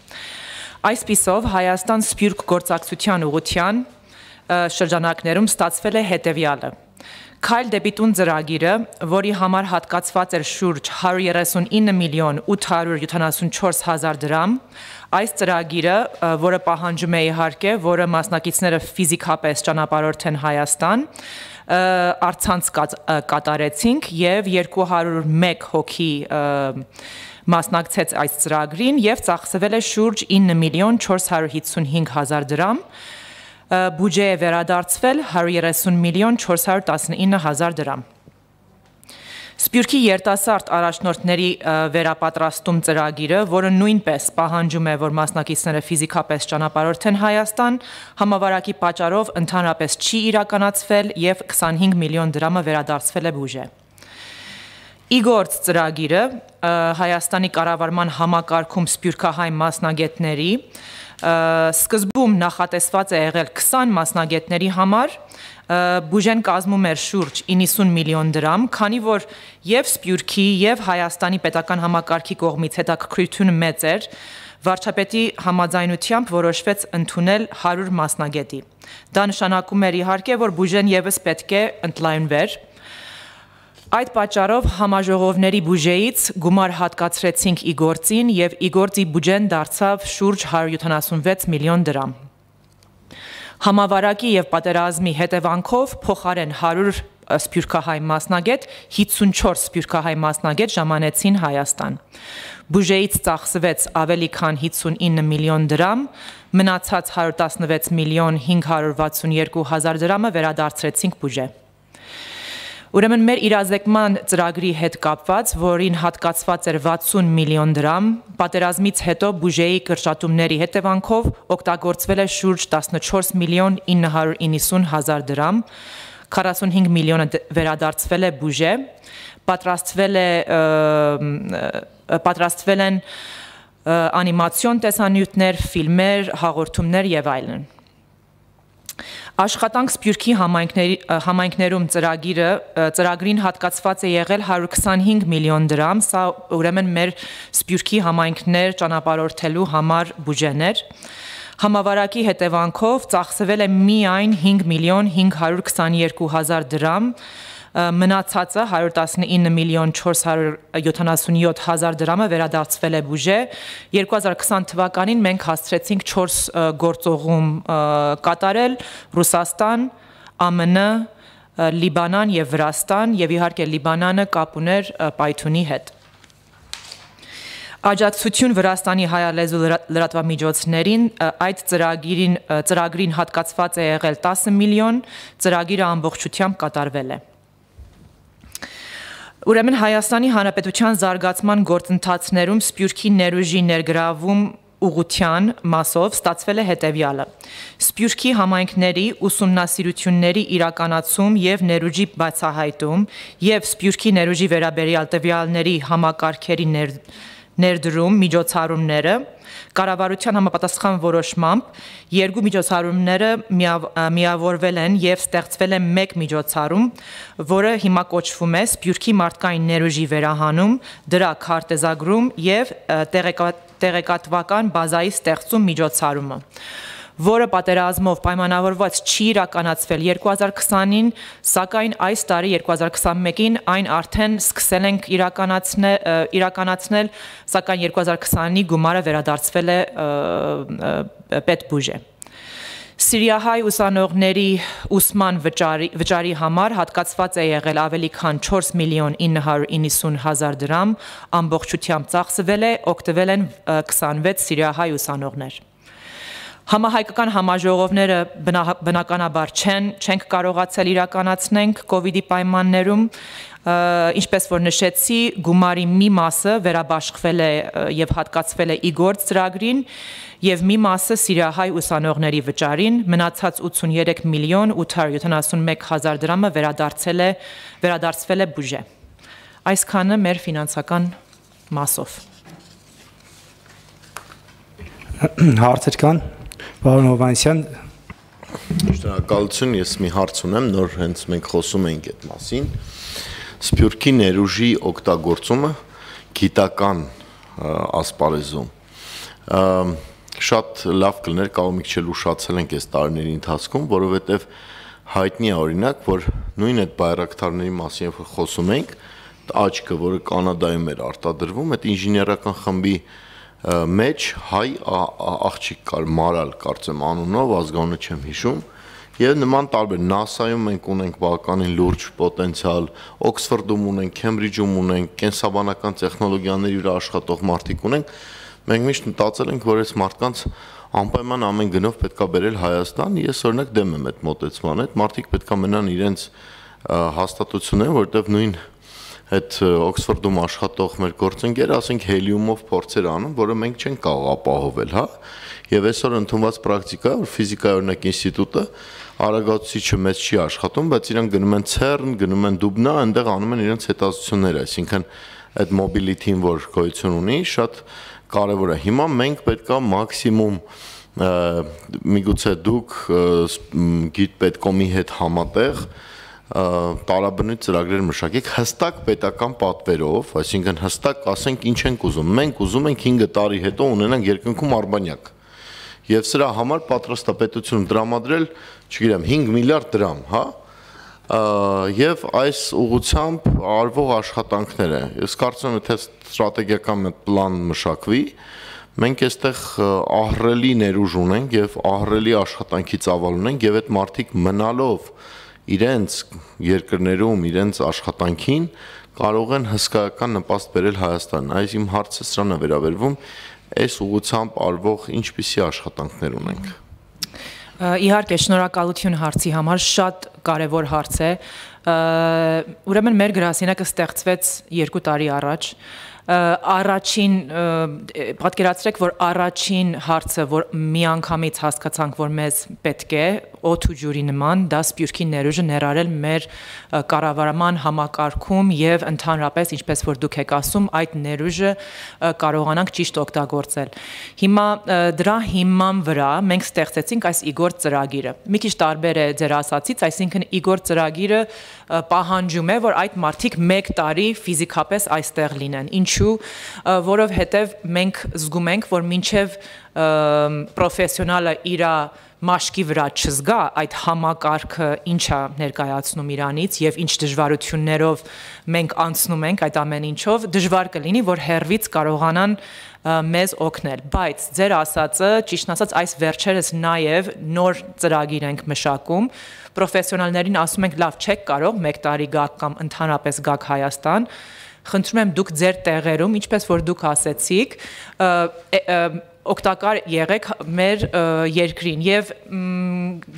Speaker 13: Այսպիսով Հայաստան Սփյուռք գործակցության ուղղության շրջանակներում ստացվել է հետևյալը. Քայլ դեպի տուն ծրագիրը, որի համար հատկացված էր շուրջ հարյուր երեսունինը միլիոն ութ հարյուր յոթանասունչորս հազար դրամ, այս ծրագիրը, որը պահանջում է իհարկե, որը մասնակիցները ֆիզիկապես ճանապարհորդ են Հայաստան, առցանց կատարեցինք եւ երկու հարյուր մեկ հոգի մասնակցեց այս ծրագրին եւ ծախսվել է շուրջ ինը միլիոն չորս հարյուր հիսունհինգ հազար դրամ, բյուջե է վերադարձվել հարյուր երեսուն միլիոն չորս հարյուր տասնինը հազար դրամ։ Սփյուռքի երիտասարդ առաջնորդների վերապատրաստում ծրագիրը, որը նույնպես պահանջում է, որ մասնակիցները ֆիզիկապես ճանապարհորդեն Հայաստան, համավարակի պատճառով ընդհանրապես չի իրականացվել եւ քսանհինգ միլիոն դրամը վերադարձվել է բյուջե։ Իգործ ծրագիրը Հայաստանի կառավարման համակարգում սփյուռքահայ մասնագետների սկզբում նախատեսված է եղել քսան մասնագետների համար, բյուջեն կազմում էր շուրջ իննսուն միլիոն դրամ, քանի որ եւ Սփյուռքի եւ Հայաստանի պետական համակարգի կողմից հետաքրքրությունը մեծ էր, վարչապետի համաձայնությամբ որոշվեց ընդունել հարյուր մասնագետի։ Դա նշանակում էր իհարկե, որ բյուջեն եւս պետք է ընդլայնվեր։ Այդ պատճառով համաժողովների բյուջեից գումար հատկացրեցինք իգործին եւ իգործի բյուջեն դարձավ շուրջ հարյուր յոթանասունվեց միլիոն դրամ։ Համավարակի եւ պատերազմի հետևանքով փոխարեն հարյուր սփյուռքահայ մասնագետ հիսունչորս սփյուռքահայ մասնագետ ժամանեցին Հայաստան։ Բյուջեից ծախսվեց ավելի քան հիսունինը միլիոն դրամ, մնացած հարյուր տասնվեց միլիոն հինգ հարյուր վաթսունյոթ հազար դրամը վերադարձրեցինք բյուջե։ Ուրեմն մեր իրազեկման ծրագրի հետ կապված, որին հատկացված էր վաթսուն միլիոն դրամ, պատերազմից հետո բյուջեի կրճատումների հետևանքով օգտագործվել է շուրջ տասնչորս միլիոն ինը հարյուր իննսուն հազար դրամ, քառասունհինգ միլիոնը վերադարձվել է բյուջե, պատրաստվել է պատրաստվել են անիմացիոն տեսանյութեր, ֆիլմեր, հաղորդումներ եւ այլն։ Աշխատանք Սփյուռքի համայնքներում ծրագիրը ծրագրին հատկացված է եղել հարյուր քսանհինգ միլիոն դրամ, սա ուրեմն մեր Սփյուռքի համայնքներ ճանապարհորդելու համար բյուջեն էր։ Համավարակի հետևանքով ծախսվել է միայն հինգ միլիոն հինգ հարյուր քսաներկու հազար դրամ, մնացածը հարյուր տասնինը միլիոն չորս հարյուր յոթանասունյոթ հազար դրամը վերադարձվել է բյուջե։ երկու հազար քսան թվականին մենք հասցրեցինք չորս գործողում կատարել՝ Ռուսաստան, ԱՄՆ, Լիբանան եւ Վրաստան, եւ իհարկե Լիբանանը կապ ուներ Պայթունի հետ։ Աջակցություն Վրաստանի հայալեզու լրատվամիջոցներին այդ ծրագրին ծրագրին հատկացված է եղել տասը միլիոն, ծրագիրը ամբողջությամբ կատարվել է։ Ուրեմն Հայաստանի Հանրապետության զարգացման գործընթացներում Սփյուռքի ներուժի ներգրավում ուղղության մասով ստացվել է հետևյալը. Սփյուռքի համայնքների ուսումնասիրությունների իրականացում եւ ներուժի բացահայտում եւ Սփյուռքի ներուժի վերաբերյալ տվյալների համակարգերի ներ ներդրում միջոցառումները կառավարության համապատասխան որոշմամբ երկու միջոցառումները միավորվել են եւ ստեղծվել է մեկ միջոցառում, որը հիմա կոչվում է Սփյուռքի մարդկային ներուժի վերահանում, դրա քարտեզագրում եւ տեղեկատվական բազայի ստեղծում միջոցառումը, որը պատերազմով պայմանավորված չի իրականացվել երկու հազար քսանին, սակայն այս տարի երկու հազար քսանմեկին այն արդեն սկսել ենք իրականացնել, իրականացնել, սակայն երկու հազար քսանի գումարը վերադարձվել է պետբյուջե։ Սիրիահայ ուսանողների ուսման վճարի, վճարի համար հատկացված է եղել ավելի քան չորս միլիոն ինը հարյուր իննսուն հազար դրամ, ամբողջությամբ ծախսվել է, օգտվել են քսանվեց սիրիահայ ուսանողներ։ Համահայկական համաժողովները բնականաբար չեն, չենք կարողացել իրականացնենք կովիդի պայմաններում, ինչպես որ նշեցի, գումարի մի մասը վերաբաշխվել է եւ հատկացվել է իգործ ծրագրին եւ մի մասը սիրիահայ ուսանողների վճարին, մնացած ութսուներեք միլիոն ութ հարյուր յոթանասունմեկ հազար դրամը վերադարձել է վերադարձվել է բյուջե։ Այսքանը մեր ֆինանսական մասով։
Speaker 1: Հարցեր կան։ Պարոն Հովհաննիսյան,
Speaker 10: շնորհակալություն, ես մի հարց ունեմ, նոր հենց մենք խոսում ենք այդ մասին։ Սփյուռքի ներուժի օգտագործումը գիտական ասպարեզում շատ լավ կլներ, կարող մի քիչ ուշացել ենք այս տարիների ընթացքում, որովհետև հայտնի է օրինակ, որ նույն այդ բայրակթարների մասին երբ խոսում ենք, աչքը, որը Կանադայում էր արտադրվում, այդ ինժեներական խմբի մեջ հայ աղջիկ կար, Մարալ կարծեմ անունով, ազգանունը չեմ հիշում, եւ նման տարբեր նասայում մենք ունենք բավականին լուրջ պոտենցիալ, Օքսֆորդում ունենք, Քեմբրիջում ունենք, կենսաբանական տեխնոլոգիաների վրա աշխատող մարդիկ ունենք, մենք միշտ մտածել ենք, որ այս մարդկանց անպայման ամեն գնով պետքա բերել Հայաստան, ես օրինակ դեմ եմ այդ մոտեցման, այդ մարդիկ պետքա մնան իրենց հաստատությունները, որտեղ նույն այդ Օքսֆորդում աշխատող մեր գործընկերը, ասենք հելիումով փորձեր անում, որը մենք չենք կարող ապահովել, հա։ Եվ այսօր ընդունված պրակտիկա, որ ֆիզիկայի օրինակ ինստիտուտը արագացուցիչը մեծ չի աշխատում, բայց իրանք գնում են CERN, գնում են Դուբնա, այնտեղ անում են իրենց հետազոտությունները, այսինքն այդ mobility-ն, որ գոյություն ունի, շատ կարևոր է։ Հիմա մենք պետքա մաքսիմում միգուցե դուք գիտպետկոմի հետ համատեղ տարաբնույթ ծրագրեր մշակեք հստակ պետական պատվերով, այսինքն հստակ ասենք ինչ ենք ուզում։ Մենք ուզում ենք հինգ տարի հետո ունենանք երկնքում արբանյակ։ Եվ սրա համար պատրաստ է պետությունը դրամադրել, չգիտեմ, հինգ միլիարդ դրամ, հա։ Եվ այս ուղղությամբ արվող աշխատանքները, ես կարծում եմ, թե ստրատեգիական պլան մշակվի, մենք այստեղ ահռելի ներուժ ունենք եւ ահռելի աշխատանքի ծավալ ունենք եւ այդ մարդիկ մնալով իրենց երկրներում, իրենց աշխատանքին կարող են հսկայական նպաստ բերել Հայաստան։ Այս իմ հարցը սրան է վերաբերվում, այս ուղղությամբ արվող ինչպիսի աշխատանքներ ունենք։
Speaker 13: Իհարկե, շնորհակալություն հարցի համար, շատ կարևոր հարց է։ Ուրեմն մեր գրասենյակը ստեղծվեց երկու տարի առաջ։ Առաջին պատկերացրեք, որ առաջին հարցը, որ միանգամից հասկացանք, որ մեզ պետք է օդ ու ջուրի նման, դա Սփյուռքի ներուժը ներառել մեր կառավարման համակարգում եւ ընդհանրապես, ինչպես որ դուք եք ասում, այդ ներուժը կարողանանք ճիշտ օգտագործել։ Հիմա դրա հիման վրա մենք ստեղծեցինք այս իգործ ծրագիրը։ Մի քիչ տարբեր է ձեր ասացից, այսինքն իգործ ծրագիրը պահանջում է, որ այդ մարդիկ մեկ տարի ֆիզիկապես այստեղ լինեն։ Ինչ Ինչու, որովհետև մենք զգում ենք, որ մինչև պրոֆեսիոնալը իր մաշկի վրա չզգա այդ համակարգը ինչա ներկայացնում իրանից եւ ինչ դժվարություններով մենք անցնում ենք այդ ամեն ինչով, դժվար կլինի, որ հերվից կարողանան մեզ օգնել, բայց ձեր ասածը, ճիշտն ասած, այս վերջերս նաև նոր ծրագիր ենք մշակում, պրոֆեսիոնալներին ասում ենք, լավ, չեք կարող մեկ տարի գաք կամ ընդհանրապես գաք Հայաստան, խնդրում եմ դուք ձեր տեղերում, ինչպես որ դուք ասեցիք, օգտակար եղեք մեր երկրին եւ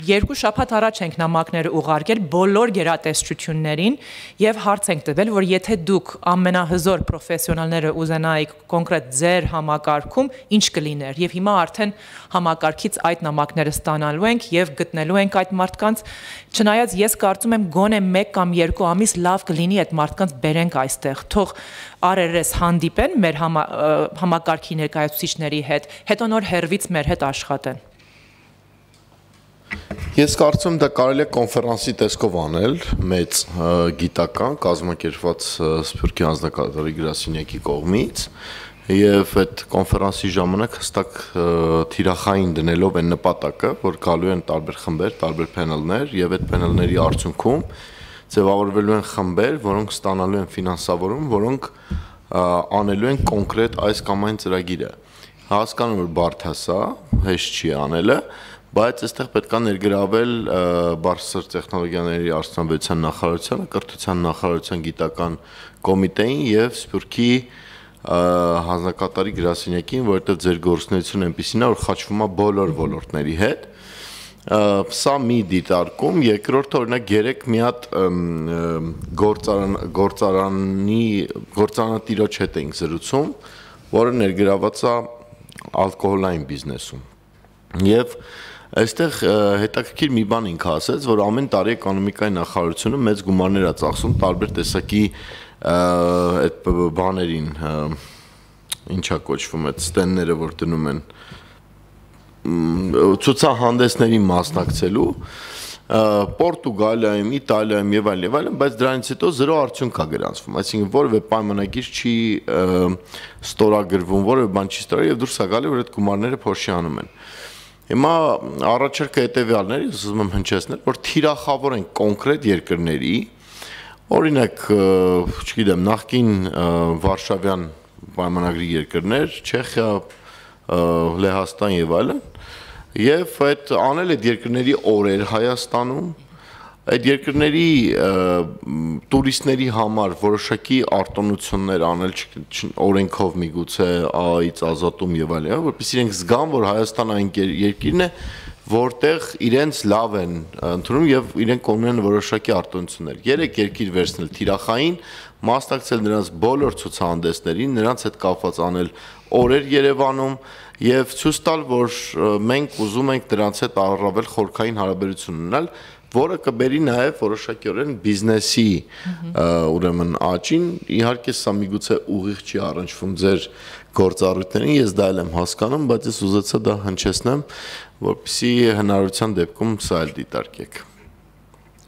Speaker 13: երկու շաբաթ առաջ ենք նամակները ուղարկել բոլոր գերատեսչություններին եւ հարց ենք տվել, որ եթե դուք ամենահզոր պրոֆեսիոնալները ուզենայիք կոնկրետ ձեր համակարգում ինչ կլիներ եւ հիմա արդեն համակարգից այդ նամակները ստանալու ենք եւ գտնելու ենք այդ մարդկանց, չնայած ես կարծում եմ գոնե մեկ կամ երկու ամիս լավ կլինի այդ մարդկանց բերենք այստեղ, թող արերես հանդիպեն մեր համա, համակարգի ներկայացուցիչների հետ, հետո նոր հերվից մեր հետ աշխատեն։
Speaker 10: Ես կարծում եմ դա կարելի է կոնֆերանսի տեսքով անել, մեծ գիտական, կազմակերպված Սփյուռքի անձնակազմի գրասենյակի կողմից, եւ այդ կոնֆերանսի ժամանակ հստակ թիրախային դնելով այն նպատակը, որ գալու են տարբեր խմբեր, տարբեր փանելներ եւ այդ փանելների արդյունքում ձևավորվելու են խմբեր, որոնք ստանալու են ֆինանսավորում, որոնք անելու են կոնկրետ այս կամ այն ծրագիրը։ Հասկանում որ բարդ է սա, հեշտ չի անելը, բայց այստեղ պետք է ներգրավել բարձր տեխնոլոգիաների արդյունաբերության նախարարությանը, կրթության նախարարության գիտական կոմիտեին եւ Սփյուռքի հանձնակատարի գրասենյակին, որովհետեւ ձեր գործունեությունը այնպեսին է, որ խաչվում է բոլոր ոլորտների հետ։ Սա մի դիտարկում, երկրորդը օրինակ երեք մի հատ գործարան գործարանի գործարանատիրոջ հետ ենք զրուցում, որը ներգրաված է ալկոհոլային բիզնեսում։ Եվ այստեղ հետաքրքիր մի բան ինքը ասեց, որ ամեն տարի էկոնոմիկայի նախարարությունը մեծ գումարներ է ծախսում տարբեր տեսակի այդ բաներին, ինչա կոչվում այդ ստենդները, որ դնում են ցուցահանդեսների մասնակցելու Պորտուգալիայում, Իտալիայում եւ այլն եւ այլն, բայց դրանից հետո զրո արդյունք կա գրանցվում, այսինքն որևէ պայմանագիր չի ստորագրվում, որևէ բան չի ստորագրվում եւ դուրս է գալի, որ այդ գումարները փոշի անում են։ Հիմա առաջարկը հետեւյալն է, ես ուզում եմ հնչեցնել, որ թիրախավորեն կոնկրետ երկրների, օրինակ, չգիտեմ, նախկին Վարշավյան պայմանագրի երկրներ, Չեխիա, Լեհաստան եւ այլն, եւ այդ անել այդ երկրների օրեր Հայաստանում, այդ երկրների տուրիստների համար որոշակի արտոնություններ անել օրենքով միգուցե ԱԱ-ից ազատում եւ այլն, որովհետեւ իրենք զգան, որ Հայաստանը այն երկիրն է, որտեղ իրենց լավ են ընդունում եւ իրենք ունեն որոշակի արտոնություններ։ Երեք երկիր վերցնել թիրախային, մասնակցել նրանց բոլոր ցուցահանդեսներին, նրանց հետ կապված անել օրեր Երևանում եւ ցույց տալ, որ մենք ուզում ենք դրանց հետ առավել խորքային հարաբերություն ունենալ, որը կբերի նաեւ որոշակիորեն բիզնեսի ուրեմն աճին, իհարկե սա միգուցե ուղիղ չի առնչվում ձեր գործառույթներին, ես դա էլ եմ հասկանում, բայց ես ուզեցա դա հնչեցնեմ, որպեսզի հնարավորության դեպքում սա էլ դիտարկեք։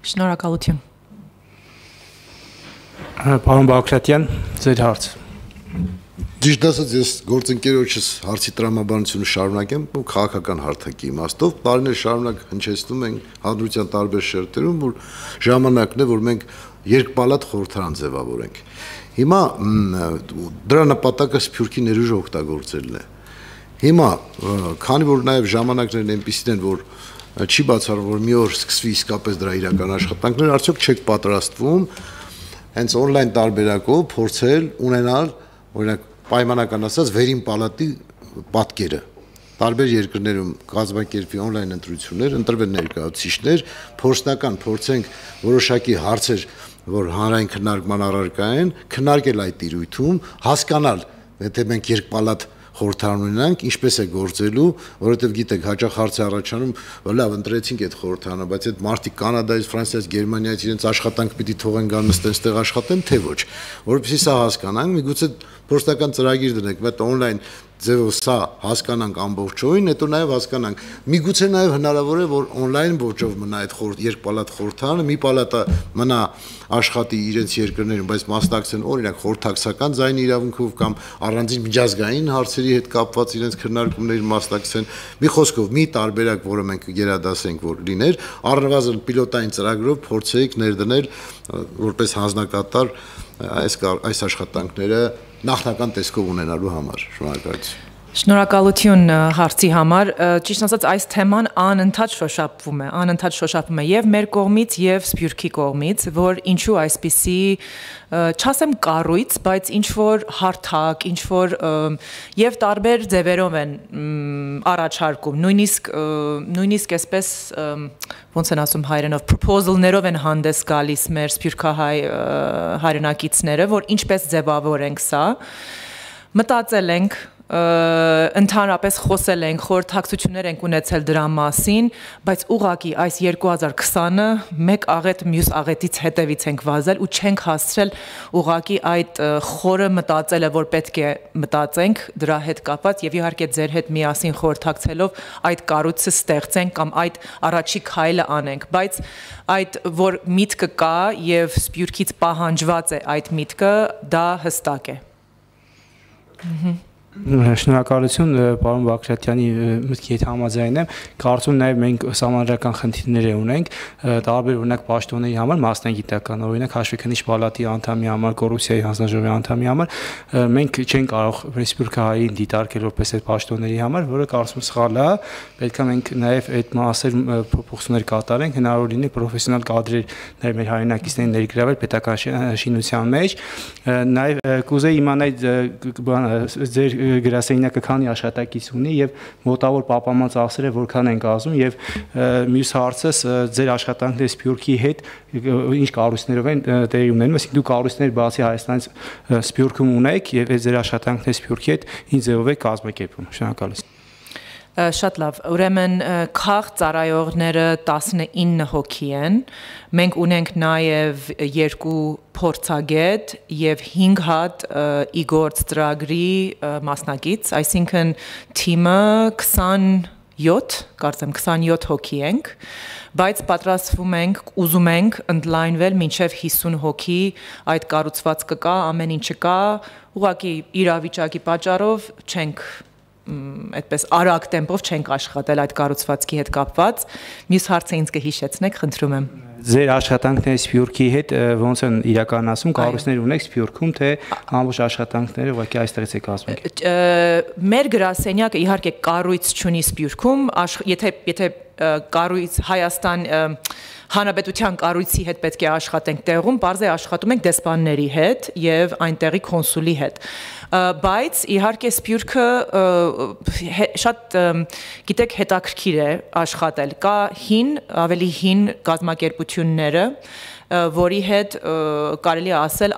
Speaker 13: Շնորհակալություն։
Speaker 1: Պարոն Բաղրատյան, ձեր հարց։
Speaker 6: Ճիշտ ասած, ես գործընկերոջս հարցի տրամաբանությունը շարունակեմ ու քաղաքական հարթակի իմաստով տարիներ շարունակ հնչեցնում ենք հանրության տարբեր շերտերում, որ ժամանակն է, որ մենք երկպալատ խորհրդարան ձևավորենք։ Հիմա դրա նպատակը Սփյուռքի ներուժը օգտագործելն է։ Հիմա, քանի որ նաև ժամանակներն այնպիսին են, որ չի բացառվում, որ մի օր սկսվի իսկապես դրա իրական աշխատանքները, արդյոք չեք պատրաստվում հենց on-line տարբերակով փորձել ունենալ, օրինակ պայմանական ասած վերին պալատի պատկերը։ Տարբեր երկրներում կազմակերպվի on-line ընտրություններ, ընտրվեն ներկայացուցիչներ, փորձնական փորձենք որոշակի հարցեր, որ հանրային քննարկման առարկա են, քննարկել այդ տիրույթում, հասկանալ, եթե մենք երկպալատ խորհրդարան ունենանք, ինչպես է գործելու, որովհետև գիտեք, հաճախ հարց է առաջանում, որ լավ ընտրեցինք այդ խորհրդարանը, բայց այդ մարդիկ Կանադայից, Ֆրանսիայից, Գերմանիայից իրենց աշխատանք պիտի թողեն գան նստեն այստեղ աշխատեն, թե ոչ։ Որովհետև սա հասկանանք, միգուցե փորձնական ծրագիր դնենք, այդ on-line ձևով սա հասկանանք ամբողջովին, հետո նաև հասկանանք։ Միգուցե նաև հնարավոր է, որ on-line ոճով մնա այդ խորհուրդ երկպալատ խորհրդարանը, մի պալատը մնա աշխատի իրենց երկրներում, բայց մասնակցեն օրինակ խորհրդակցական ձայնի իրավունքով կամ առանձին միջազգային հարցերի հետ կապված իրենց քննարկումներին մասնակցեն։ Մի խոսքով, մի տարբերակ, որը մենք գերադասենք, որ լիներ, առնվազն պիլոտային ծրագրով փորձեիք ներդնել որպես հանձնակատար այս այս աշխատանքները նախնական տեսքով ունենալու համար։ Շնորհակալություն։
Speaker 13: Շնորհակալություն հարցի համար, ճիշտ ասած այս թեման անընդհատ շոշափվում է, անընդհատ շոշափվում է եւ մեր կողմից եւ Սփյուռքի կողմից, որ ինչու այսպիսի չասեմ կառույց, բայց ինչ որ հարթակ, ինչ որ եւ տարբեր ձևերով են առաջարկում, նույնիսկ նույնիսկ այսպես ոնց են ասում հայերենով proposal-ներով են հանդես գալիս մեր սփյուռքահայ հայրենակիցները, որ ինչպես ձևավորենք սա, մտածել ենք ընդհանրապես խոսել ենք, խորհրդակցություններ ենք ունեցել դրա մասին, բայց ուղղակի այս երկու հազար քսանը մեկ աղետ մյուս աղետից հետևից ենք վազել ու չենք հասցրել ուղղակի այդ խորը մտածելը, որ պետք է մտածենք դրա հետ կապված եւ իհարկե ձեր հետ միասին խորհրդակցելով այդ կառույցը ստեղծենք կամ այդ առաջի քայլը անենք, բայց այդ որ միտքը կա եւ Սփյուռքից պահանջված է այդ միտքը, դա հստակ է։
Speaker 1: Շնորհակալություն պարոն Բագրատյանի մտքի հետ համաձայն եմ, կարծում նաև մենք համանդրական խնդիրներ ունենք, տարբեր օրինակ պաշտոնների համար, մասնագիտական, օրինակ հաշվեկնիչ պալատի անդամի համար, կոռուպցիայի հանձնաժողովի անդամի համար, մենք չենք կարող Սփյուռքահային դիտարկել որպես այդ պաշտոնների համար, որը կարծում սխալ է, պետք է մենք նաև այդ մասեր փոփոխություններ կատարենք, հնարավոր լինի պրոֆեսիոնալ կադրեր նաև մեր հայրենակիցներին ներգրավել պետական շինության մեջ, նաև կուզեի իմանալ ձեր գրասենյակը քանի աշխատակից ունի եւ մոտավոր պապանման ծախսերը որքան են կազմում եւ մյուս հարցս ձեր աշխատանքները Սփյուռքի հետ ինչ կառույցներով են տեղի ունենում, այսինքն դու կառույցներ բացի Հայաստանից Սփյուռքում ունեք եւ այդ ձեր աշխատանքները Սփյուռքի հետ ինչ ձևով է կազմակերպում։ Շնորհակալություն։
Speaker 13: Շատ լավ, ուրեմն քաղ ծառայողները տասնինը հոգի են, մենք ունենք նաև երկու փորձագետ եւ հինգ հատ իգործ ծրագրի մասնակից, այսինքն թիմը քսանյոթ, կարծեմ քսանյոթ հոգի ենք, բայց պատրաստվում ենք, ուզում ենք ընդլայնվել մինչև հիսուն հոգի, այդ կառուցվածքը կա, ամեն ինչը կա, ուղղակի իրավիճակի պատճառով չենք այդպես արագ տեմպով չենք աշխատել այդ կառուցվածքի հետ կապված։ Մյուս հարցը ինձ կհիշեցնեք, խնդրում եմ։
Speaker 1: Ձեր աշխատանքները Սփյուռքի հետ ոնց են իրականացում, կառույցներ ունեք Սփյուռքում, թե ամբողջ աշխատանքները ուղղակի այստեղից է կազմում։
Speaker 13: Մեր գրասենյակը իհարկե կառույց չունի Սփյուռքում, եթե եթե կառույց Հայաստան Հանրապետության կառույցի հետ պետք է աշխատենք տեղում, բարձր է աշխատում ենք դեսպանների հետ եւ այնտեղի կոնսուլի հետ։ Բայց իհարկե Սփյուռքը շատ գիտեք հետաքրքիր է աշխատել։ Կա հին, ավելի հին կազմակերպությունները, որի հետ կարելի է ասել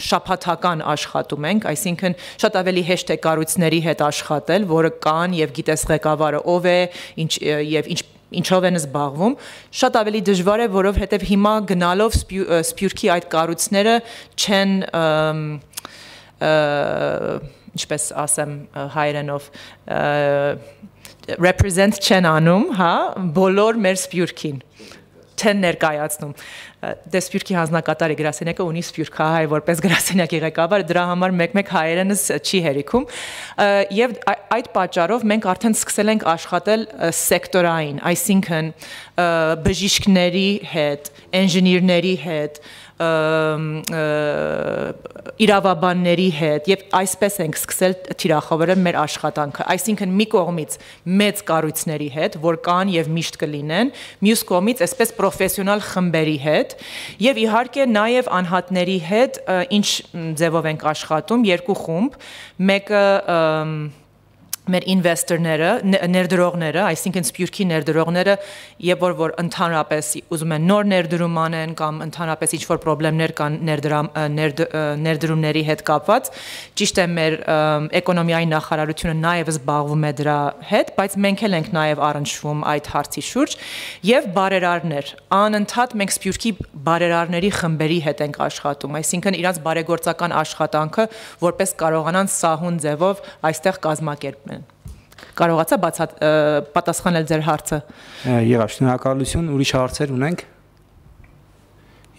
Speaker 13: շաբաթական աշխատում ենք, այսինքն շատ ավելի հեշտ է կառույցների հետ աշխատել, որը կան եւ գիտես ղեկավարը ով է, ինչ եւ ինչ ինչով են զբաղվում, շատ ավելի դժվար է, որովհետև հիմա գնալով Սփյուռքի այդ կառույցները չեն ինչպես ասեմ հայերենով represent չեն անում, հա, բոլոր մեր Սփյուռքին չեն ներկայացնում։ Դե Սփյուռքի հանձնակատարի գրասենյակը ունի սփյուռքահայ որպես գրասենյակի ղեկավար, դրա համար մեկ-մեկ հայերենս չի հերիքում։ Եվ այդ պատճառով մենք արդեն սկսել ենք աշխատել սեկտորային, այսինքն բժիշկների հետ, ինժեներների հետ, իրավաբանների հետ եւ այսպես ենք սկսել թիրախավորել մեր աշխատանքը, այսինքն մի կողմից մեծ կառույցների հետ, որ կան եւ միշտ կլինեն, մյուս կողմից այսպես պրոֆեսիոնալ խմբերի հետ եւ իհարկե նաեւ անհատների հետ, ինչ ձևով ենք աշխատում, երկու խումբ, մեկը մեր ինվեստորները, ներդրողները, այսինքն Սփյուռքի ներդրողները, երբ որ որ ընդհանրապես ուզում են նոր ներդրում անեն կամ ընդհանրապես ինչ-որ խնդիրներ կան ներդրումների հետ կապված, ճիշտ է մեր էկոնոմիայի նախարարությունը նաև զբաղվում է դրա հետ, բայց մենք էլ ենք նաև առնչվում այդ հարցի շուրջ եւ բարերարներ, անընդհատ մենք Սփյուռքի բարերարների խմբերի հետ ենք աշխատում, այսինքն իրանց բարեգործական աշխատանքը որպես կարողանան սահուն ձևով այստեղ կազմակերպել Կարողացա բացատ պատասխանել ձեր հարցը։
Speaker 1: Եղավ, շնորհակալություն, ուրիշ հարցեր ունենք։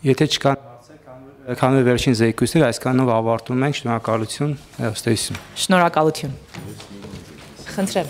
Speaker 1: Եթե չկան հարցեր, քանի որ վերջին զեկույցները այսքանով ավարտում ենք, շնորհակալություն, հեռուստացույց։
Speaker 13: Շնորհակալություն։ Խնդրեմ։